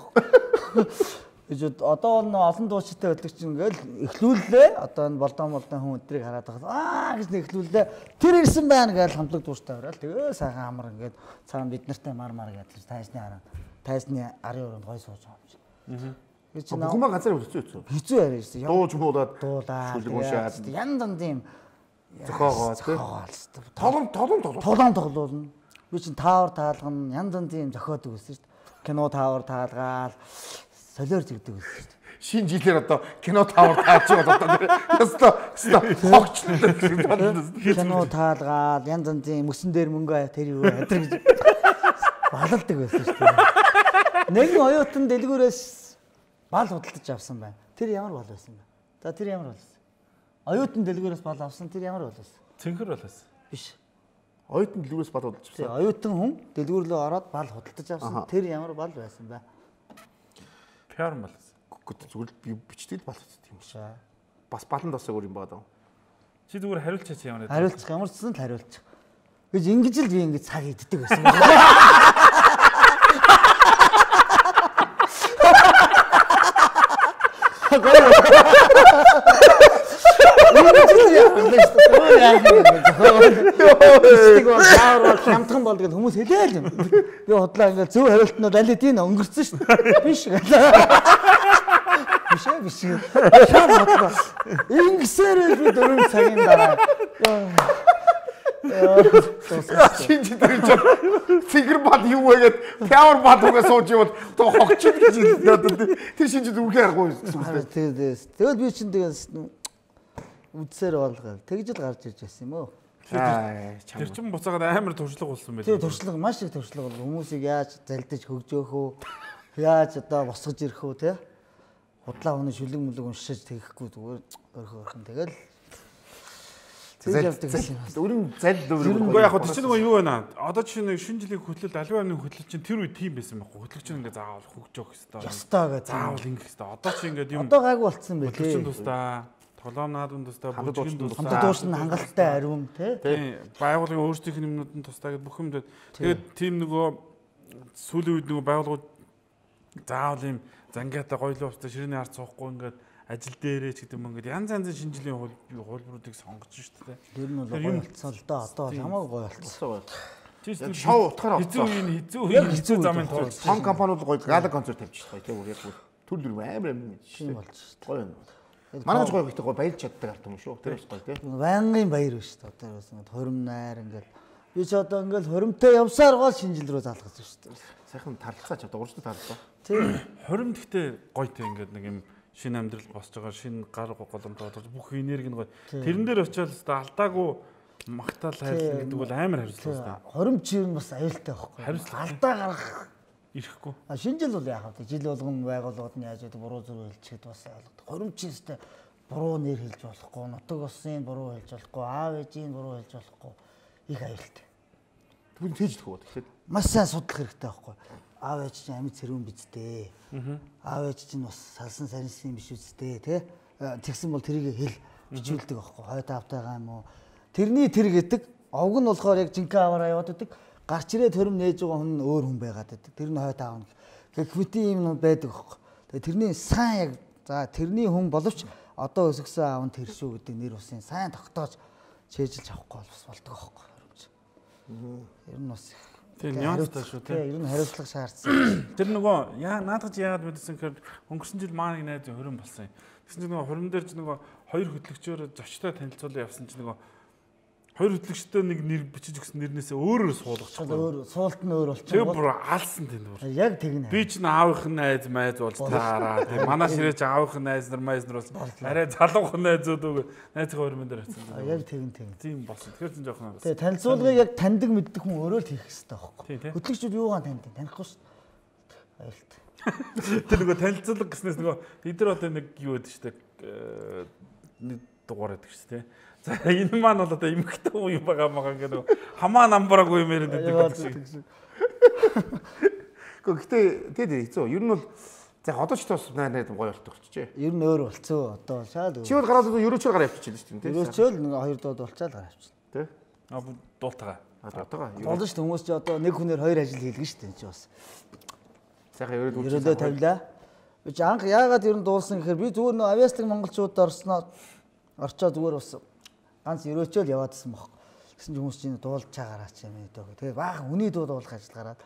Гэж одоо бол олон дуучтай хөтлөгч ингээл эхлүүллээ. Одоо энэ болдон болдон хүн өдрийг хараад байгаа. Аа гэж нэг эхлүүллээ. Тэр ирсэн байна гэж хамтлаг дуучтай ороод тэгээ сайхан амар ингээд цаана бид нартай мар мар гэдэг тайсны хараа. Тайсны арын өрөөнд гой сууж байгаа юм шиг. Би чи бүх юм ганцаар хөтлөж үзсэн. Хизүү яриа шүү. Дууж муулаад дуулаад уншаад ян дан тийм зохиогоо тий. Толом толом толом. Толом тоглоулна. Би чин таавар таалгана ян дан тийм зохиодог байсан шүү. Кино таавар таалгаал солиор зэгдэг байсан шүү. Шинэ жилээр одоо кино таавар тааж байгаа одоо яста яста хогчлоо. Кино таалгаал ян дан тийм мөсөн дээр мөнгө тэр юу хадраг гэж балалдаг байсан шүү. Нэгэн оюутан дэлгүүрээс бал худалдаж авсан байна. Тэр ямар бол байсан бэ? За тэр ямар болсон? Оюутан дэлгүүрээс бал авсан тэр ямар бол байсан? Цэнхэр бол байсан. Биш. Оюутан дэлгүүрээс бал худалдаж авсан. Оюутан хүн дэлгүүр рүү ороод бал худалдаж авсан. Тэр ямар бал байсан бэ? Пиар мал. Зүгээр би бичтэл бал худалдаж юм шиг. Бас балан дасаг өөр юм байна даа. Чи зүгээр хариулчихаач ямар нэг. Хариулчих ямар ч зүйл хариулчих. Гэж ингэж л би ингэж цаг иддэг байсан. Хямдхан бол гэж хүмүүс хэлээл юм. Би бодлоо ингээд зөв хариултнууд аль хэдийн өнгөрцөн шүү дээ. Биш гэлээ. Биш ээ биш. Шам бодлоо. Ингэсээр би дөрөв цагийн дараа. Шинж дээр ч фигэр бат юу вэ гэд power бат угаа сууж явал тоо хогчд гэж хэлдэг. Тэр шинж зүрхээ аргагүй гэсэн. Тэгэл би чинь тэгээс үдсээр болгоо. Тэгж л гарч ирж байсан юм уу? Тэр чин буцаагаад амар туршлага болсон байл. Тэгээ туршлага маш их туршлага бол хүмүүсийг яаж залдаж хөгжөөх үү? Яаж одоо босгож ирэх үү те? Худлаа хүний шүлэг мүлэг уншиж тэгэхгүй зүгээр өрхө өрхөн тэгэл Өрн зал дөөрөө. Уу яг тэр чинь нөгөө юу байна? Одоо жишээ нь шинэ жилийн хөтлөлт аливааны хөтлөлт чинь тэр үе тийм байсан байхгүй. Хөтлөгч нь ингээ заавал хөгжөөх хэвээр. Ястаа гэж. Заавал ингэх хэвээр. Одоо чи ингээ юм. Одоо гайгүй болцсон байх. Хөтлөгч нь тусдаа, тоглоомнаад нь тусдаа, бүжгийн тусдаа. Хамт дуус нь хангалттай ариун тий. Байгууллагын өөрсдийнх нь юмнууд нь тусдаа гэж бүх юм. Тэгээд тийм нөгөө сүүлийн үед нөгөө байгууллагууд заавал юм зангаатай гоёлоо устаа ширээний ард суухгүй ингээ ажил дээрээ ч гэдэг юм ингээд янз янзын шинжилгээ хуулбаруудыг сонгож шүү дээ. Тэр нь бол гоё болцсон л доо. Одоо хамаагүй гоё болцсон. Тийм шоу утгаараа хэзээ үеийн хэзээ үеийн хэзээ замын тулд том компаниуд гоё гала концерт тавьчих гоё тийм яг төр дүр амар амар шин болж шүү. Гоё юм. Манай гоё ихтэй гоё баялж чаддаг арт юм шүү. Тэр бас гоё тийм. Байнгын баяр биш шүү. Одоо бас ингээд хуримнаар ингээд би ч одоо ингээд хуримтай явсаар гол шинжил рүү залгаж шүү дээ. Сайхан тарлцаач одоо уржлаа тарлаа. Тийм. Хурим гэхдээ гоётэй ингээд нэг юм шинэ амьдрал босч байгаа шинэ гар голомт бодож бүх энерги нь гоё. Тэрэн дээр очиод өстой алдаагүй магтаал хайрлах гэдэг бол амар хариуцлага өстой. Хоримч юм бас аюултай байхгүй. Хариуцлага алдаа гарах ирэхгүй. А шинжил бол яах вэ? Жил болгон байгууллагууд нь яаж гэдэг буруу зүрх хэлчихэд бас ойлгодог. Хоримч өстой буруу нэр хэлж болохгүй, нутаг усын буруу хэлж болохгүй, аав ээжийн буруу хэлж болохгүй. Их аюултай. Түн цээждэх үү тэгэхээр маш сайн судлах хэрэгтэй байхгүй. Аав ээж чинь амьд цэрүүн биз дээ. Аав ээж чинь бас салсан сарнсын биш үстэй тий. Тэгсэн бол тэрийг хэл бичүүлдэг байхгүй. Хойд автайгаа юм уу. Тэрний тэр гэдэг овг нь болохоор яг жинхэнэ аваараа яваад байдаг. Гарч ирээ төрөм нээж байгаа хүн өөр хүн байгаад байдаг. Тэр нь хойд аав нь. Гэвчээ юм байдаг байхгүй. Тэгээ тэрний сайн яг за тэрний хүн боловч одоо өсгсөн аав нь тэр шүү гэдэг нэр усын сайн тогтоож чэйжилж авахгүй бол бас болдог байхгүй. Ер нь бас тийм нюанстай шүү тийм. Ер нь хариуцлага шаардсан. Тэр нөгөө яа наадах яагаад мэдсэн гэхээр өнгөрсөн жил маань найз хорин болсон юм. Тэгсэн чинь нөгөө хорин дээр ч нөгөө хоёр хөтлөгчөөр зочтой танилцуулан явсан чинь нөгөө хоёр хөтлөгчтэй нэг нэр бичиж өгсөн нэрнээсээ өөрөөр суулгачихсан. Өөр суулт нь өөр болчихсон. Тэр бүр алсан тийм бүр. Яг тэгнэ. Би ч н аавынх нь найз майз болж таараа. Тийм манай ширээч аавынх нь найз нар майз нар болсон. Арай залуухан найзууд үг найзын хоёр мэн дээр очсон. Яг тэгнэ тэгнэ. Тийм болсон. Тэгэхээр чинь жоохон. Тэгээ танилцуулгыг яг таньдаг мэддэг хүн өөрөө л хийх хэрэгтэй байхгүй. Хөтлөгчүүд юугаар таньдаг? Танихгүй шүү дээ. Аюултай. Тэр нөгөө танилцуулга гэснээс нөгөө бид нар одоо нэг юу гэдэг шүү дээ. Нэг дугаар гэдэг шүү дээ. За энэ маань бол одоо эмхтэй уу юм байгаа мага гэдэг хамаа намбараагүй юм яриад байдаг шиг. Гэхдээ тэгээд хэцүү. Ер нь бол за одоо ч тус найраад гоё болтох болчихжээ. Ер нь өөр болцсон. Одоо шаад. Чи бол гараад ерөөчөөр гараа явчихчихлээ шүү дээ. Ерөөчөөл нэг хоёр дууд болчаал гараа явчихлаа. Тэ? Аа дуултагаа. Аа дуултагаа. Болно шүү дээ. Хүмүүс чи одоо нэг хүнээр хоёр ажил хийлгэн шүү дээ чи бас. Сайхан ерөөд үлдээ. Ерөөдөө тавилаа. Би ч анх яагаад ер нь дуулсан гэхээр би зүгээр нөө авиастик монголчууд орсноо орчоо зүгээр бас ганц ерөөчөөл яваадсан баг. Гэсэн чинь хүмүүс чинь дуулж чагаараач юм ээ дөө. Тэгээ баахан үний дуу дуулах ажил гараад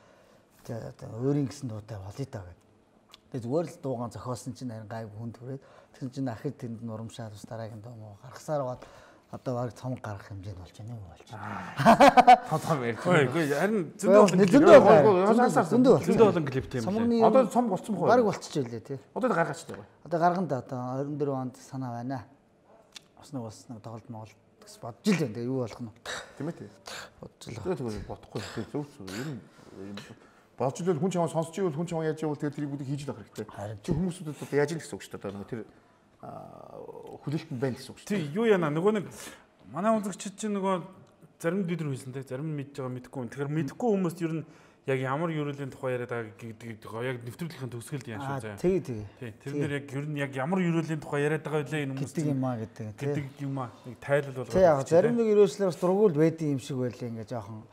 тэгээ өөрийн гэсэн дуутай болъё даа гэд. Тэгээ зүгээр л дуугаан зохиосон чинь харин гайгүй хүн төрөөд тэгсэн чинь ахид тэнд нурамшаад ус дараагийн дуу муу гаргасаар гоод одоо баг цом гарах хэмжээнд болж байна юм болж байна. Том том ярих. Үгүй харин зөндөө зөндөө зөндөө зөндөө олон клип тийм үү. Одоо цом болцсон бохоо. Баг болчихжээ лээ тий. Одоо гаргаач дээ. Одоо гаргана да одоо двадцать дөрөв онд санаа байна. Бас нэг бас нэг тоглолт моголт гэж бодож л байна. Тэгээ юу болох нь. Тийм ээ тий. Бодож л. Тэгээ зүгээр бодохгүй тэгээ зөв зөв ер нь болж л хүн чамаа сонсч ивэл хүн чамаа яаж явуул тэгээ тэрийг бүгд хийж л авах хэрэгтэй. Чи хүмүүсүүдэд одоо яаж л гэсэн үг шүү дээ. Одоо тэр хүлээлтэнд байна гэсэн үг шүү. Тий юу яана нөгөө нэг манай үзэгчид чинь нөгөө зарим бид нар хэлсэн те зарим нь мэдж байгаа мэдхгүй. Тэгэхээр мэдхгүй хүмүүс ер нь яг ямар ерөөлийн тухай яриад байгаа гэдэг яг нэвтрүүлгийн төгсгөлд яан шүү заяа. Тэгээ тэгээ. Тий. Тэр нэр яг ер нь яг ямар ерөөлийн тухай яриад байгаа вэ энэ хүмүүс гэдэг юм аа гэдэг. Гэдэг юм аа. Нэг тайлбар болгоо. Тий яг зарим нэг ерөөслөөр бас дургуул байдсан юм шиг байлаа ингээ жоохон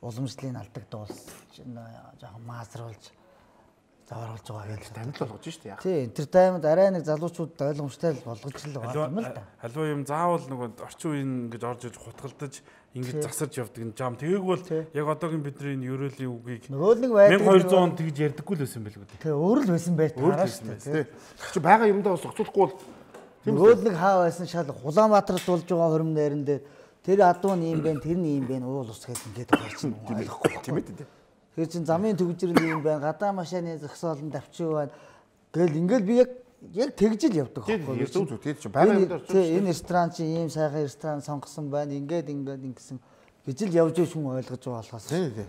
уламжлалын алдагдуулж жоохон маасруулж завааруулж байгаа гэж амьд болгож штэ яах. Тий, entertainment арай нэг залуучууд ойлгомжтой болгож л байгаа юм л да. Халиваа юм заавал нэг орчин үеийн ингэж орж иж хутгалдаж ингэж засарч явдаг юм жам. Тэгээг бол яг одоогийн бидний ерөөлийн үгийг нөгөө нэг байдаг мянга хоёр зуун онд тэгж ярьдаггүй л байсан байлгүй дээ. Тий, өөр л байсан бай таараа штэ. Тий. Чи байгаа юмдаа бас оцуулахгүй бол нөгөө нэг хаа байсан шал Улаанбаатарт болж байгаа хорим найран дээр тэр адуу нь юм бэ, тэр нь юм бэ, уул ус гэсэн ингээд гарчин ойлгохгүй тийм ээ тий. Тэр чин замын төгжрэл юм байна, гадаа машины зогсоолн давчив байна. Тэгэл ингээл би яг яг тэгж л явдаг байхгүй юу? Зүг зүг тийм ч байгаа юм дээр. Тий, энэ ресторан чи ийм сайхан ресторан сонгосон байна. Ингээд ингээд ингэсэн гэж л явж ийш хүн ойлгож байгаа болохоос. Тий, тий.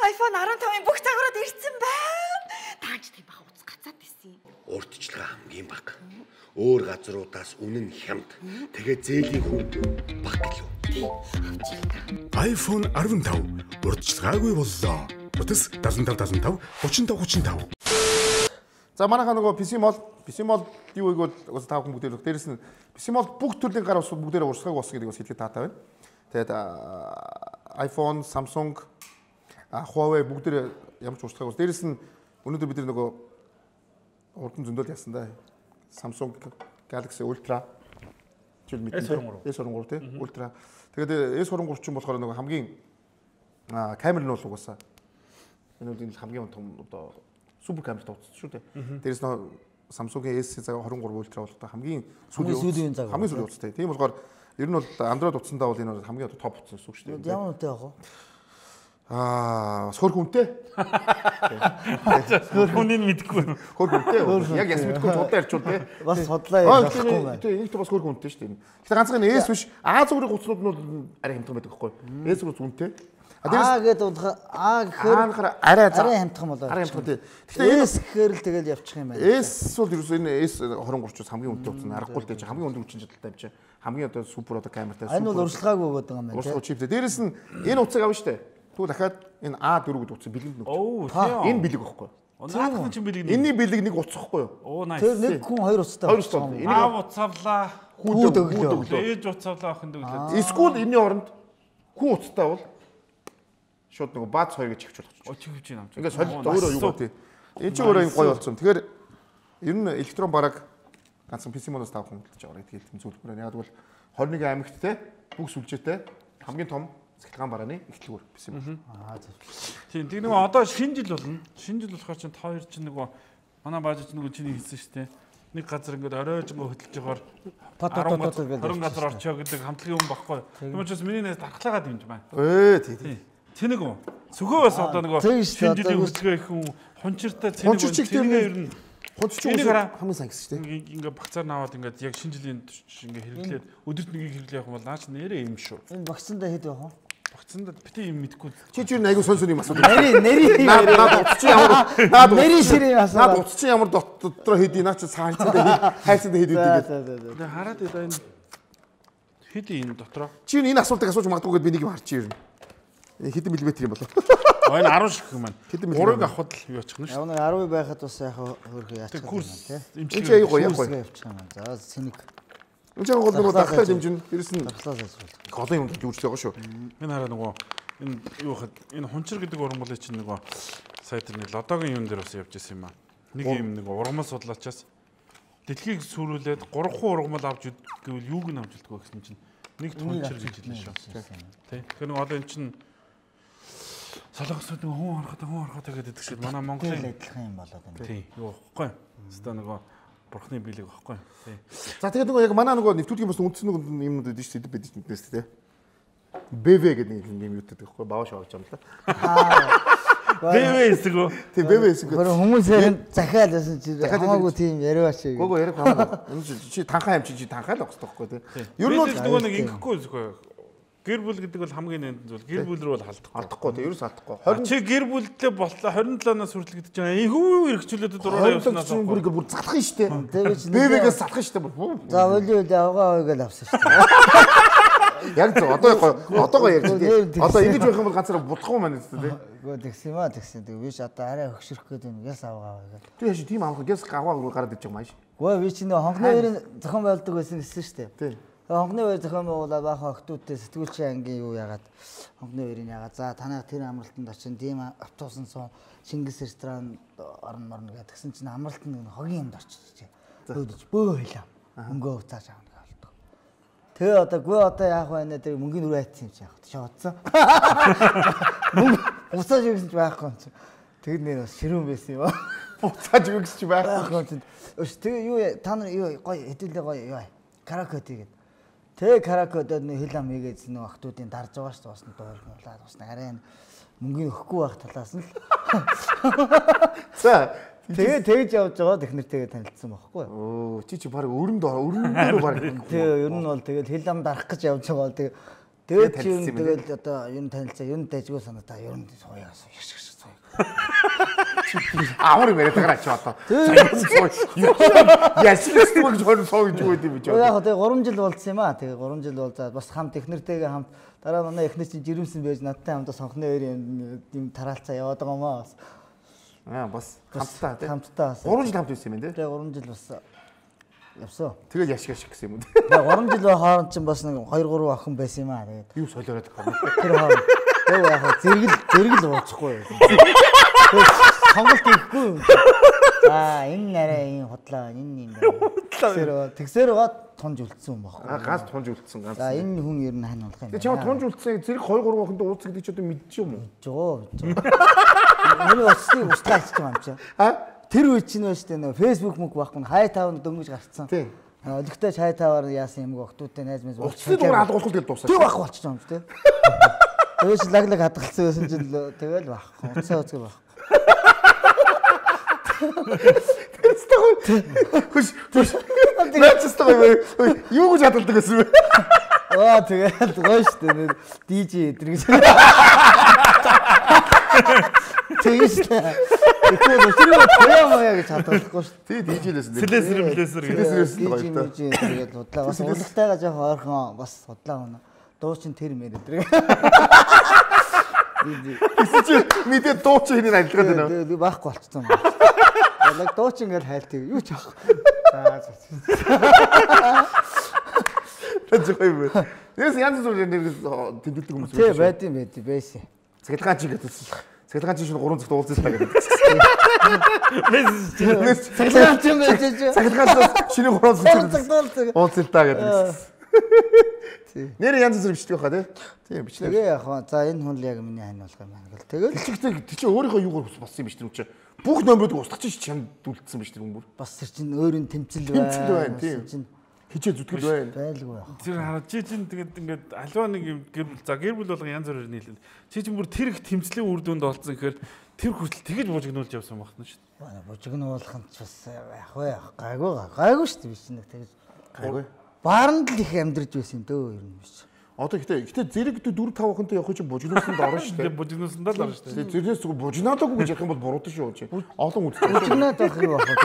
iPhone арван тавын бүх цагаараад ирсэн байна. Тааж тийм баха уц гацаад исэн. Урдчлага хамгийн бага. Өөр газруудаас үнэн хямд. Тэгээ зээлийн хүн баг гэлөө. iPhone арван тав урдчлагаагүй боллоо. Утас дадлан тав дадлан тав гучин тав гучин тав. За манайхаа нөгөө пи си мол, пи си мол юу гэвэл уус тав хүн бүгдээр дээрээс нь пи си мол бүх төрлийн гар ус бүгдээр урсгаг ус гэдэг бас хэлэхэд таатай байна. Тэгээд iPhone, Samsung, Huawei бүгдээр ямар ч урсгаг ус. Дээрээс нь өнөөдөр бид нөгөө урдан зөндөл яасан да. Samsung Galaxy Ultra чил мэт эс двадцать три тий Ultra. Тэгээд эс двадцать три ч юм болохоор нөгөө хамгийн камер нь бол угаасаа энэ үеийн хамгийн том одоо супер камер тооцсон шүү дээ. Дээрээс нь Samsung-ийн эс двадцать три Ultra бол одоо хамгийн сүүлийн хамгийн сүүлийн утастай. Тийм болохоор ер нь бол Android утсандаа бол энэ хамгийн одоо топ утсан гэсэн үг шүү дээ. Ямар үнэтэй баг вэ? Аа, бас хөр хүнтэй. Хөр хүнийг мэдэхгүй. Хөр хүнтэй. Яг яс мэдгүй судлаа ярьчул тий. Бас судлаа ярихгүй байна. Тий, энэ ч бас хөр хүнтэй шүү дээ. Гэтэ ганцхан эс биш, А зүрийн утаснууд нь арай хямдхан байдаг байхгүй. Эс зүрх үнэтэй. А гэдэг унтах А гэхээр арай арай хямдхан болоо. Арай хямдхан тий. Гэтэ эс гэхээр л тэгэл явчих юм байна. Эс бол ерөөсөө энэ эс двадцать три-ус хамгийн үнэтэй утас нь аргагүй л дээ. Хамгийн өндөр хүчин чадалтай юм чи. Хамгийн одоо супер одоо камертай. Энэ бол урьдчилгаагүй байгаа юм байна. Урьдчилгаа чиптэй. Дээрээс нь энэ утсыг авна шүү дээ. Тэгвэл дахиад энэ А four гэдэг утсыг бэлгэнд нөхөж. Оо тийм. Энэ бэлэг байхгүй. Наадах чинь бэлэг. Энийний бэлэг нэг утас байхгүй юу? Оо nice. Тэр нэг хүн хоёр утастай. Хоёр утастай. Энийг А уцавлаа. Хүүд өглөө. Ээж уцавлаа охин өглөө. Эсвэл энэний оронд хүн утастай бол шууд нэг бац хоёр гэж хөвч болох. Оо чивж юм. Ингээд солилт өөрөө юу гоо тий. Энэ ч өөрөө гоё болсон. Тэгэхээр ер нь электрон бараг ганцхан пи си модоос тавхан хөдөлж байгаа гэдэг хэлтэн зүйлбэр. Яг бол twenty-one аймагт те бүх сүлжээтэй хамгийн том цахилгаан барааны эхлэлгүүр пи си мод. Аа зөв. Тийм тийм нөгөө одоо шинэ жил болно. Шинэ жил болохоор чинь та хоёр чинь нөгөө манай бааж чинь нөгөө чиний хэлсэн шүү дээ. Нэг газар ингээд оройжгоо хөдөлж байгаагаар харин газар орчоо гэдэг хамтлагийн юм баггүй. Тийм учраас миний нээс дархлаагаад юм байна. Ээ тий тий. Цэнийг үү? Сөхөө бас одоо нөгөө шинэ жилийн хөдөлгөөн их хүн хончиртай цэнийг үнэ ер нь хончирч хамгийн сайн гэсэн шүү дээ. Ингээ багцаар наваад ингээд яг шинэ жилийн ингээ хэрэглээд өдөрт нэгийг хэрэглэх юм бол наач нэрээ юм шүү. Энэ багцандаа хэд байх вэ? Багцандаа бити юм мэдгүй. Чи ч юу нэг айгу сонь сонь юм асуу. Нэри нэри наад утас чи ямар наад нэри ширээ асуу. Наад утас чи ямар дотроо хэд наа чи цаанцаа хайцаа хэд хэд гэдэг. Хараад байгаа энэ хэд энэ дотроо. Чи энэ асуултыг асууж магадгүй гэд би нэг юм харчих юм. Хэдэн миллиметр юм болов? Аа энэ ten шиг юм байна. Гурыг авахд юу очих нь шүү. Яг нэг ten байхад бас яг хөрхөө яачих юм байна тий. Энд чи аяг гоё гоё явчих юм байна. За цэник. Энд чинь гол нөгөө дахлаа дэмжин ирсэн. Дахлаа сайжруул. Голын юм дүүрч байгаа шүү. Энэ хараа нөгөө энэ юу хад энэ хунчир гэдэг уран болоо чинь нөгөө сая тэр нэг лодогийн юм дээр бас явж исэн юм аа. Нэг юм нэг ургамал судлаачаас дэлхийг сүрүүлээд гурван ургамал авч гэвэл юуг нь авч илтгөө гэсэн чинь нэг хунчир гэж хэлсэн шүү. Тий. Тэгэхээр нөгөө одоо эн чинь солонгосууд нэг хүн харахад хүн харахад гэдэг шиг манай Монголын адилхан юм болоод байна. Тий. Юу واخгүй. Хэвээ нөгөө бурхны биелэг واخгүй. Тий. За тэгээд нөгөө яг манай нөгөө нэвтрүүлгийн бас үндсэн нэг юмнууд байдаг шүү дээ байдаг шүү дээ тий. бэ вэ гэдэг нэг юм юутай байхгүй бааш авч юм л та. бэ вэ эсгөө. Тий бэ вэ эсгөө. Гөр хүмүүсээр захиал байсан чи хамаагүй тийм яриач шиг. Гого ярих хамаагүй. Энэ чи танхаа юм чи чи танхаа л авах хэрэгтэй байхгүй тий. Ер нь бол нөгөө нэг ингэхгүй зөхөө. Гэр бүл гэдэг бол хамгийн нэнтэн зүйл. Гэр бүл рүү бол халдахгүй. Алдахгүй тий ерөөс алдахгүй. Чи гэр бүлдээ боллоо twenty seven-аас хүртэл гэдэг чинь эйхүү эргчлөөд дураараа явснаас бүр бүр бүр залах нь штэ. Тэгээд бэ вэгээс залах нь штэ бүр. За өлийн үл авгаа ойгоо авсан штэ. Яг зөв. Одоо гоё. Одоо гоё ярьж тий. Одоо ингэж байх юм бол ганцаараа булахгүй маань үстэй тий. Үгүй тэгсэн юм аа тэгсэн. Тэг биш одоо арай хөгшрөх гээд юм яс авгаа гэдэг. Тий яаш тийм амх гэс гаваа гараад иж байгаа юм ааш. Үгүй би чинь хонхны хоёрын зохион байгуулдаг байсан гэсэн шүү дээ. Тий. Хонхны хоёр зохион байгуулаад баахаа охтуудтай сэтгүүлчийн ангийн юу яагаад хонхны хоёрын яагаад за танаа тэр амралтанд очин тийм автобусын сон Чингис ресторан орно морно гэдгсэн чинь амралтанд хогийн юмд орчих. Өөдөж бөө хэлээ. Мөнгөө уцааж авах гэж болдог. Тэгээ одоо гүй одоо яах вэ нэ тэр мөнгөний өрөө айцсан юм чи яах вэ? Чи бодсон. Мөнгө уцааж өгсөн ч байхгүй юм чи. Тэр нэр бас ширүүн байсан юм аа. Уцааж өгсөн ч байхгүй юм чи. Өш тэгээ юу та нар юу гоё хэдүүлээ гоё юу караоке тэгээд. Тэгээ караокедод нэг хэл ам хийгээд нэг охтуудын дарж байгаа шүү дээ. Бас нэг дуурах болоод бас арай мөнгөний өгөхгүй байх талаас нь л. За тэгээ тэгж явж байгаа технэртэйгээ танилцсан байхгүй юу? Оо чи чи баг өрөнд өрөнд баг. Тэгээ ер нь бол тэгэл хэл ам дарах гэж явж байгаа бол тэгээ тэгээд чи юм тэгэл одоо ер нь танилцаа ер нь дайжгүй санаа ер нь сууяас яш яш сууя. Амар юм яриад байгаа ч одоо. Яс яс гэж хөрн суу гэж үгүй юм чи. Яг тэгээ гурван жил болцсон юм аа. Тэгээ гурван жил болзаад бас хам технэртэйгээ хамт дараа манай эхнэр чинь жирэмсэн байж надтай хамтаа сонхны хоёрын юм тараалцаа яваад байгаа юм аа. Аа бас хамтдаа тий. Хамтдаа бас. гурван жил хамт байсан юм тий. Тэгээ гурван жил бас явсан. Тэгэл яшиг яшиг гэсэн юм уу. Тэгээ гурван жил хооронд чинь бас нэг хоёр гурван охин байсан юм аа. Тэгээд юу солиороод байгаа. Тэр хооронд тэгээ яг зэрэгэл зэрэгэл уучихгүй юу. Сонголт хийхгүй юм. Аа энэ нарай энэ худлаа энэ юм байна. Тэгсээр байгаа тунж үлдсэн юм баггүй. Аа ганц тунж үлдсэн ганц. За энэ хүн ер нь хань болох юм байна. Тэгээ чам тунж үлдсэн зэрэг хоёр гурван охинд уулзах гэдэг чи одоо мэдчих юм уу? Жоо. Миний өссөн устгаж байгаа юм чи. Аа тэр үе чинь байж тээ нөө фэйсбүүк мөг байхгүй нь хай тавны дөнгөж гарцсан. Тийм. Олигтой хай таваар яасан юм охтуудтай найз мэз уулзсан. Уцны дугаар алгуулах тэгэл дуусаа. Тэр байхгүй болчих юм тий. Тэгээс лаглаг хадгалсан байсан чинь тэгэл байхгүй. Уцаа уцгэр байхгүй. Хүш хүш. Наачихсан юу гэж хадгалдаг гэсэн бэ? Аа тэгэл гоё штэ нэр дижей эдэр гэж. Тэгэж штэ. Ихэнх өчрөө баяа гэж хадгалахгүй штэ. Тий дижейлээс нэр. Слэсэр блэсэр Слэсэрээс гоё та. Тэгээд удлаа бас урлагтайгаа жоох ойрхон бас удлаа өнө. Дуу чин тэр мэр эдэр. Гэсэн чи мэдээ дуу чи хэнийг адилгаад байна уу? Тэгээд баахгүй болчихсон. Яг дуу чи ингээл хайлтыг юу ч аахгүй. За за. Тэжгүй юм. Яс янз бүрийн тэмдэглэдэг хүмүүс. Тий байд юм байд байсан. Цэглгаан чи гэдэг. Цэглгаан чи шин гурван цагт уулзсан та гэдэг. Цэглгаан чи байж чи. Цэглгаан шинэ гурван цагт уулзсан та гэдэг. Нэр янз бүр бичдэг хаа тий. Тийм бичлээ. Тэгээ яг хаа за энэ хүн л яг миний хань болох юм байна гэл. Тэгэл Тэгчтэй тий чи өөрийнхөө юугаар болсон юм биш тэр юм чи. Бүх номеруудыг устгах чинь чамд үлдсэн биш тэр хүн бүр. бас тэр чинь өөрийн тэмцэл байна. Тэмцэл байна тийм. Хичээ зүтгэл байна. Байлгүй байх. Тэр хараа чи чинь тэгээд ингээд альва нэг юм гэр бүл за гэр бүл болго янз бүрээр нийлэн. Чи чинь бүр тэр их тэмцлийн үр дүнд олцсон гэхээр тэр хүртэл тэгэж бужигнуулж явсан байна шүү дээ. Бужигнуулах нь ч бас яах вэ? Гайгүй гайгүй шүү дээ биш нэг тэгэж. Гайгүй. Бааранд л их амьдарч байсан юм дөө ер нь биш. Одоо ихтэй ихтэй зэрэг дөрв тав охинтой явах чинь бужигнуулсанд орно шүү дээ. Тэгээд бужигнуулсандаа л орно шүү дээ. Зэрэгээс зүгээр бужигнаалаагүй гэж ярих юм бол буруудах шүү чи. Олон үздэг. Бужигнаад байх юу байх вэ?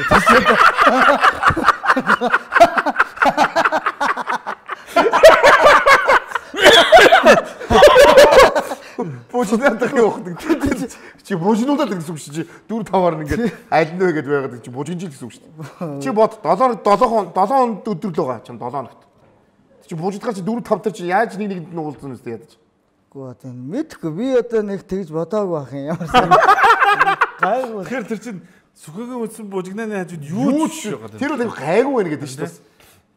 Бужигнаадах явахдаг. Чи бужигнуулаад гэсэн үг чи дөрв таваар ингээд аль нь вэ гэдээ байгаад чи бужигнжил гэсэн үг шүү дээ. Чи бод долоо долоо долоо өдөр л байгаа чинь долоо хоногт. Чи бужигдгаар чи дөрв тав тар чи яаж нэг нэгэнд нь уулзсан үстэй ядаж. Гүү тийм мэдхгүй би одоо нэг тэгж бодоагүй байх юм ямар сан. Гайгүй. Тэгэхээр тэр чинь сүхэгийн үтсэн бужигнааны хажууд юу ч байгаа. Тэр бол гайгүй байна гэдэг шүү дээ.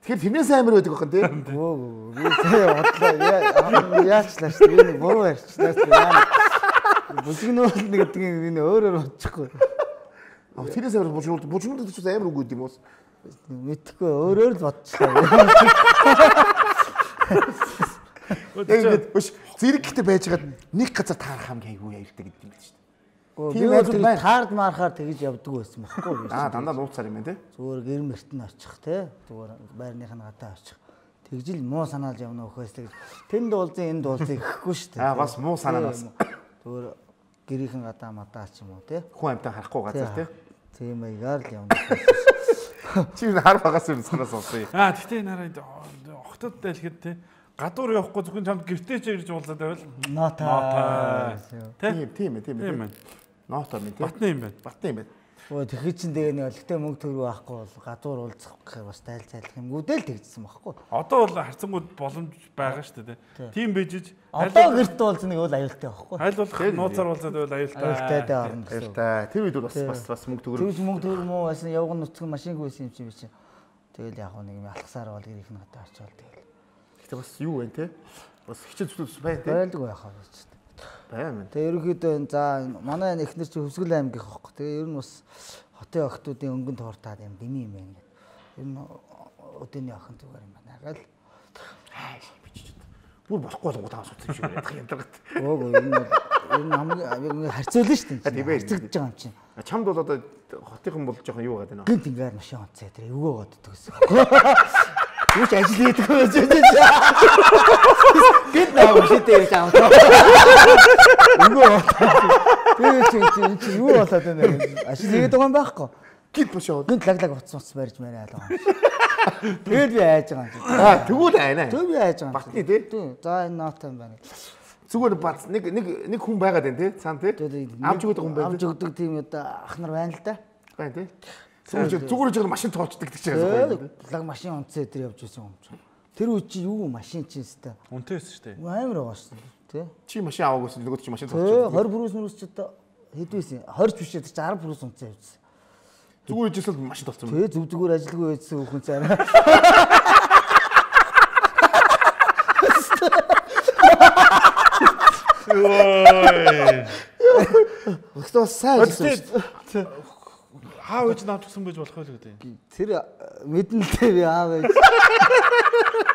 Тэгэхээр тэрнээс амар байдаг бахан тий. Гүү би тэгээ бодлоо яачлаа шүү дээ. Нэг буруу ярьчлаа шүү дээ. Бужигнуул нэг гэдэг нь өөрөөр бодчихгүй. А тэрнээс амар бужигнуул бужигнуул гэж амар үг гэдэг юм уу? Мэдхгүй өөрөөр л бодчихлаа. Тэгээд өш зэрэг ихтэй байжгаад нэг газар таарах хамгийн айгүй аюултай гэдэг юм байна шүү дээ. Тийм байх таард мархаар тэгж явдаг байсан байхгүй юу? Аа дандаа нууцаар юм байна те. Зүгээр гэр мөрт нь очих те. Зүгээр байрных нь гадаа очих. Тэгжил муу санаалж явна өхөөс тэгж тэнд дуулзын энд дуулзыг гэхгүй шүү дээ. Аа бас муу санаанаас. Зүгээр гэрийнхэн гадаа мадаа ч юм уу те. Хүн амьтаа харахгүй газар те. Тийм аягаар л явна. Чи хар багаас юм санаас олсон юм. Аа тэгтээ нараа охтод дайлхэд те гадуур явахгүй зөвхөн чамд гэртээ ч ирж уулзаад байвал Нота. Тийм тийм тийм тийм байна. Ноото минь тийм. Батны юм байна. Батны юм байна. Өө тэгэхэд чинь тэгээ нэг өлегтэй мөнгө төгрөг байхгүй бол гадуур уулзах гэхээр бас тайл цайлах юм гүдэл тэгжсэн байхгүй. Одоо бол харцангууд боломж байгаа шүү дээ. Тийм бижиж Одоо гэрт уулзах нэг бол аюултай байхгүй. аль болох нууцаар уулзаад байвал аюултай. Аюултай дээ орно гэсэн. Аюултай. Тэр үед бол бас бас бас мөнгө төгрөг. Тэгж мөнгө төгрөг муу байсан явган нутгийн машингүй байсан юм чи би чи. Тэгэл яг нэг юм алхасаар бол гэрийнх нь одоо очивол тэгэл. Гэтэ бас юу вэ те? Бас хичээл зүтс байна те. Байлдаг байх аа ч. Байна. Тэгээ ерөнхийдөө за манай эхнэр чи Хөвсгөл аймгийнх байхгүй. Тэгээ ер нь бас хотын охтуудын өнгөнд хууртаад юм дими юм байна. Ер нь өдөөний охин зүгээр юм байна. Гэл бүр болохгүй болгоо таа асуусан юм шиг ядах юм даа. Өөг ер нь ер нь хамгийн харьцуулна шүү дээ. Харьцагдж байгаа юм чинь. Чамд бол одоо хотынхан бол жоохон юу гадаг нэ. Гинт ингээд машин онцоо тэр эвгөө боддог гэсэн. Юу ч ажил хийдэг байж байж. Гинт наа машинтэй явж аваа. Эвгөө. Тэр чинь чи юу болоод байна вэ? Ажил хийгээд байгаа юм байхгүй. Гинт машин. Гинт лаглаг утас утас барьж марай алгаа. Тэгэл би айж байгаа юм. Аа тэгвэл айна. Тэг би айж байгаа. Батны тий. За энэ ноот юм байна. Зүгээр бац нэг нэг нэг хүн байгаад байна тий. Цаан тий. Амж өгдөг хүн байна. Амж өгдөг тийм одоо ах нар байна л да. Байна тий. Зүгээр зүгээр жиг машин тоочдаг гэж байгаа. Лаг машин онцоо тэр явж байсан юм чинь. Тэр үе чи юу машин чинь өстэй. Үнтэйсэн шүү дээ. Амар байгаа шүү дээ. Тий. Чи машин аваагүйс нөгөө чи машин тоочдаг. тоочдаг. двадцать бүрээс мөрөс ч одоо хэдвэсэн. двадцать биш тэр чи десять бүрээс онцоо явжсэн. Зүгээр ижил машин толцсон. Тий зүг зүгээр ажилгүй байжсэн хүн цаараа. Ой. Өстөө сайн ажилласан. Хаа гэж наадсан байж болох байлгүй дээ. Тэр мэднэлтэй би аа байж.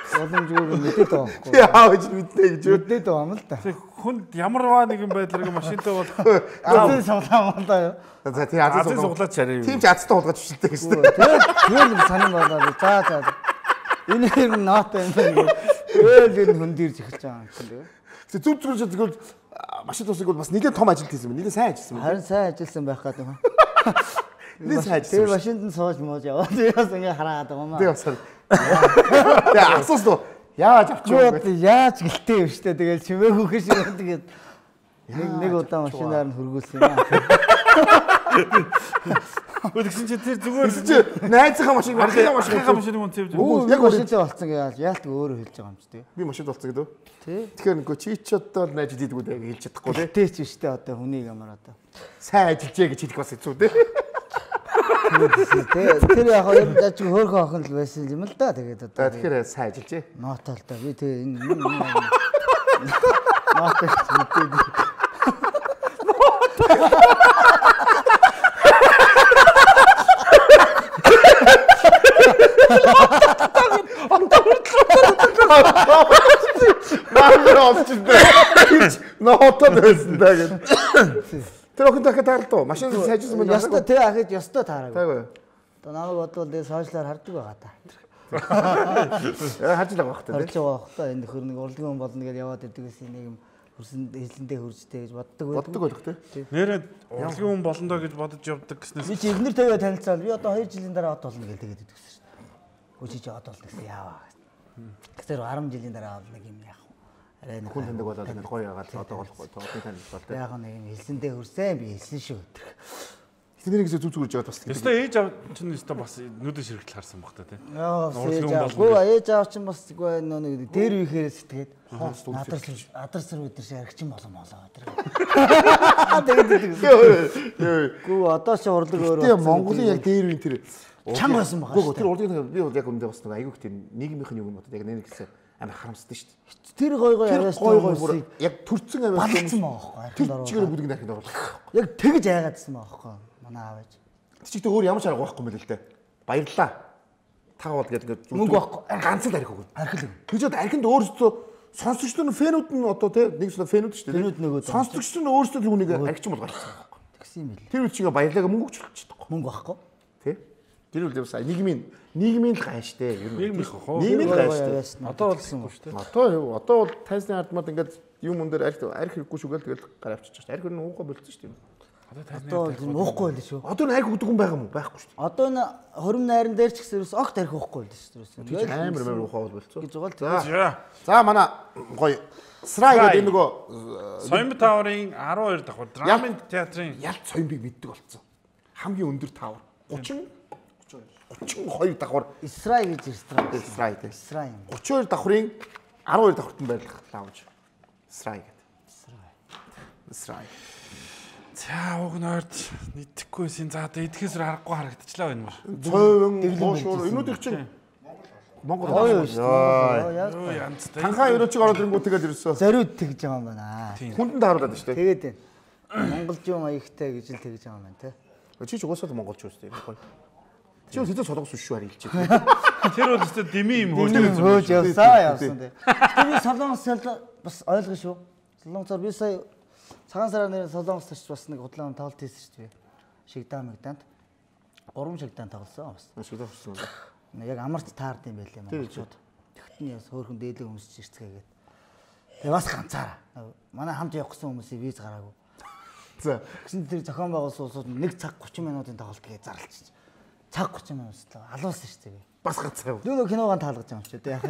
Боломжгүй мэдээд байгаа байхгүй. Тий аа гэж мэднэ гэж мэдээд байгаа юм л да. Хүнд ямарваа нэгэн байдлаар машинтай болох. Азийн суглаа юм да юу. За тий азийн суглаад чараа. Тийм ч азтай хулгаж шилдэг гэсэн. Тэр тэр санин болоод за за. Энэ хэр ноот юм бэ? Ээл энэ хүнд ирж эхэлж байгаа юм чинь. Тэг зүг зүг зүгээр машин тусыг бол бас нэлээд том ажил хийсэн юм. Нэлээд сайн ажилласан юм. Харин сайн ажилласан байх гэдэг юм. Нэлээд сайн ажилласан. Тэр машинд нь сууж мууж яваад яас ингэ хараад байгаа юм аа. Тэг бас. Тэг асуусан уу? Яаж авчих вэ? Яаж гэлтэй юм штэ. Тэгэл чимээгүй хэр шиг тэгээд нэг нэг удаа машинаар нь хөргүүлсэн юм аа. Тэгсэн чи тэр зүгээр чи найзынхаа машин архигаа машин архигаа машин хүн цэвж. Яг машинтай болцсон гэж яалт өөрөө хэлж байгаа юм ч тий. Би машин болцсон гэдэг. Тий. Тэгэхээр нөгөө чи ч одоо найз хийдгүү дээ хэлж чадахгүй тий. Тий ч штэ одоо хүнийг ямар одоо сайн ажиллажээ гэж хэлэх бас хэцүү тий. Тэр яг хоёр даж хөөхөн охин л байсан юм л да. Тэгээд одоо тэгэхээр сайн ажиллажээ. Ноотол та би тий энэ ноотол мэдээ. Маа авчихсан. Ноотод байсан даа гэж. Тэр охин дахиад таарлаа. Машин сайжсан байна. Яста тий ахиж яста таараа. Тайгаа. Одоо намайг бодвол дээ сошиалаар хардаг байгаа та. Яа харж байгаа бах та тий. Харж байгаа бах та энэ нөхөр нэг урлагийн хүн болно гэж яваад идэг гэсэн нэг юм хөрсөн хэлэндээ хөржтэй гэж боддог байдаг. Боддог байх тий. Нэрээ урлагийн хүн болно доо гэж бодож явдаг гэснээс би чи эхнэр тавиа танилцаад би одоо хоёр жилийн дараа од болно гэж тэгээд идэг гэсэн шүү дээ. Үгүй чи од болно гэсэн яаваа. Тэгэхээр десять жилийн дараа од нэг юм яах вэ? Арай нэг хүн таньдаг болоод ингэ гоё яагаад одоо болохгүй тоодны танилцал тий. Яг нэг юм хэлсэндээ хөрсөн би хэлсэн шүү. Тэднийг зүг зүг үрж яваад бас. Өстой ээж аав чинь өстой бас нүдэн ширхтэл харсан баг та тий. Яа, ээж аав чинь бас үгүй нэг дээр үехээр сэтгэгээд адар адар сар өдөр шиг аригчин болон болоо өдөр. Тэгээд гүү одоо ч урлаг өөр. Тэгээ Монголын яг дээр үе тэр чанга байсан байгаа. Гүү тэр урлагийн би бол яг өндөө бас нэг айгүй их тэр нийгмийнх нь юм бодод яг нэг гэсэн амар харамсдаг шүү дээ. Тэр гой гой аваас гой гой яг төрцөн аваас балцсан байгаа байхгүй. Тэр чигээр бүгд нархинд оруулах. Яг тэгж айгаадсан байгаа байхгүй. Манай аав ээж. Тэр чигтээ өөр ямар ч арга байхгүй мэл л дээ. Баярлаа. Та бол гэдэг ингээд мөнгө байхгүй. Ганц л архи өгнө. Архи л. Тэгжээд архинд өөрсдөө сонсогчдод нь фэнүүд нь одоо тий нэг сонь фэнүүд шүү дээ. Фэнүүд нөгөө сонсогчдод нь өөрсдөө л үнийг архичин болгочихсон байхгүй. Тэгсэн юм бэл. Тэр үе чигээ баярлаага мөнгө өгчлчихдэг. Мөнгө байхгүй. Тий. Тэр үл явсаа нийгмийн нийгмийн л гай штэ ер нь. Нийгмийн хоо. Нийгмийн гай штэ. Одоо бол гэсэн шүү дээ. Одоо одоо бол тайсны хардмад ингээд юм өндөр арх арх хэрэггүй шүгээл тэгэл гар авчиж штэ. Арх нь уухай болцсон штэ. Одоо л уухгүй байл шүү. Одоо нэг айг өгдөг хүн байгаа юм уу? Байхгүй шүү. Одоо энэ хорим найран дээр ч гэсэн огт арх уухгүй байл шүү. Тэр амар амар уухаа болцоо. Гэж байгаа л. За. За манай гоё Срай гэдэг энэ нөгөө Соёмб тааврын арван хоёр давхар драмын театрын ялт Соёмбыг мэддэг болсон. Хамгийн өндөр таавар гучин гучин хоёр давхар Исрай гэж Исрай. Исрай тийм. Исрай юм. гучин хоёр давхрын арван хоёр давхарт нь байрлах лаунж. Исрай гэдэг. Исрай. Исрай. За уг нойрд нийтгэхгүйсэн. За одоо идэхээс харахгүй харагдчихлаа энэ мөр. Цойвон гоошуур энүүдийг чинь Монгол Ой ёо. Юу янзтай. Танхаа өрөөчиг ороод ирэнгүү тэгээд ирсэн. Зориуд тэгж байгаа юм байна. Хүндэн тааруулаад шүү дээ. Тэгээд энэ монголжуу маягтай гэж л тэгж байгаа юм байна те. Чи ч угаасаа монголч үстэй гоё. Чи хэзээ солонгос биш шүү харилж. Тэр бол өстө дими юм хөөж хөөж явсаа явсан те. Тэр солонгос бас ойлгоо шүү. Солонгосоор би сая цагаан сараар нэр солонгос ч бас нэг худлаа тоглолт хийсэн шүү дээ. Шигдаа мэгдаанд гурван шигдаан тоглосон бас. Шигдаа болсон. Яг амарч таард юм байлээ монголчууд. Тэгт нь яс хөөрхөн дээлэг өмсөж ирцгээгээд. Тэгээ бас ганцаараа. Манай хамт явах гэсэн хүмүүсийн виз гараагүй. За. Гэсэн тэр зохион байгуулсан улсууд нэг цаг гучин минутын тоглолт гээ зарлчих. Цаг гучин минут л алуулсан шүү дээ. Бас ганцаа. Нөгөө киногоо таалгаж байгаа юм чи дээ.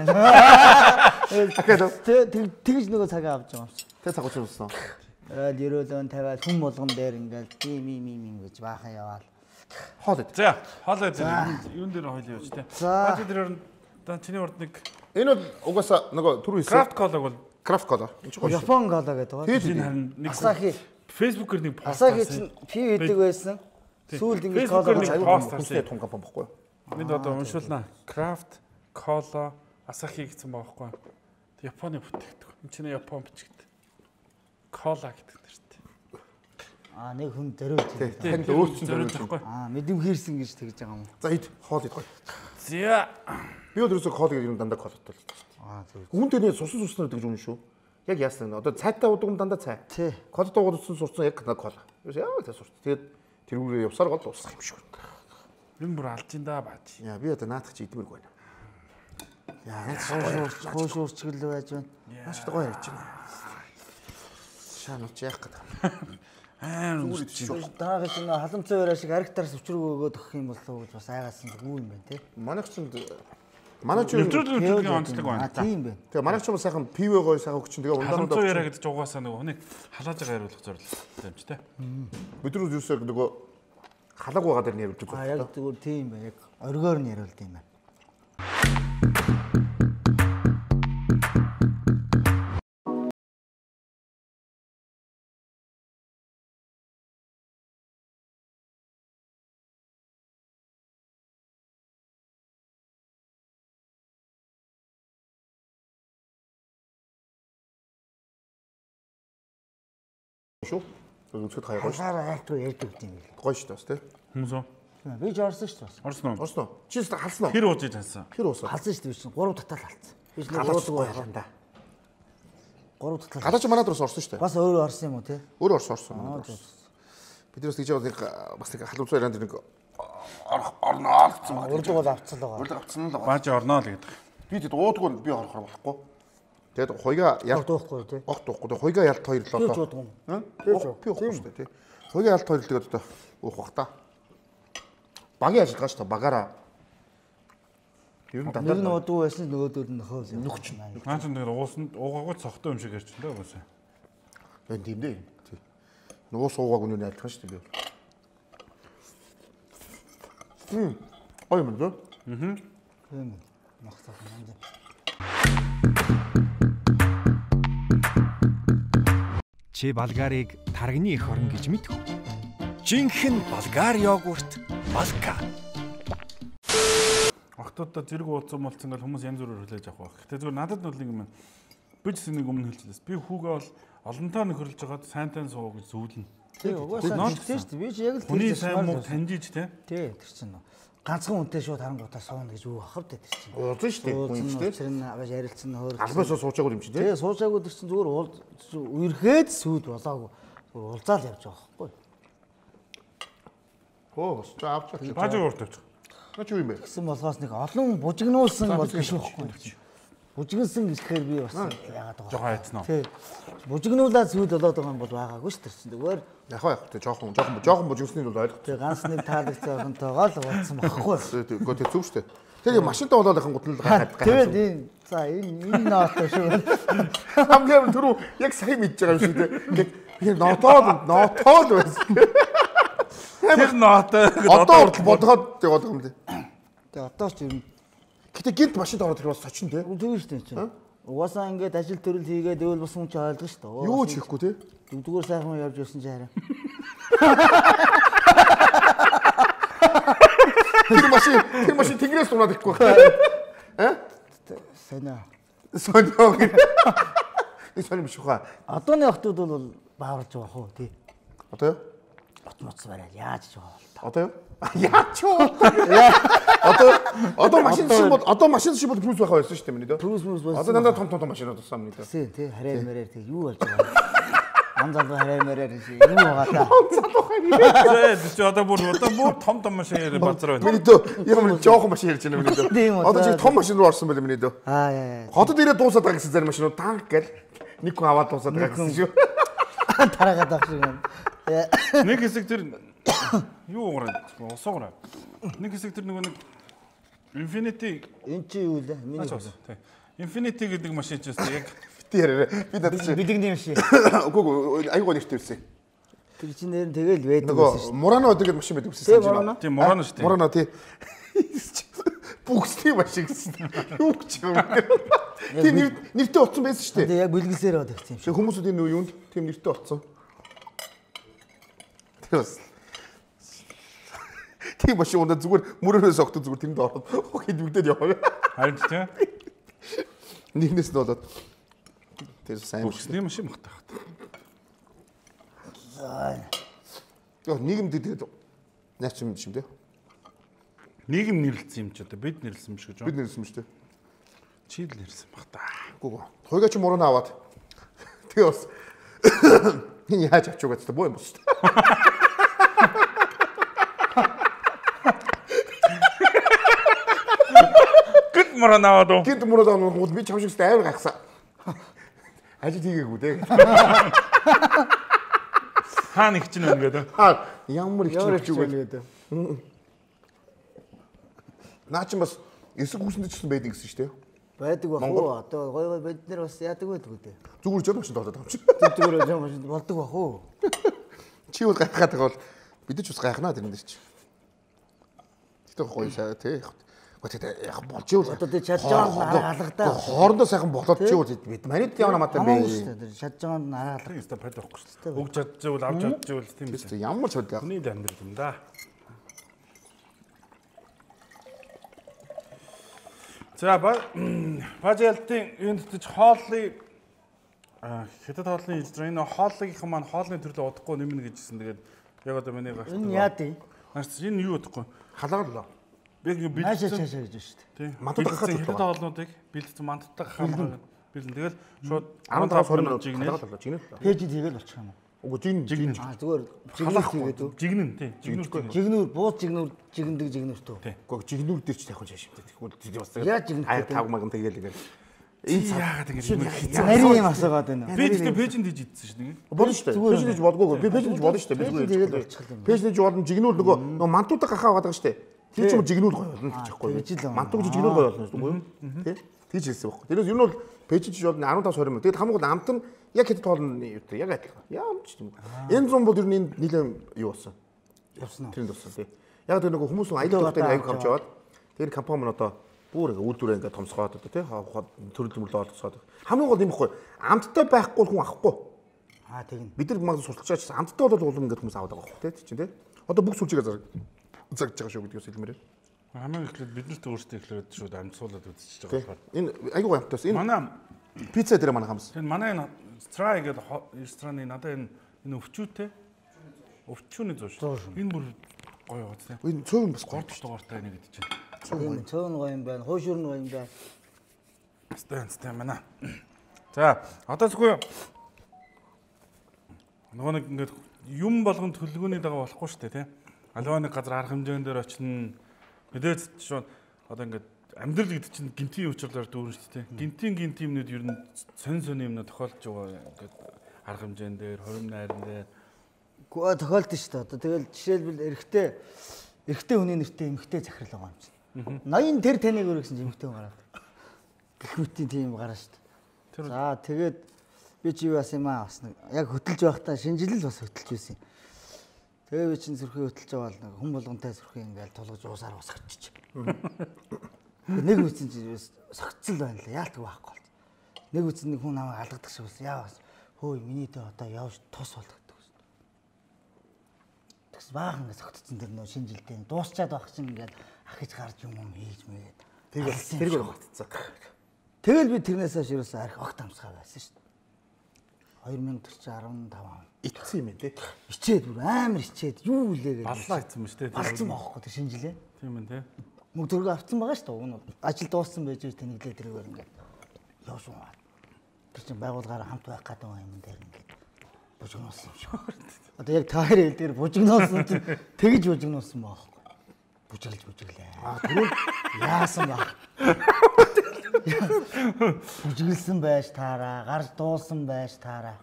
Тэг тэгж нөгөө цагаа авч байгаа юм чи. Тэг цаг гучин болсон. Ороод ерөөлөн тавиад хүн болгон дээр ингээл ийм ийм ийм гэж баахан яваал. Хоол. За, хоолой дээр юун дээр хойлоо явж тээ. Бааж дээр одоо чиний урд нэг энэ угаасаа нөгөө түрүү хэлсэн. Крафт колог бол Крафт кола. Энэ ч гоё. Япон кола гэдэг байгаа. энэ харин нэг Асахи. Facebook-ээр нэг пост Асахи чинь пив идэг байсан. Сүүлд ингэж кола нэг пост хийсэн том компани баггүй. Энд одоо уншуулнаа. Крафт кола Асахи гэсэн байгаа байхгүй. Японы бүтээгдэхүүн. Энэ чинь Япон бичигдэ. Кола гэдэг нэртэй. Аа нэг хүн зориулж байна. Танд өөрчлөлт зориулж байхгүй. Аа мэдэм хийрсэн гэж тэгж байгаа юм. За ид хоол ид гоё. За. Би өдрөөсөө хоол гэдэг юм дандаа колотой л. Аа зөв. Хүн дээр сусан суснаар гэж үнэн шүү. Яг яасан одоо цайтай удаг юм дандаа цай. Тий. Кол дуугдсан сурцсан яг кола. Яа тэ сурц. Тэгээд тэрүүрээ явсаар гол дуусах юм шиг. Энэ бүр алж ин да баач. Яа би одоо наадах чи идмэргүй байна. Яа Хоошуурч хоошуурчгэл байж байна. Маш гоё ярьж байна. Шаанууч яах гэдэг. Аа үгүй. Даагч энэ халамцсан өрөө шиг аригтараас өчрөг өгөөд өгөх юм болов уу гэж бас айгаасан гүү юм байна те. Манайх чинь манай ч нэвтрүүлэг нэвтрүүлгийн онцлог байна. Тийм байна. Тэгээ манайх ч бас сайхан пивэ гоё сайхан өгч чинь тэгээ ундаа Халамцсан яриа гэдэг чинь угаасаа нөгөө хүнийг халааж байгаа яриулах зорилготой юм чи те. бид нар юусаа нөгөө халаг байгаа дээр нь ярьж Аа байгаа. яг зүгээр тийм байна. Яг оргоор нь яриулд юм байна. Шүү. Үзэхэд хаяа гоё шүү. Хасаараа айлт руу ярьдаг юм билээ. Гоё шүү дээ тий. Хүмүүс үү? Би ч орсон шүү дээ. Орсон уу? Орсон уу? Чи ч халсан уу? Хэр ууж идсэн? Хэр уусаа? Халсан шүү дээ би чинь гурав татал халсан. Би ч нэг Галаач уудаг гоё байлаа. да. Гурав татал. Галаач манай дөрөс орсон шүү дээ. Бас өөрөө орсон юм уу те? Өөр орсон орсон. Биднээс тэгж яваад нэг бас нэг халуун цайранд нэг орноо гэсэн байна. Урд бол авцсан л байгаа. Урд авцсан л байгаа. Бааж орноо л гэдэг. Би тэд уудгүй би орохоор болохгүй. Тэгээд хоёга ялт Дуухгүй те. огт дуухгүй. Тэгээд хоёга ялт хоёр л Би ч одоо. уудгүй. Би уухгүй шүү дээ тий. Хоёга ялт хоёр л тэгээд одоо уух бах та. Багийн ажиллагаа шүү дээ багаараа. Ер нь Нэг нь дандаа уудгүй байсан нөгөөдөл нь нөхөөл юм. нөхч. Наа ч нэг уусанд уугаагүй цогтой юм шиг ярьж байна угаасаа. Энэ тийм дээ. Тий. Нөгөө суугааг үнээр айлтгах шүү дээ би. Хм. Ой мөн дээ. Аа. Тийм. Махсах юм. Чи Болгарыг таргины эх орн гэж мэдв үү? Жинхэнэ болгар йогурт Балка. Охтуудаа зэрэг уулзсан болцсон гал хүмүүс янз бүрээр хүлээж авах байх. Гэтэ зүгээр надад бол нэг юм. Би ч нэг өмнө хэлчихлээс. Би хүүгээ бол олонтоо нөхөрлж байгаад сайнтай суу гэж зүүлнэ. Тий, угаасаа тийм шүү дээ. Би ч яг л хүний сайн муу таньжиж те. Тий, тэр чинь ганцхан үнтэй шууд харангуйтаа сууна гэж үг ахав дээ тэр чинь. Уулзсан шүү дээ. Хүн юм шүү дээ. Тэр нь аваж ярилцсан хөөрөл. Албаасаа суучаагүй юм чи тий. Тий, суучаагүй тэр чинь зүгээр уул үерхэд сүйд болоогүй. Зүгээр уулзаал явж байгаа байхгүй. Хөө, ч авч авч. Бааж уурд тавьчих. Наач юу юм бэ? Гэсэн болохоос нэг олон бужигнуулсан бол биш байхгүй. Бүжигнсэн гэхээр би бас яагаад байгаа. Жохоо хайцсан уу? Тий. Бүжигнүүлээд зүйл болоод байгаа юм бол байгаагүй шүү дээ. Зүгээр яг яг тий жоохон жоохон жоохон бүжигснээ бол ойлгох. тий ганц нэг таалагцаахантайгаа л уулзсан байхгүй. Үгүй тий зүг шүү дээ. Тэр машинтаа болоод ахын гутал гайхаад гайхаад. Тэгээд за энэ энэ ноото шүү. Хамгийн түрүү яг сайн мэдж байгаа юм шиг тий. Яг нотоод нотоод байсан. Тэр ноото одоо хүртэл бодоход яваад байгаа юм тий. Тэгээ одоо ч юм. Гэтэ гинт машинд ороод тэр бас сочин тий. Тэгвэл шүү дээ чинь. Угаасаа ингээд ажил төрөл хийгээд өөл бус хүн ч ойлгож шүү дээ. Юу ч хийхгүй тий. Дүүгээр сайхан явж ирсэн чи хараа. Тэр машин тэр машин тэнгэрээс унаад ихгүй байна. Аа? Сонио. Сонио. Энэ сонио биш хаа. Одооны охтууд бол бааварж байгаа хөө тий. Одоо юу? Бот моц барай яаж ч байгаа бол. Одоо юу? Яач юу? Одоо одоо машин шиг бол одоо машин шиг бол плюс байх байсан шүү дээ миний дөө. Плюс плюс байсан. Одоо дандаа том том машинууд болсон миний дөө. Тий, тий, хараа мэрээр тий юу болж байгаа. Ан залуу хараа мэрээр юу байгаа та. Ан залуу хараа. Зэ чи одоо бүр одоо бүр том том машин ярь базар байна. Миний дөө юм жоохон машин ярьж байна миний дөө. Одоо чи том машин руу орсон байл миний дөө. Аа яа яа. Хотод ирээд дуусаад байгаа гэсэн зарим машинууд танк гэл нэг хүн аваад дуусаад байгаа гэсэн шүү. Тараагаад авах шиг юм. Нэг хэсэг тэр юу уураад усуугаар. Нэг хэсэг тэр нөгөө нэг Infinity энэ чи юу лээ? Миний тий. Infinity гэдэг машин ч гэсэн яг бити яриа. Би надад чи бэлэгний машин. Үгүй үгүй айгуу нэртэй ирсэн. Тэр чинь нэр нь тэгэл байдаг байсан шүү дээ. Мурано гэдэг машин байдаг гэсэн чинь. Тийм Мурано шүү дээ. Мурано тий. Бүгсний машин гэсэн. Юу ч юм. Тийм нэртэй утсан байсан шүү дээ. Тэгээ яг бэлгэлсээр бод гэсэн юм шиг. Хүмүүсүүд энэ юунд тийм нэртэй утсан. Тэр бас тийм машин унда зүгээр мөрөөс огт зүгээр тэнд ороод хидвэгдээд яваа. Харин тийм. Нэгнээс нь болоод тэр сайн бүсний машин багтаа. Яа нийгэмд тэгээд наач юм шиг тийм. Нийгэм нэрлэлсэн юм ч одоо бид нэрлэлсэн юм шиг гэж. Бид нэрлэлсэн юм шүү дээ. Чи л нэрлсэн баг та. Үгүй ээ. Хойгоо чи муруу аваад. Тэгээ бас энэ яаж авч угаад та боо юм бол шүү дээ. Гэнт муруу аваад уу? Гэнт муруу аваад би чам шигстэй амар гайхсан. Ажил хийгээгүй дээ. Хаана их чинь ингээд. Аа ямар их чинь үгээд. Наа чи бас эсэг хүүсэнд ч гэсэн байдаг гэсэн шүү дээ. Байдаг бах уу? Одоо гой гой бид нар бас яадаг байдаг үү? Зүгээр жоо машин доолоод авчих. Зүгээр жоо машин болдог бах уу? Чи бол гайхаад байгаа бол бид ч бас гайхнаа тэр энэ чинь. Тэгтээ гоё сая тий. Гэхдээ яг болж ивэл одоо тий чадж байгаа алгадаа. Хоорондоо сайхан болоод чи үл бид манайд явна намаатай бэ. Чадж байгаа нь алга. Тийм өстой пад байхгүй шүү дээ. Өгж чадчихвал авч чадчихвал тийм биш. Ямар ч бодлоо. Хүний амьдрал юм да. За бажалтын юунд ч хооллыг хэдэд хоолны ижрээ энэ хооллынх маань хоолны төрлөө удахгүй нэмнэ гэжсэн. Тэгээд яг одоо миний гахт. Энэ яа тий? Наач энэ юу удахгүй? Халаагаа л. Би бэлдсэн цаашаа цаашаа гэж шүү дээ. Тий. Мантад гахаад хэдэд хоолнуудыг бэлдсэн мантадтай гахаад бэлдэн. Тэгэл шууд арван таван минут халаагаа жигнэ. Пэйж тэгэл болчих юм уу? Үгүй жигнэ жигнэ. Аа зүгээр халаах гэдэг үү? Жигнэн тий. Жигнүүр. Жигнүүр бууз жигнүүр жигндэг жигнүүр төө. Үгүй жигнүүр дээр ч тайхан шаашимтай. Тэгвэл бас яаж жигнэ? Аа тав маган тэгэл ингээл. Энэ яагаад ингэ нарийн юм асуугаад байна. Би тэгтээ пэйжэнд хийж идсэн шүү дээ. Болно шүү дээ. Пэйжэнд хийж болдгоо. Би пэйжэнд хийж болно шүү дээ. Би зүгээр. Пэйжэнд хийж болно. Жигнүүр нөгөө нөгөө мантуудаа гахаа байгаа шүү дээ. Тэр чинь жигнүүр гоё болно гэж байхгүй. Мантууд жигнүүр гоё болно шүү дээ. Тэ? Тэгж хэлсэн байхгүй. Тэрээс ер нь бол пэйжэнд хийж болно арван таван минут. Тэгэд хамгийн гол амт нь яг хэд тоолно юу гэдэг яг адилхан. Яам ч юм. Энэ зам бол ер нь нийлэн юу болсон. Явсан уу? Тэрэнд болсон тий. Яг тэр нөгөө хүмүүс аялал төвтэй аяг хамж аваад тэр компани нь одоо бүр ингээ үйлдвэрээ ингээ томсгоод одоо тий төрөл төмөрлөө олгосоод хамгийн гол юм ихгүй амттай байхгүй хүн авахгүй. Аа тэгнь. Бид нар магад сурталчаач амттай бол улам ингээ хүмүүс аваад байгаа байхгүй тий чинь тий. Одоо бүх сүлжээгээ зараг зарж байгаа шүү гэдгээс хэлмээр. Хамгийн эхлээд бид нарт өөрсдөө эхлээд шууд амьдсуулаад үзчихэж байгаа болохоор. Энэ аягүй амттайс энэ манай пицца дээр манай хамс. Тэр манай энэ Страй гэдэг рестораны надад энэ энэ өвчүүтэй өвчүүний зөө шүү. Энэ бүр гоё байгаа тийм. Энэ цөөн бас горд дугаартай нэг гэдэг чинь. Цөөн цөөн гоё юм байна. Хуушур гоё юм байна. Стэн стэн манай. За одоо зөвхөн нөгөө нэг ингээд юм болгон төлөвлөгөөний дага болохгүй шүү дээ тийм. Аливаа нэг газар арга хэмжээнд дээр очино. Мэдээж шууд одоо ингээд амьдрал гэдэг чинь гинтийн уучлалаар дүүрэн шүү дээ. Гинтийн гинт юмнууд ер нь сонь сонь юмнууд тохиолдож байгаа ингээд арга хэмжээнд дээр, хорим найран дээр. Гоо тохиолдсон шүү дээ. Одоо тэгэл жишээлбэл эрэгтэй эрэгтэй хүний нэртэй эмэгтэй захирал байгаа юм чинь. ноён тэр таныг өргөсөн эмэгтэй гараад. Гэх мэтийн тийм гараа шүү дээ. За тэгээд би чи юу яасан юм аа бас нэг яг хөтөлж байхдаа шинжилэл бас хөтөлж байсан юм. Тэгээ би чинь зүрхээ хөтөлж байгаа л нэг хүн болгонтай зүрхээ ингээл тулгаж уусаар усгачиж. Нэг үсэн чи согцол байна л яалтг байхгүй бол. Нэг үсэн нэг хүн намайг алгадаг шиг бас яа бас хөөе миний дэ одоо явж тус болгодог шүү. Тэгс баахан ингээд согтцсон тэр нөө шинжилтэй дуусчаад байх чинь ингээд ахиж гарч юм юм хийж мэгээд. Тэр тэр багтцсан. Тэгэл би тэрнээс хойш ерөөсөө арх огт амсгаа байсан шүү. хоёр мянга дөрвөн таван он. Итсэн юм ээ тий. Ичээд бүр амар ичээд юу үлээ гэж. Баллаа ицсэн мэт тий. Балцсан байхгүй тий шинжилээ. Тийм ээ тий. Мөнгө төргөө авцсан байгаа шүү дээ. Уг нь ажил дууссан байж тэнэглээ тэрээр ингээд явж байгаа. Тэр чинь байгууллагаараа хамт байх гэдэг юм дээр ингээд бужигнуулсан юм шиг. Одоо яг та хоёр хэл дээр бужигнуулсан чинь тэгж бужигнуулсан байхгүй. Бужиглж бужиглээ. Аа түрүү яасан баг. Бужиглсан байж таараа, гарч дуулсан байж таараа.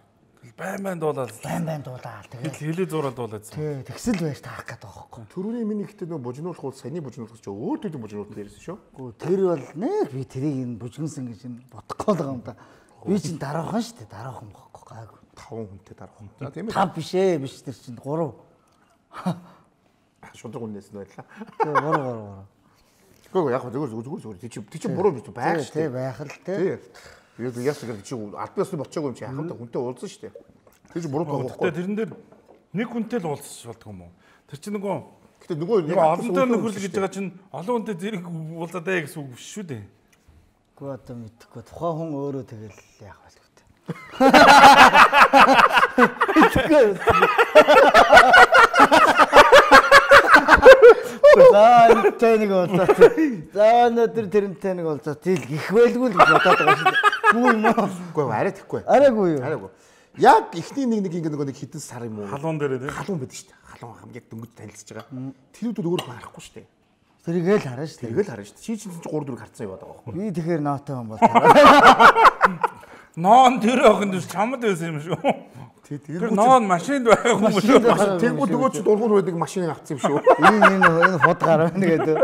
Байн байн дуулаад. Байн байн дуулаад. Тэгээд хилээ зураад дуулаад. Тий, тэгсэл байж таах гэдэг байхгүй. Төрөний миний ихтэй нөө бужигнуулах бол саяны бужигнуулах ч өөр төдий бужигнуулах дээрсэн шүү. Гүү тэр бол нэг би тэрийг энэ бужигнсан гэж энэ бодохгүй байгаа юм да. Би чинь дараахан шүү дээ, дараахан бохгүй гайгүй. таван хүнтэй дараахан. За тийм ээ. тав биш ээ, биш тэр чинь гурав. Шудраг үнээс нь байлаа. Тий, гурав гурав гурав. Гэхдээ яг зүгээр зүгээр зүгээр тий чи чи буруу биш байх шүү дээ. Тий, байх л тий. Яг яг яг чи аль биесны болчихоогүй юм чи хахамтай хүнтэй уулзсан шүү дээ. Тэр чи буруу байхгүй. Тэрэн дээр нэг хүнтэй л уулзчих болдгоо юм уу? Тэр чи нөгөө гэтээ нөгөө нэг олонтой нөхөрлөг гэж байгаа чинь олон хүнтэй зэрэг уулзаад бай гэсэн үг биш шүү дээ. Гэхдээ одоо мэдхгүй тухайн хүн өөрөө тэгэл яах вэ гэдэг. За тэнэг болоо. За өнөөдөр тэрнтэй нэг болоо. Тэл гих байлгүй л бодоод байгаа шүү дээ. Гүү юм уу? Үгүй арай тэхгүй. Арайгүй юу? Арайгүй. Яг ихний нэг нэг ингэ нөгөө нэг хитэн сар юм уу? Халуун дээр тий. Халуун байдаг шүү дээ. Халуун хамгийн дөнгөж танилцж байгаа. Тэрүүдэд өөр харахгүй шүү дээ. Тэргээл хараа шүү дээ. Тэргээл хараа шүү дээ. Чи чинь гурав дөрөв харцсан яваад байгаа байхгүй. Би тэгэхээр ноотой юм бол. Ноон тэр охин дэс чамд байсан юм шүү. Тий, тэр ноон машинд байгаа хүмүүс шүү. Тэгвэл нөгөө чи дургуур байдаг машиныг авцсан юм шүү. Энэ энэ энэ хот гараа нэгээд.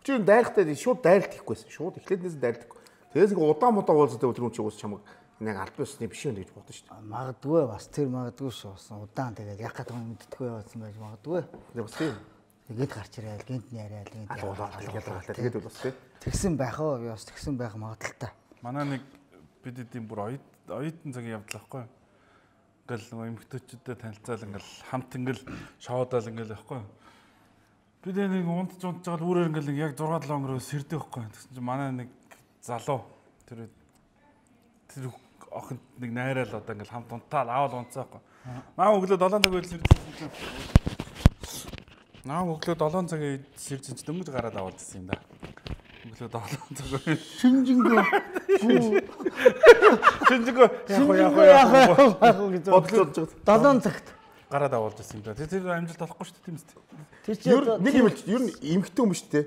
Чи дайрахтай шууд дайралт хийхгүйсэн. Шууд эхлээднээс дайралт. Тэгээс ингээ удаан мудаа уулзаад тэр хүн чи уус чамаг нэг аль биесны биш юм гэж бодсон шүү дээ. Магадгүй бас тэр магадгүй шүү. Удаан тэгээд яг гадаг мэддэггүй явуулсан байж магадгүй. Бас тийм. Тэгээд гарч ирээл гинт яриад гинт явуулаад тэгээд тэгээд бол бас тийм. Тэгсэн байх уу? Би бас тэгсэн байх магадaltaй. Манай нэг бид эдийн бүр оюут оюутан цагийн явдал байхгүй. Ингээл нөгөө эмэгтэйчүүдтэй танилцаал ингээл хамт ингээл шоудаал ингээл байхгүй. Бид нэг унтж унтж байгаа үүрээр ингээл яг зураг долоо өнгөрөө сэрдэг байхгүй. Тэгсэн чинь манай нэг залуу тэр тэр охин нэг найраал одоо ингээл хамт унтаал аавал унтсаахгүй. Наа өглөө долоон цаг үйл сэрдэг. Наа өглөө долоон цагийн сэржин ч дөнгөж гараад аваад ирсэн юм да. Өглөө долоон цаг. Шинжингөө. Шинжингөө яг яг яг гэж бодлоо долоон цагт гараад аваад ирсэн юм да. Тэр амжилт олохгүй шүү дээ тийм үст. Тэр чи нэг юм л ер нь эмхтэй юм шүү дээ.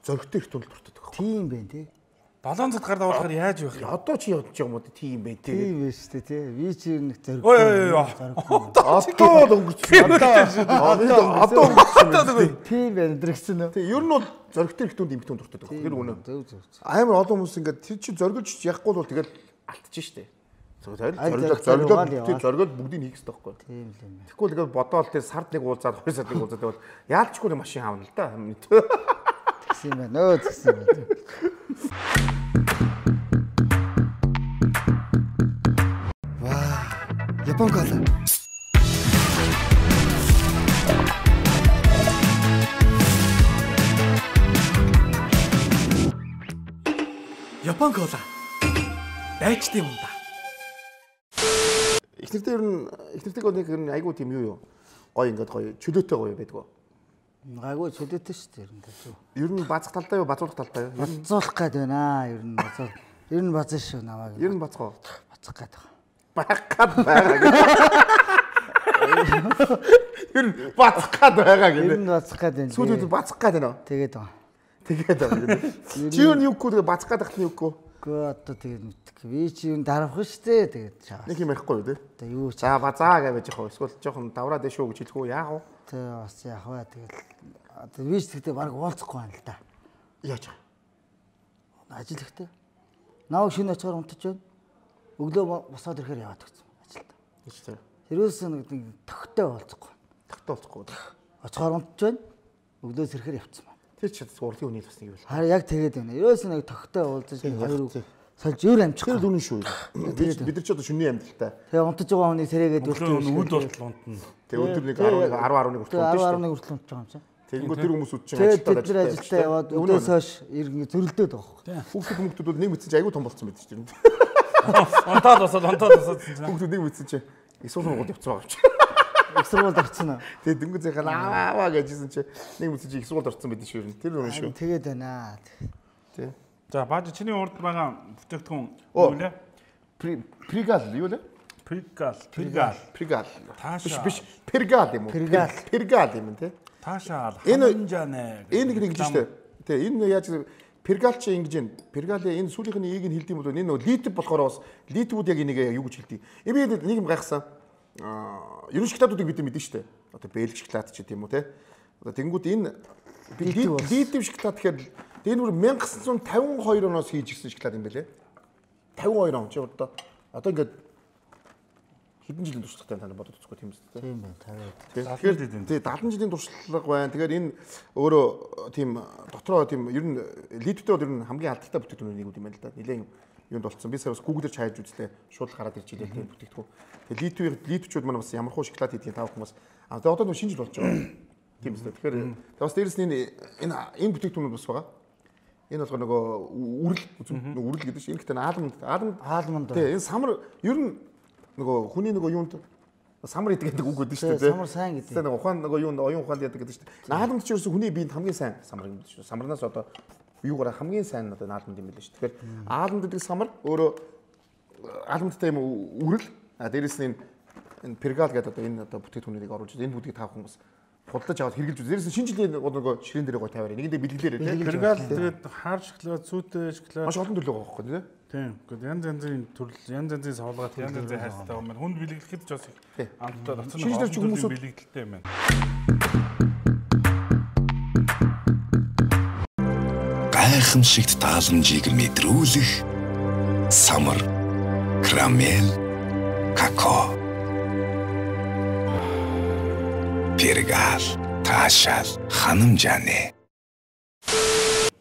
Зөрөгтэй их тунд дуртай байгаа. Тийм байх тий. долоон цагт гараад авахаар яаж байх юм? Одоо чи явж байгаа юм уу тийм байх тий. Тийм байх шүү дээ тий. Би чи нэг зөрөг. Ой ой ой. Одоо өнгөрчихсөн. Одоо өнгөрчихсөн. Тийм байх дэрэгсэн үү? Тий ер нь бол зөрөгтэй их тунд эмхтэй тунд дуртай байгаа. Тэр үнэ. Зөв зөв. Амар олон хүмүүс ингээд тэр чи зөргөлж яахгүй бол тэгэл алтчих штэ. Зориглол зориглол зориглол бүгдийг хийх хэрэгтэй байхгүй. Тийм л юм. Тэгэхгүй л бодоол тэр сард нэг уулзаад хоёр сард нэг уулзаад бол яалчгүй нэг машин хаавна л да. Тэгсэн юм байна. Өө тэгсэн юм байна. Ваа, Япон кола. Япон кола. Дайчтай юм да. Ихнэртэй ер нь ихнэртэйг нэг ер нь айгуу тийм юу юу. Гой ингээд гой чөлөөтэй гоё байдгүй. Гайгүй чөлөөтэй шүү дээ ер нь тийм. Ер нь базах талтай юу, базуулах талтай юу? Базуулах гээд байна аа ер нь базуул. Ер нь базаа шүү намайг. Ер нь бацгаа. Бацах гээд байгаа. Байх гад байгаа гэх. Ер нь бацах гад байгаа гэх. Ер нь бацах гээд байна. Сүүлд бацах гээд байна. Тэгээд байгаа. Тэгээд аа. Чи юу юугүй тэгээ бацгаад ахны юугүй. Гэхдээ одоо тэгээд мэдэх. Би чи юу дарах штэ тэгээд чаас. Нэг юм ярихгүй юу те. Одоо юу ч. За базаа гэж яах вэ? Эсвэл жоохон давраад дэшүү гэж хэлэх үү? Яах вэ? Тэ бас яах вэ? Тэгээд одоо би ч тэгтээ баг уулзахгүй байна л да. Яаж? Ажил ихтэй. Наа шинэ очихоор унтаж байна. Өглөө босоод ирэхээр яваад гэсэн ажилд. Гэж тэ. Тэрөөс нэг төгтөө уулзахгүй. Төгтөө уулзахгүй. Очихоор унтаж байна. Өглөөс ирэхээр явцсан байна. Тэр ч урлагийн үнийг бас нэг юм. Харин яг тэгээд байна. Ерөөс нэг төгтөө уулзаж хоёр сольж өөр амжих. Тэр дөрөв шүү. Бид бид нар ч одоо шүний амьдралтай. Тэгээ унтаж байгаа хүний сэрээгээд өглөө үд болтол унтна. Тэгээ өдөр нэг арван арван хүртэл унтаж шүү. арван хүртэл унтаж байгаа юм чинь. Тэгэнгүүт тэр хүмүүс үдчин ажилтаа бид нар ажилтаа яваад өдөөс хойш иргэн зөрөлдөөд байгаа хөө. Хүүхдүүд хүмүүстүүд бол нэг мэдсэн чи айгүй том болцсон байдаг шүү дээ. Онтаад босоод онтаад босоод хүүхдүүд нэг мэдсэн чи их сургууль явцсан байгаа юм чи. Их сургуульд орцсон аа. Тэгээ дөнгөж зэхэл аваа гэжсэн чи нэг мэдсэн чи их сургуульд орцсон байдаг шүү. Тэр үнэн шүү. Тэгээд байна. Тий. За бааж чиний урд байгаа бүтээгдэхүүн юу вэ? Пригал юу вэ? Пригал, пригал, пригал. Таашаа. Биш, пергал юм уу? Пергал. Пергал юм тий. Таашаал ханжаанэ. Энэ нэг гэж штэ. Тэ энэ яаж пергал чи ингэж юм. Пергалын энэ сүүлийнхний ийг нь хэлдэм бол энэ нөгөө литв болохоор бас литвүүд яг энийг юу гэж хэлдэг. Энэ би нэг юм гайхсан. Аа, ерөн шоколадуудыг бид мэдэн штэ. Одоо бэлг шоколад ч гэдэм үү те. Одоо тэнгууд энэ литв шоколад гэхээр энэ бүр 천ix тавин хоёр оноос хийж ирсэн шоколад юм байлээ. тавин хоёр он чи одоо одоо ингээд хэдэн жилийн туршлагатай тань бодож үзэхгүй тийм үстэй. Тийм байна. Тэгэхээр тий дадлан жилийн туршлага байна. Тэгэхээр энэ өөрөө тийм дотроо тийм ер нь литвтэй бол ер нь хамгийн алдартай бүтээгдэхүүн нэг юм байна л да. Нилээн юунд болцсон. Би сая бас Google-ээр хайж үзлээ. Шууд гараад ирж илээ тийм бүтээгдэхүүн. Тэгээ литвийн литвчүүд маань бас ямар хуу шоколад хийдгийг тав хүмүүс. А тэгээ одоо нэг шинэ жил болж байгаа. Тийм үстэй. Тэгэхээр бас дээрэс нь энэ энэ бүтээгдэхүүнүүд бас байгаа. Энэ болохоор нөгөө үрэл нөгөө үрэл гэдэг чинь энэ гэдэг нь аалманд аалманд аалманд. Тий энэ самар ер нь нөгөө хүний нөгөө юунд самар идэг гэдэг үг гэдэг шүү дээ. Самар сайн гэдэг. Тэгээ нөгөө ухаан нөгөө юунд оюун ухаанд яадаг гэдэг шүү дээ. Наалманд ч ерөөсө хүний биед хамгийн сайн самар юм шүү. Самарнаас одоо юугаар хамгийн сайн одоо наалманд юм билээ шүү. Тэгэхээр аалманд гэдэг самар өөрөө аалмандтай юм үрэл а дээрэс нь энэ пергал гэдэг одоо энэ одоо бүтээгдэхүүнийг оруулж энэ бүдгийг таах хүмүүс худалдаж аваад хэрэгжилж үү. Дээрээс шинэ жилийн нөгөө ширээн дээр гоо тавиараа. Нэгэндээ бэлгэлээрээ тийм. Пергал тэгээд хаар шоколад, сүйтэй шоколад. Маш олон төрлөө байгаа байхгүй тийм. Тийм. Гэхдээ янз янзын төрөл, янз янзын савлгаад, янз янзын хайртай юм байна. Хүнд бэлгэлэхэд ч бас амттай доцсон хүмүүс бэлгэлтэй юм байна. Гайхамшигт тааламжийг мэдрүүлэх самар, карамел, какао. Пергал, таашаал, ханамжаанэ.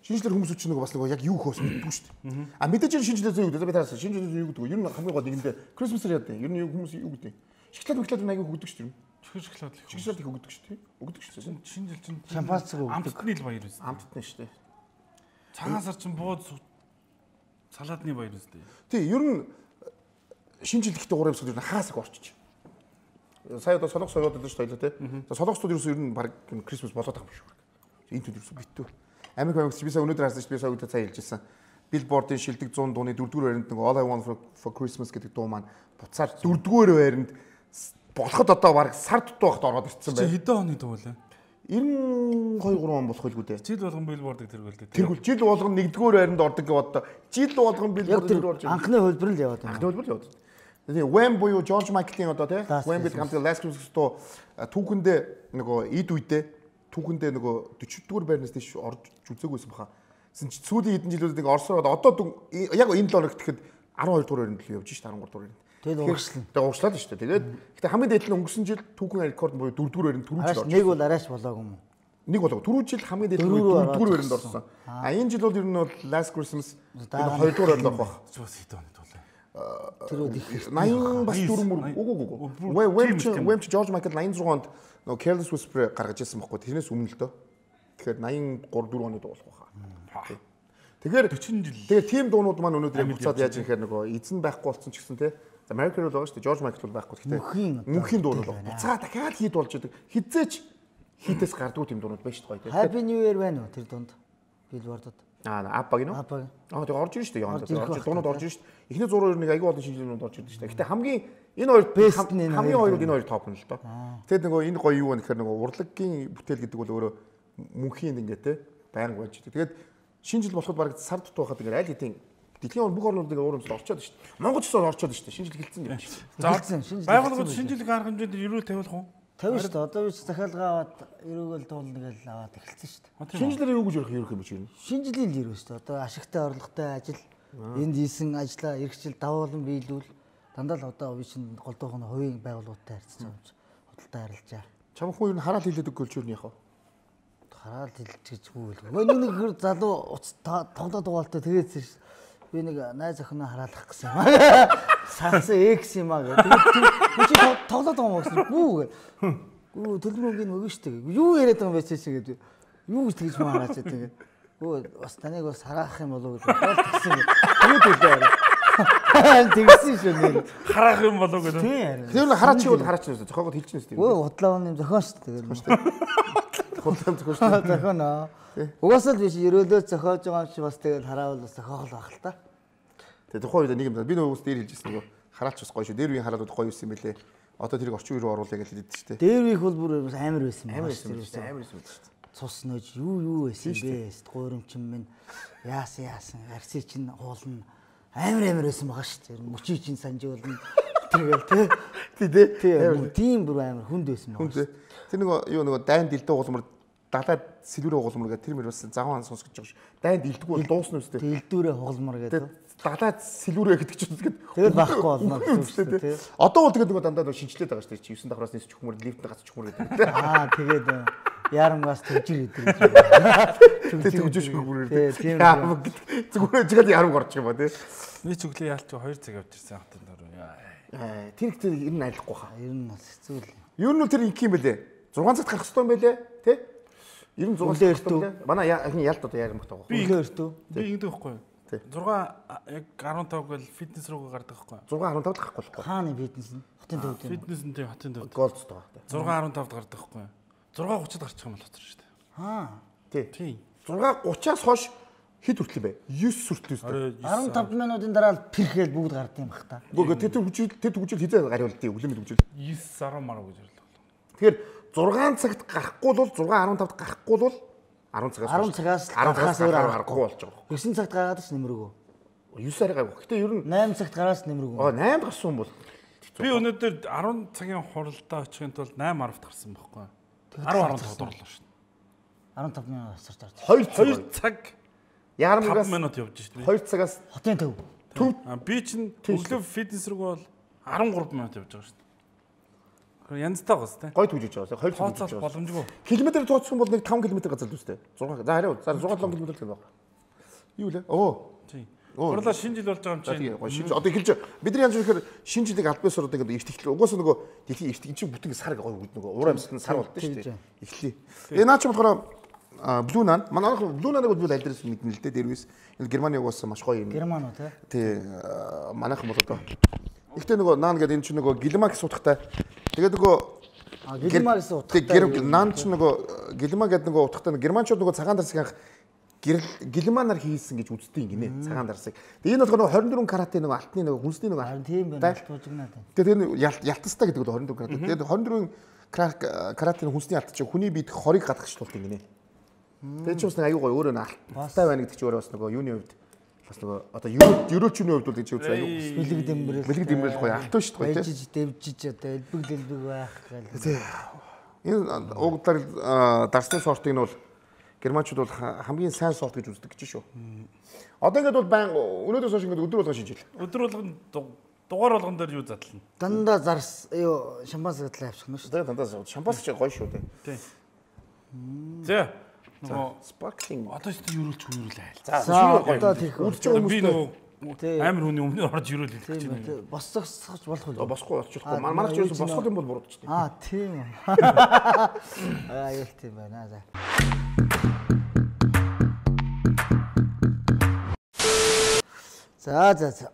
Шинжлэр хүмүүс ч нэг бас нэг яг юу хөөс мэддэг шүү дээ. А мэдээж шинжлэр зүй гэдэг. Би таасан шинжлэр зүй юу гэдэг вэ? Ер нь хамгийн гол нэгэндээ Christmas-ээр яадаг. Ер нь хүмүүс юу гэдэг. Шоколад мөклад аягүй өгдөг шүү дээ. Шоколад их. Шоколад их өгдөг шүү дээ. Өгдөг шүү дээ. Шинэ жил чинь шампанцэг өгдөг. Амтны л баяр үст. Амтны шүү дээ. Цагаасар чинь бууд салаадны баяр үст. Тий, ер нь шинэ жил ихтэй гурав өсгөл ер нь хаасаг орчиж. Сая одоо солонгос соёод байдаг шүү дээ тий. За солонгосууд ерөөсөө ер нь баг Christmas болоод байгаа юм шүү. Энэ төл ерөөсөө битүү. Америк Америкч би сая өнөөдөр харсан шүү дээ. Би сая өдөр цаа хэлжсэн. Billboard-ийн шилдэг цуун дууны дөрөвдүгээр байранд нэг All I Want for Christmas гэдэг дуу маань буцаар дөрөвдүгээр байранд болоход одоо баг сар дутуу байхад ороод ирсэн байна. Чи хэдэн оны дуу вэ? ninety-two three он болох байлгүй дээ. Жил болгон Billboard-ыг тэргүүлдэг. Тэргүүл жил болгон нэгдүгээр байранд ордог гэж боддоо. Жил болгон Billboard-ыг орж ирсэн. Анхны хөлбөр л яваад байна. Анхны хөлбөр л яваад. Тэгээ Wham буюу George Michael-ийн одоо тий Wham гэдэг хамт Last Christmas дуу түүхэндээ нөгөө эд үедээ түүхэндээ нөгөө forty-дугаар байрнаас тийш орж үзээгүйсэн баха. Гэсэн чи сүүлийн хэдэн жилүүдэд ингээ Оросоор одоо яг энэ л оног гэхэд twelve дугаар байранд л явж шít thirteen дугаар байранд. Тэгээд урагшлан. Тэгээд урагшлаад шүү дээ. Тэгээд гэхдээ хамгийн дээд нь өнгөрсөн жил түүхэн рекорд буюу four дугаар байранд түрүү жил орж. Нэг бол арайш болоогүй юм уу? Нэг болоо. Түрүү жил хамгийн дээд нь four дугаар байранд орсон. А энэ жил бол ер нь бол Last Christmas two дугаар байранд орох байх. Бас хэдэн оны тулаа. Тэр их ninety бас дөрөв мөр үгүй үгүй. Wham Wham George Michael ninety-six онд нөгөө Careless Whisper гаргаж ирсэн байхгүй. Тэрнээс өмнө л дөө. Тэгэхээр ninety-three four оны дуу болох байхаа. Тэгэхээр forty жил. Тэгээ тийм дуунууд маань өнөөдөр буцаад яаж ирэхээр нөгөө эзэн байхгүй болсон ч гэсэн те. American бол байгаа шүү дээ. George Michael бол байхгүй. Гэхдээ мөнхийн дуун бол буцаа дахиад хит болж идэг. Хизээч хитээс гардгүй тийм дуунууд байна шүү дээ. Happy New Year байна уу тэр дунд? Billboard-д. Аа, аппаг нь. Аппаг. Аа, тэгээ орж ирж шүү дээ. Орж дуунууд орж ирж шүү дээ. Эхний зураг ер нь аягүй олон шинжилгээнүүд орж ирж шүү дээ. Гэтэ хамгийн энэ хоёр хамгийн хоёрыг энэ хоёр топ нь л доо. Тэгээд нөгөө энэ гоё юу вэ гэхээр нөгөө урлагийн бүтээл гэдэг бол өөрөө мөнхийн ингээ те байнга байж дээ. Тэгээд шинэ жил болоход баг сар дутуу хахад ингээд аль хэдийн дэлхийн бүх орнууд ингээд уур амьсгал орчод шүү дээ. Монгол ч гэсэн орчод шүү дээ. Шинэ жил эхэлсэн юм За шиг. байгууллагууд шинэ жилийн арга хэмжээнд ерөөл тавиулах уу? тавина шүү дээ. Одоо би захиалга аваад эрүүгэл дуулна гэж аваад эхэлсэн шүү дээ. Шинэ жилээр юу гэж ярих юм бэ чинь? Шинэ жилийн л ерөө шүү дээ. Одоо ашигтай орлоготой ажил энд хийсэн ажлаа эргэжил давуулан биелүүл дандаа л одоо би чинь голдуух нь хувийн байгууллагуудтай харьцаж байгаа юм чи худалдаа харилцаа. Чам хүн ер нь хараал хилээд өгөх гэж юу яах вэ? Хараал хилж гэж үгүй л. Мөн нэг хэр залуу тоглоод дугаалтай тэгээд би нэг найз охиноо хараалах гэсэн юм аа. Саасан экс юм аа гэдэг. Тэгээд чи тоглоод байгаа юм гэсэн бүү гэ. Гүү төлбөрийг өгнө шүү дээ. Юу яриад байгаа юм бэ чи гэдэг. Юу гэж тэгж маа хараач тэгээд. Гүү бас таныг бас хараах юм болов уу гэж бодсон. Юу төлөө. Тэгсэн шүү нэр. Хараах юм болов уу гэдэг. Тэр нь хараач бол хараач шүү. Зохиогод хэлчихнэ шүү дээ. Өө худлаа оны зохион шүү дээ. Худлаа зохион шүү. Зохион аа. Угаасаа л биш ерөөлөө зохиож байгаа юм чи бас тэгээд хараавал бас зохиол байх л та. Тэгээд тухайн үед нэг юм би нөгөөс дээр хэлжсэн нөгөө хараач бас гоё шүү. Дээр үеийн хараалууд гоё юусэн мөлий. Одоо тэрийг орчин үе рүү оруулъя гэж хэлдэг шүү дээ. Дээр үеих бол бүр амар байсан юм байна шүү дээ. Амар байсан шүү дээ. Цус нөөж юу юу байсан бэ? Гуйрамчин минь яасан яасан арси чин уулна амар амар байсан байгаа шүү дээ. Мөчий чин санжуулна. Тэгэл тий. Тий тий. Тийм бүр амар хүнд байсан байгаа шүү. Тэр нөгөө юу нөгөө дайн дэлдээ уулмар далаад сэлүүрээ хугалмар гэдэг тэр мөр бас завхан сонсгож байгаа шүү. Дайнд илдэггүй бол дуусна үстэй. Дэлдүүрээ хугалмар гэдэг. Далаад сэлүүрээ гэдэг чинь тэгээд тэгэл байхгүй болно гэсэн үү тий. Одоо бол тэгээд нөгөө дандаа шинжилээд байгаа шүү дээ. дев9 давхраас нийс чухмөр лифтээ гацчих чухмөр гэдэг. Аа тэгээд ярамгаас төвжир гэдэг. Тэгээд төвжир чухмөр гэдэг. Зүгээр жигэд ярам горч юм ба тий. Нэг чөглөө яалч хоёр цаг явж ирсэн хатан дөрөв. Аа тэр ихтэй ер нь айлахгүй хаа. Ер нь бас хэцүү л. Ер нь тэр их юм бэлээ. зургаан цагт гарах хэрэгтэй юм байлээ тий. Ер нь зургаан цагт байлээ. Манай ялт одоо ярим багтаа байгаа. Би өөртөө би ингэдэг байхгүй юу? зургаан яг арван тав гэл фитнес руугаа гардаг байхгүй юу? зургаан арван тавд гарахгүй байхгүй. Хааны фитнес нь? Хотын төвд. Фитнес нь тийм хотын төвд. Голд тоо. зургаан арван тавд гардаг байхгүй юу? зургаан гуцад гарчих юм бол хоцор шүү дээ. Аа. Тий. Тий. зургаан гуцаас хойш хэд хүртэл бэ? девять хүртэл үү? арван тав минутын дараа л пэрхэл бүгд гардыг юм бах та. Үгүй тэр хүчил тэр хүчил хизээ гариулдیں۔ Үлэмэд хүчил. девять арван марав гэж орлоо. Тэгэхээр зургаан цагт гарахгүй бол зургаан арван тавд гарахгүй бол арван цагаас арван цагаас гарахаас өөр гарахгүй болж байгаа. девять цагт гараад ч нэмэргүй. девять арай гайгүй. Гэтэ ер нь восемь цагт гараас нэмэргүй. Аа восемь гарсан юм бол би өнөөдөр арван цагийн хуралдаа очихын тулд восемь арвт гарсан байхгүй юу? десять арван тавд орлоо шүү. арван тав минут асарч орж. хоёр цаг ярамгаас минут явж шүү. хоёр цагаас хотын төв. Төв би чинь өглөө фитнес рүү бол13 минут явж байгаа шүү. Янзтай гоос тээ. Гой түгжиж байгаа. хоёр цаг тооцоол боломжгүй. Километр тооцсон бол нэг таван километр газар л үстэй. зургаан. За хариу. За шугал таван километр л байна. Юу лээ? Оо. Тий. Хурлаа шинэ жил болж байгаа юм чинь. Тийм гоё шинэ одоо эхэлж бидний янз бүрээр шинэ жилийг албаас ороод ингээд эртгэл. Угаасаа нөгөө дэлхийн эртгэн чинь бүтэн сар гоё үүд нөгөө уур амьсгал сар болдсон шүү дээ. Эхлэе. Тэгээ наа чи болохоор Blue Nan манай Blue Nan-ыг бол аль дээрээс мэднэ л дээ. Дээрээс энэ Германы угаасаа маш гоё юм. Герман уу тий. Тий. Манайхан бол одоо ихтэй нөгөө Nan гэдэг энэ чинь нөгөө Гэлмаг суудахтай. Тэгээд нөгөө Гэлмаг суудахтай. Nan чинь нөгөө Гэлмаг гэдэг нөгөө утгатай германчууд нөгөө цагаан дарсыг анх Гэлманаар хийсэн гэж үздэг гинэ цагаан дарсыг. Тэгээ энэ болохоор двадцать четыре каратын нөгөө алтны нөгөө хүнсний нөгөө харин тийм байна туужигнаад байна. Тэгээ тэр ялтастай гэдэг нь двадцать четыре карат. Тэгээ двадцать четыре каратын хүнсний алт чинь хүний биед хорийг гадагшлуулдаг гинэ. Тэгээ чи бас нэг аюу гоё өөрөө алтай байна гэдэг чи өөрөө бас нөгөө юуны хувьд бас нөгөө одоо ерөөчний хувьд бол гэж үзсэн аюу бэлэг дэмбэрэл бэлэг дэмбэрэл гоё алтай шүү дээ гоё тийм дэвжиж одоо элбэг дэлбэг байх гэл. Энэ уугдлаар дарсны сортыг нь бол германчууд бол хамгийн сайн сорт гэж үздэг гэж шүү. Одоо ингээд бол байн өнөөдрөөс хойш ингээд өдөр болгон шинжил. Өдөр болгон дугаар болгон дээр юу задлана? Дандаа зарс юу шампанс гэтэл авчих нь шүү. Тэгээ дандаа шампанс ч гоё шүү дээ. Тий. За нөгөө sparkling одоо ч юурэлч юурэл айл. За одоо тийх үлдэж байгаа хүмүүстэй амар хүний өмнө орж юурэл хэлж байна. Босцохч болох уу? Босхгүй болчихгүй. Манай ч ерөөсө босхол юм бол буруудчихдаг. Аа тийм. Аа ял тийм байна. За. За за за.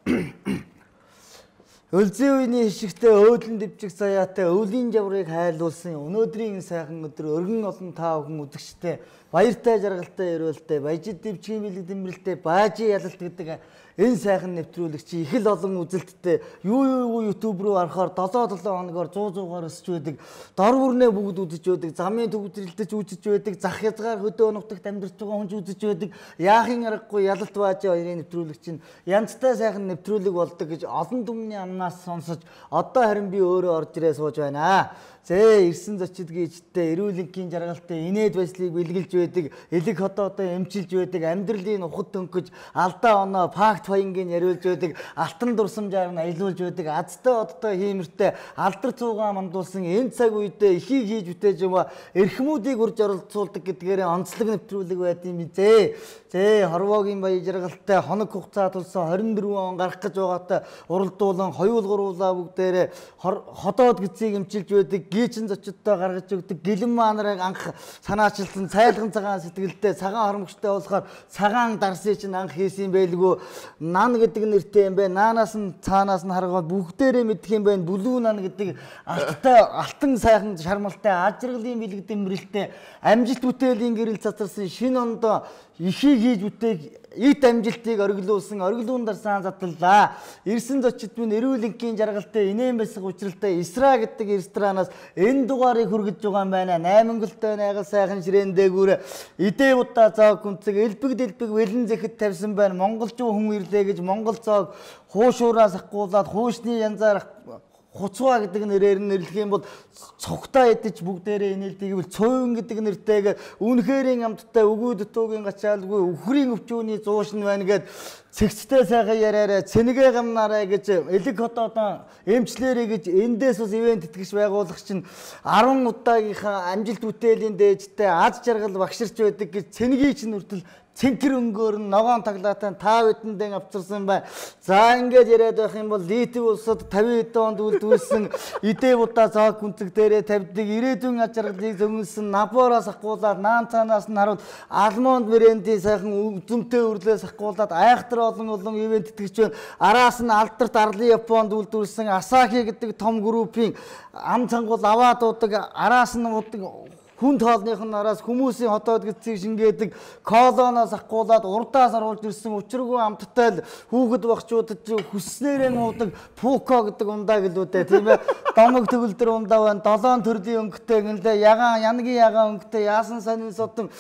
Өлзийн үеийн хишигтэй өөдлөн дэвжих саяатай өвлийн жаврыг хайлуулсан өнөөдрийн сайхан өдөр өргөн олон та бүхэн үзэгчтэй баяртай жаргалтай өрөөлтэй баяжид дэвжгийн бэлэг дэмрэлтэй баажи ялалт гэдэг Энэ сайхан нэвтрүүлэгч их л олон үзэлттэй юу юу YouTube руу орохоор долоо долоо хоногоор сто сто-аар өсөж байдаг. Дор бүрнээ бүгд үзэж байдаг. Замын төвдрэлдэж үзэж байдаг. Зах хязгаар хөдөө нутагт амьдарч байгаа хүн үзэж байдаг. Яахын аргагүй ялалт баажи хоёрын нэвтрүүлэг чинь янзтай сайхан нэвтрүүлэг болдог гэж олон түмний амнаас сонсож одоо харин би өөрөө орж ирээ сууж байна. Зээ ирсэн зочид гिचтэй эрүүл энхийн жаргалтай инээд байслыг бэлгэлж байдаг, элэг хотоодоо эмчилж байдаг, амьдралын ухад төнкөж алдаа оноо факт баянгийн яриулж байдаг, алтан дурсамжаар нь аялуулж байдаг, азтай одтой хиймэртэй алдар цуугаа мандуулсан энэ цаг үедээ ихийг хийж үтээж юм а эрхмүүдийг урьж оролцуулдаг гэдгээрээ онцлог нэвтрүүлэг байд юм зээ. Зээ хорвоогийн баяр жаргалтай хоног хугацаа тулсан хорин дөрвөн он гарах гэж байгаатай уралдуулан хоёул гуруулаа бүгдээрээ ходоод гизийг эмчилж байдаг. Гичин зочдтой гаргаж өгдөг гэлэн маанарыг анх санаачилсан цайлган цагаан сэтгэлдээ цагаан хормогчтой болохоор цагаан дарсыг чинь анх хийсэн байлгүй нан гэдэг нэртэй юм бэ наанаас нь цаанаас нь харгаад бүгдээрээ мэдэх юм байна бүлүү нан гэдэг алттай алтан сайхан шармалтай ажиргалын бэлэг дэмрэлтэй амжилт бүтээлийн гэрэл цацарсан шинэ ондоо ихийг хийж бүтээг ит амжилтыг ориглуулсан ориглуун дарсан задлаа. Ирсэн зочид минь эрүүл энхийн жаргалтай инээн бэсэг учралтай Исра гэдэг ресторанаас энэ дугаарыг хүргэж байгаа юм байна. Наймангалтай найгал сайхан ширээн дээгүүр идээ удаа цааг гүнцэг элбэг дэлбэг вэлэн зэхэд тавьсан байна. Монголчуу хүн ирлээ гэж монгол цааг хуушуураас ахгуулаад хуушны янзаар Хуцгаа гэдэг нэрээр нь нэрлэх юм бол цогтой идэж бүгдээрээ инээлдэг гэвэл цовын гэдэг нэртэйгээр үнэхэрийн амттай өгөөд дутуугийн гачаалгүй өхрийн өвчүүний зуушин байна гэд цэгцтэй сайхан яриараа цэнэгэ гамнараа гэж элэг хотоодоо эмчлэрээ гэж эндээс ус ивент тэтгэж байгуулах чинь арван удаагийнхаа амжилт бүтээлийн дээжтэй аз жаргал багширч байдаг гэж цэнэгийн чинь хүртэл цэнхэр өнгөөр нь ногоон таглаатай та бидэндээ авчирсан бай. За ингэж яриад байх юм бол Литв улсад тавин онд үлдүүлсэн идээ будаа зоог гүнцэг дээрээ тавьдаг ирээдүйн аж аргалыг зөнгөлсөн набороос ахгуулаад наан цаанаас нь харуул алмонд брендийн сайхан үзмтэй өрлөөс ахгуулаад айхтар олон олон ивент тэтгэж байна. Араас нь алдарт арлын Японд үлдүүлсэн Асаки гэдэг том группийн ам цангуул аваад удаг араас нь удаг хүн тоолных нь араас хүмүүсийн хотоод гисцийг шингээдэг колоноос ахгуулаад урдаас оруулж ирсэн учиргүй амттай хүүхэд багчуудад хүснээрээ нуудаг пуко гэдэг ундаа гэлүүдээ тийм ээ домог төгөлдөр ундаа байна долоон төрлийн өнгөтэй гинлээ ягаан янгийн ягаан өнгөтэй яасан сонин содон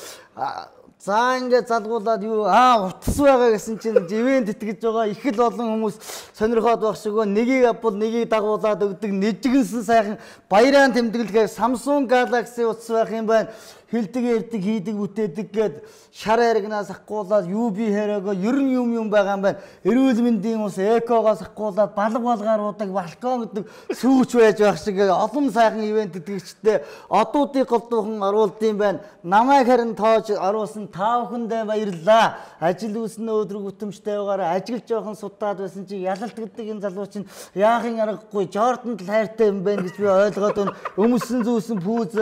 за ингээд залгуулад юу аа утас байгаа гэсэн чинь ивент итгэж байгаа их л олон хүмүүс сонирхоод байх шигөө нэгийг авбал нэгийг дагуулад өгдөг нэжгэнсэн сайхан баяран тэмдэглэхээр Samsung Galaxy утас байх юм байна. Хилдэг ярддаг хийдэг бүтээдэг гээд шар аригнаас ахгуулаад ю би хэрээгөө ер нь юм юм байгаа юм байна. Эрүүл мэндийн ус экогоос ахгуулаад балга балгаар удаг балкон гэдэг сүүч байж байх шиг олон сайхан ивент итгэгчтэй одуудыг голдуухан оруулд юм байна. Намайг харин тоож оруулсан та бүхэндээ баярлалаа. Ажил үүснэ өдрөг бүтэмжтэй байгаараа ажиглаж жоохон судаад байсан чи ялалт гэдэг энэ залуу чинь яахын аргагүй Жорданд л хайртай юм байна гэж би ойлгоод байна. Өмсөн зүүсэн пүүз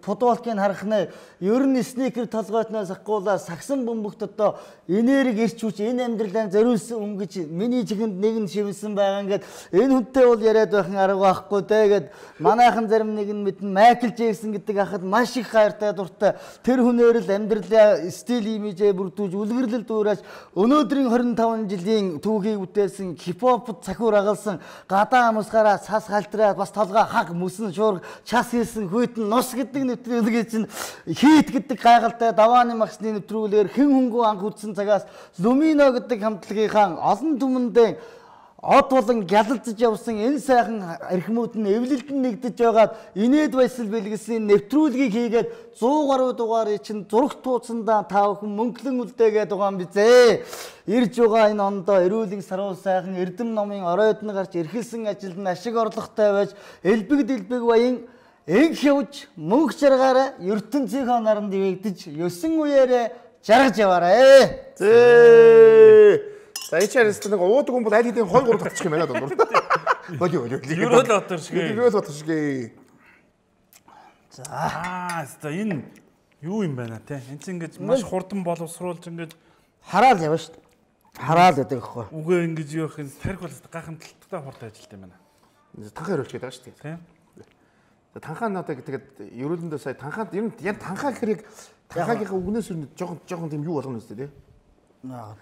футболкийг харах нь ер нь сникер толгойтноос ахгуулаад сагсан бөмбөгт одоо энерги ирч хүч энэ амьдралаа зориулсан хүн гэж миний чихэнд нэг нь шивсэн байгаа ингээд энэ хүнтэй бол яриад байхын арга байхгүй дээ гэд манайхан зарим нэг нь мэднэ Майкл Джексон гэдэг ахад маш их хайртай дуртай тэр хүнээр л амьдралаа стил имижээ бүрдүүлж үлгэрлэл дуурааж өнөөдрийн хорин таван жилийн түүхийг бүтээсэн хипхопд цахиур агалсан гадаа амсгаараа цас халтраад бас толгой хаг мөсөн шуург час хийсэн хүйтэн нус гэдэг нэвтрүүлэг чинь хийт гэдэг гайхалтай давааны магсны нэвтрүүлгээр хэн хөнгөө анх үзсэн цагаас Lumino гэдэг хамтлагийнхаа олон түмэндээ од болон гялалзаж явсан энэ сайхан эрхмүүд нь эвлэлдэн нэгдэж байгаад инээд байсал бэлгэлсэн нэвтрүүлгийг хийгээд сто гаруй дугаарыг чинь зурагт тууцсандаа та бүхэн мөнгөлөн үлдээгээд байгаа юм бизээ. Ирж байгаа энэ ондоо эрүүлийн сарвал сайхан эрдэм номын оройдны гарч эрхэлсэн ажилд нь ашиг орлоготой байж элбэг дэлбэг баян Эг хөвж мөнгө жаргаараа ертөнцийнхөө наранд ивэгдэж ёсон үеэрээ жаргаж яваарэ. Зээ. За ичээрээс нэг уудаг хүн бол аль хэдийн хоёр гурав татчих юм байна даа. Болио болио. Ерөөл батар шиг. Ерөөл батар шиг. За аа за энэ юу юм байна те. Энд чинь ингэж маш хурдан боловсруулж ингэж хараал явна шүү дээ. Хараал гэдэг ихгүй. Үгүй ингэж юу их тарих бол гайхамшигтай хурдан ажилт юм байна. Танхаа хөрөлж гээд байгаа шүү дээ. Тийм. Танхаа надаа тэгээд ерөөлөндөө сая танхаад ер нь яг танхаа гэхэрэг танхаагийнхаа үгнээс өрнөд жоохон жоохон тийм юу болгоно үстэй тий.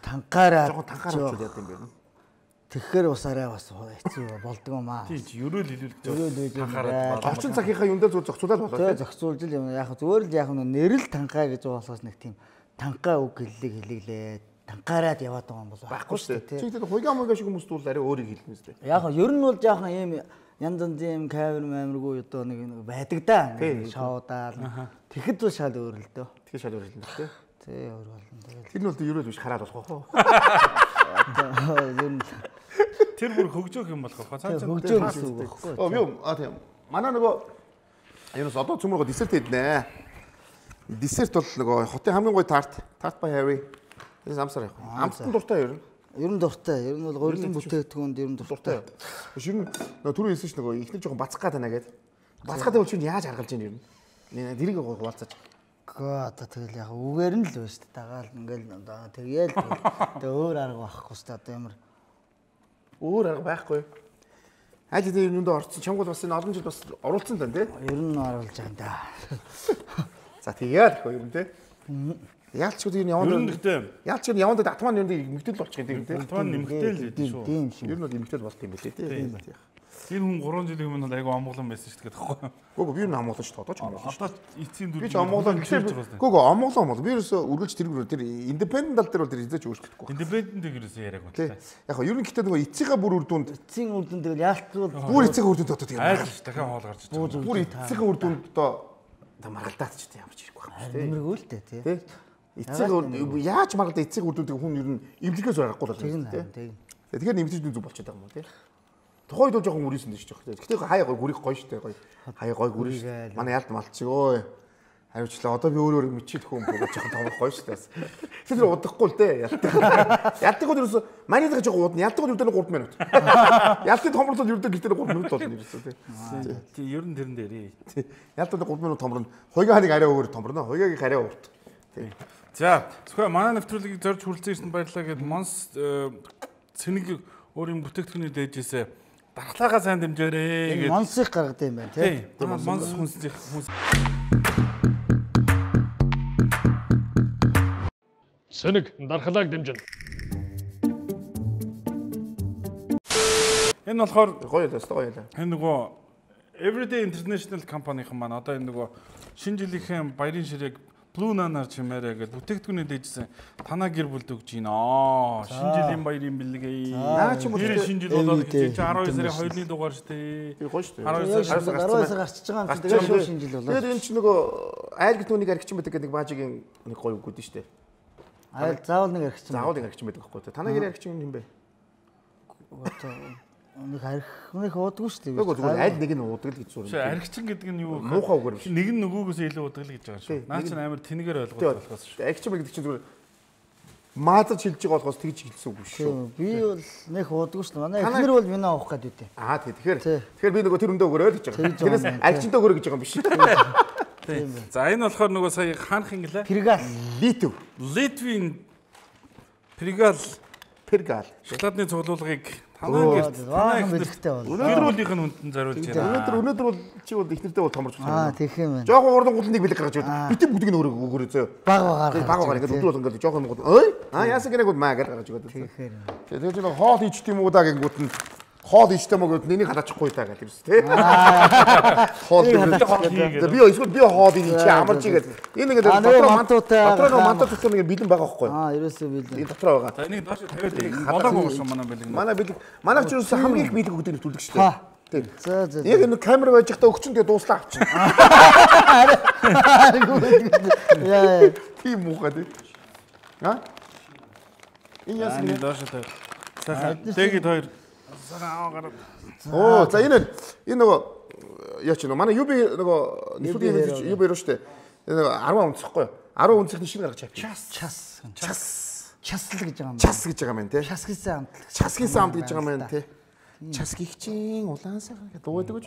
танкаараа жоохон танкаараа болчиход яд юм бэ. Тэгэхээр бас арай бас хэцүү болдгоо маа. Тийм ерөөл хэлүүлж танкаараа орчин цагийнхаа юундаа зөв зохицуулаад болоо. Тэгээ зохицуулж л юм. Яг зүгээр л яг нь нэрэл танкаа гэж болохоос нэг тийм танкаа үг хэллэг хэлэглээ. Танкаараад яваад байгаа юм бол байхгүй шүү дээ. Чи тэгээд хуйгаа муугаа шиг хүмүүст бол арай өөрийг хэлнэ үстэй. Яг нь ер нь бол жоохон ийм янз янзын юм камер маамиргүй одоо нэг байдаг да. Шоудаал. Тэгэхэд бол шал өөр л дөө. Тэгэхээр шал өөр л дээ тий. Тий өөр болно. Тэгээд тэр нь бол ерөөл биш хараад болох уу? Тэр бүр хөгжөөх юм болох уу? Цааш хөгжөөх гэсэн үг байхгүй. Оо юу а тийм. Манай нөгөө юунаас одоо цөмөргөө десерт хийднэ. Десерт бол нөгөө хотын хамгийн гоё тарт, тарт by Harry. Энэ амсаар яг. Амтсан дуртай ер нь. Ер нь дуртай. Ер нь бол гурилан бүтээгдэхүүнд ер нь дуртай. Шир нь нөгөө түрүү хэлсэн ш нөгөө ихнэр жоохон бацгах гад байна гэд. Бацгах тавьж чинь яаж харгалж ийн ер нь. Нэ дэрийг хуваалцаж. Гаа одоо тэгэл яг үгээр нь л байна шүү дээ. Дагаал ингээл одоо тэгээл тэгээ өөр арга байхгүй шүү дээ. Одоо ямар өөр арга байхгүй. Айл дээр юунд орсон чамгууд бас энэ олон жил бас оруулсан тань тий. Ер нь оруулж байгаа да. За тэгээд хөө ер нь тий. Яалч ч юу яванд яалч ч яванд атман юм нэмэгдэл болчих юм тий. Атман нэмэгдэл гэдэг шүү. Тийм шүү. Ер нь бол нэмэгдэл болт юм билээ тий. Тэр хүн гурван жилийн өмнө айгу амгалан байсан шүү дээ тэгэхгүй. Гүг би юу н амгалан шүү дээ одоо ч амгалан. Одоо эцсийн дүр. Би ч амгалан гэхээр гүг амгалан бол би ерөөсө үргэлж тэргүүр тэр индипендент тал дээр бол тэр хизээч өөрчлөгдөхгүй. Индипендент ерөөсө яриаг байна. Яг хоо ер нь гэхдээ нөгөө эцсийнхээ бүр үр дүнд эцсийн үр дүнд тэгэл яалтчвал бүр эцсийнхээ үр дүнд одоо тийм айлч дахиад хоол гарч ирж байгаа. Бүр эцсийнхээ үр дүнд одоо та маргалдаад ч тийм ямарч ирэхгүй байна шүү дээ. Нэмэргүй л дээ тий. Эцсийн яаж маргалдаа эцсийн үр дүндийг хүн ер нь имлэгээс гаргахгүй л тийм тий. Тэгэхээр нэмэгдэж зүг болчиход байгаа юм уу тий. Тухайд бол жоохон үрийсэн дээ шүү дээ. Гэхдээ хаяа гой гүрих гоё шүү дээ гоё. Хаяа гой гүриш. Манай ялд малчиг өө. Хариучлаа одоо би өөр өөр мичээд хүн бөгөөж жоохон томрох гоё шүү дээ. Тэр удахгүй л дээ. Ялдаг. Ялдаг бол ерөөсө маний дага жоохон удна. Ялдаг бол ердөө гурав минут. Ялдыг томрлол ердөө гэлтээр гурав минут болно ерөөсө тий. Тий ер нь тэрэн дээр. Ялдаг гурав минут томрно. Хойгаа ханыг арай өөр томрно. Хойгааг арай урт. Тий. За зөвхөн манай нэвтрүүлгийг зорж хүрэлцэн баярлалаа гэд Монс цэнийг өөрийн бүтээгдэхүүний дээжээсээ дархлаагаа сайн дэмжээрэй гэж Монсыг гаргадаг юм байна тий. Монс хүнсний хүнс. Цэнийг дархлааг дэмжинэ. Энэ болохоор гоё л өстой гоё л. Энэ нөгөө Everyday International компанийн маань одоо энэ нөгөө шинэ жилийнхэн баярын ширээг Blue Nana-аар чимээрээ гэж бүтээгдэхүүнээ дээжсэн танаа гэр бүлд өгч гин аа. Шинэ жилийн баярын бэлгээ. Наа чи тэр шинэ жил болоод гэж арван сарын хоёрны дугаар шүү дээ. Тэр гоё шүү дээ. арван сар гарчиж байгаа юм. Тэгээд шууд шинэ жил болоо. Тэр энэ чи нөгөө айл гэт нүунийг архичин байдаг гэдэг баажигийн нэг гоё үг үүдэн шүү дээ. Айл заавал нэг архичин. Заавал нэг архичин байдаг байхгүй. Танаа гэр архичин юм бэ? Нэг арх нэг уудаггүй шүү дээ. Үгүй зүгээр айл нэг нь уудаг л гэж зурна. Чи архичин гэдэг нь юу вэ? Муухай үгээр биш. Нэг нь нөгөөгөөс илүү уудаг л гэж байгаа шүү. Наа чи амар тэнэгээр ойлгох болохоос шүү. Архичин гэдэг чинь зүгээр маазаж хэлж байгаа болохоос тэгж хэлсэн үг шүү. Би бол нэг уудаггүй шүү. Манай эхнэр бол минь авах гээд үтэй. Аа тий. Тэгэхээр тэгэхээр би нөгөө тэр өндөө өгөрөө л гэж байгаа. Тэрээс архичинтаа өгөрөө гэж байгаа юм биш. Тийм. За энэ болохоор нөгөө сая хаанх инглээ? Пергал. Литв. Литвийн Пергал Пергал. шоколадны цуглуулгыг танаа гэрт танаа ихтэй бол. Өнөөдөр үлийнх нь хүндэн зориулж байна. Өнөөдөр өнөөдөр бол чи бол ихнэртэй бол томорч байна. Аа тийх юм байна. Жохон уран гутлыг бэлэг гаргаж өгдөө. Битэн бүгдийг нь өөрөө өгөрөө зөө. Баг багаар. Баг багаар ингээд өдөр бол ингээд жохон гут. Ой. Аа яасан гэнэ гут маа гэж гаргаж өгдөө. Тэгэхээр. Тэгээд чи нэг хоол хийчих юм уу да гингүүт нь хоол хийжтэй мөн гэд нэнийг халаачихгүй та гэдэг юм тий. Хоол хийгээд би эсвэл би хоол хийж чи амарч игээд энэ ингээд дотроо мантуутай дотроо мантуутай нэг бэлэн байгаа байхгүй. Аа ерөөсөө бэлэн. Энэ дотроо байгаа. За энийг доош тавиад болоогүй шүү манай бэлэг. Манай бэлэг манай ч юусэн хамгийн их бэлэг өгдөг төлдөг шүү дээ. Тийм. За за. Яг энэ камер байж захта өгчөн тэгээ дууслаа авчих. Яа. Тийм муухай тий. Аа? Энэ яасан энэ доош тавиад. За тэгээд хоёр сараа гараад. Оо за энэ энэ нөгөө яа чи нөгөө манай юби нөгөө нэвтрүүлгийн юби руу штэ. Энэ арван унцахгүй юу? арван унцны шинэ гаргаж авчих. Час час час час л гэж байгаа юм. Час гэж байгаа юм тий. Час гэсэн амт. Час гэсэн амт гэж байгаа юм тий. Час гихчин улаансаа гэдэг дуудаг гэж.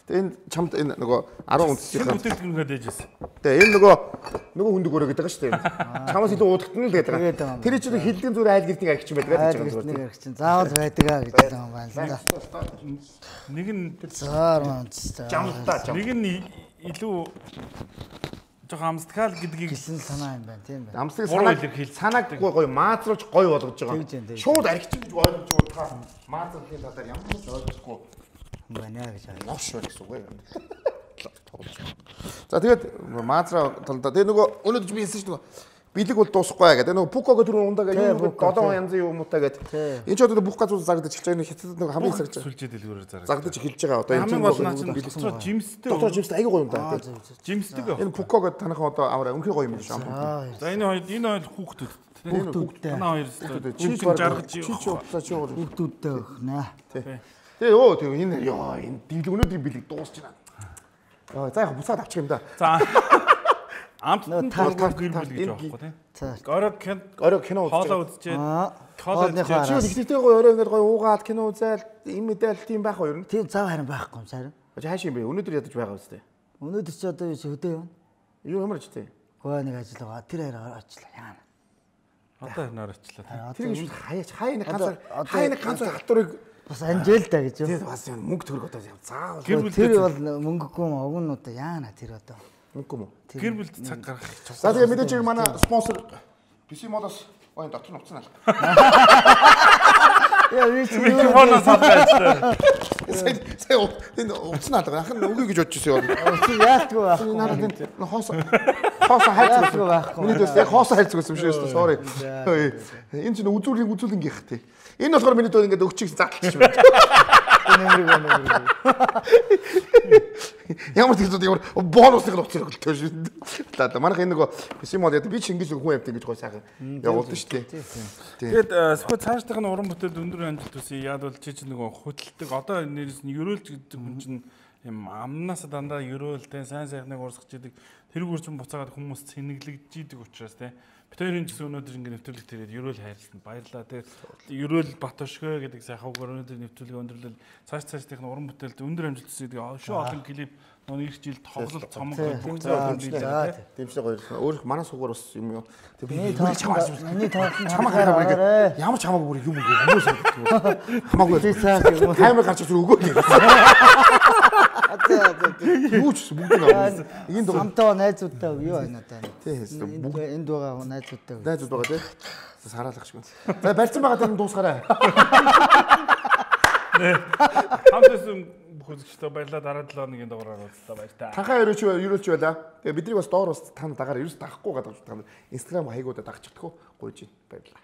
Тэгээ энэ чамд энэ нөгөө арван унцны бүтээгдэхүүнгээ дээжсэн. Тэгээ энэ нөгөө нөгөө хүндэг өрөө гэдэг байгаа шүү дээ. Чамаас илүү уудагтана л гэдэг байгаа. Тэр чинь хилдийн зүр айл гэртний архич байдаг гэж байгаа юм. Нэг архич заавал байдаг аа гэж байгаа юм байна. Нэг нь заар маань жамтаа жам. Нэг нь илүү жоохон амсдгаал гэдгийг гэсэн санаа юм байна тийм байна. Амсдаг санааг санааг гоё маазруулж гоё болгож байгаа. Шууд архич гэж ойлгож байгаа. Маазруулахын талаар ямар ч ойлгохгүй юм байна гэж байна. Новш байх гэсэн үг юм. За тэгээд маазраа талдаа тэгээ нөгөө өнөөдөр би хэлсэн шүү дээ. Билег бол дуусахгүй гэдэг. Нөгөө Пукого түрүү ундаг юм долоон янзын юмуутаа гэдэг. Энэ ч одоо бүх газар зарагдаж эхэлж байгаа. Энэ хятадд нөгөө хамгийн сарж сүлжээ дэлгүүрээр зарагдаж. Зарагдаж эхэлж байгаа. Одоо энэ чинь дотроо жимстэй. Дотроо жимстэй аягүй гоё юм да. Жимстэй гоо. Энэ Пукого танайхан одоо аваа өнхий гоё юм шүү. За энэ хоёр энэ хоёр хүүхдүүд. Хүүхдүүдтэй. Танаа хоёр чи жаргаж чи чи уцаа чи хүүхдүүдтэй өгнө. Тэгээ өө тэгээ энэ ёо энэ дийл өнөөдрийн билег дуусч байна. Яа за яг буцаад авчих юм да. За амт тал тал гэр бүл гэж байхгүй тийм. Орой кино орой кино хоолоо үзчихээд хоолоо үзчихээд чи нэгтэй гоё орой ингээд гоё уугаад кино үзэл им мэдээл тийм байх уу ер нь? Тийм зав харин байхгүй юм сарын. Хааш юм бэ? Өнөөдөр ядаж байгаа үстэй. Өнөөдөр ч одоо өдөө юм. Юу ямар ч тийм. Гоо нэг ажил байгаа. Тэр хараа очлаа яана. Одоо нөр очлаа. Тэр юм хаяач хай нэг ганц хай нэг ганц хатурыг бас анжээл та гэж. Тийм бас мөнгө төгрөг одоо заавал. Тэр бол мөнгөгүй юм огнуудаа яана тэр одоо. Мөнгө юм уу? Гэр бүлд цаг гаргах гэж. За тэгээ мэдээж манай спонсор пи си модоос ой дотор нуцсан аа. Яа вич микрофоноос авчихсан. Сая сая энэ уцсан аа. Ахын үгүй гэж бодож ирсэн юм. Яалтгүй байх. Надад энэ хоос хоос хайцгүй байхгүй. Миний дэс яг хоос хайцгүй юм шүү дээ. Sorry. Энэ чинь үзүүрийн үзүүлэн гих тий. Энэ болохоор миний дөө ингээд өгчих задлчих юм. Нэмрэг байна. Ямар ч зүйл ямар бонусыг нуцрах гэлтэй шүү. За манайх энэ нөгөө пи си мод яа би ч ингэж хүн амт ингэж гой сайхан явуулдаг шүү дээ. Тэгээд сөхөө цаашдах нь уран бүтээл өндөр амжилт төсөө яад бол чи чинь нөгөө хөдөлдөг одоо нэрс нь ерөөлж гэдэг хүн чинь юм амнаас дандаа ерөөлтэй сайн сайхныг урсгаж идэг тэр үрчин буцаагаад хүмүүс цэнэглэгдэж идэг учраас те бид хоёрын ч гэсэн өнөөдөр ингэ нэвтрүүлэг тэрээд ерөөл хайрлсан баярлаа те ерөөл Батөшгөө гэдэг сайхавгаар өнөөдөр нэвтрүүлэг өндөрлөл цааш цаашдах нь уран бүтээлд өндөр амжилт төсөө шүү олон клип нөгөө их жил тоглолт цомог гэдэг дэмжлэг гоё. Өөр манай сугаар бас юм юу. Тэг би чамаас миний тоглолт чамаа хараа ямар ч хамаагүй бүр юм уу хүмүүс хамаагүй камер гарч зүр өгөө гэх. Юу ч бүгд наа. Энд хамтаа найзуудтай юу байна одоо. Тийм бүгд энд байгаа найзуудтай. Найзууд байгаа тийм. Сараалах шиг байна. За барьсан байгаа дээр дуусгаарай. Хамтсан бүхэлдээ баярлалаа дараа долоо хоногийн дугаараар уулзлаа баяр та. Танхаа өрөөч өрөөч байла. Тэгээ бидний бас доор бас тань дагаар ерөөс дагахгүй гадаг та Instagram хаягуудаа дагчихдаг хөө гуйж байна. Баярлалаа.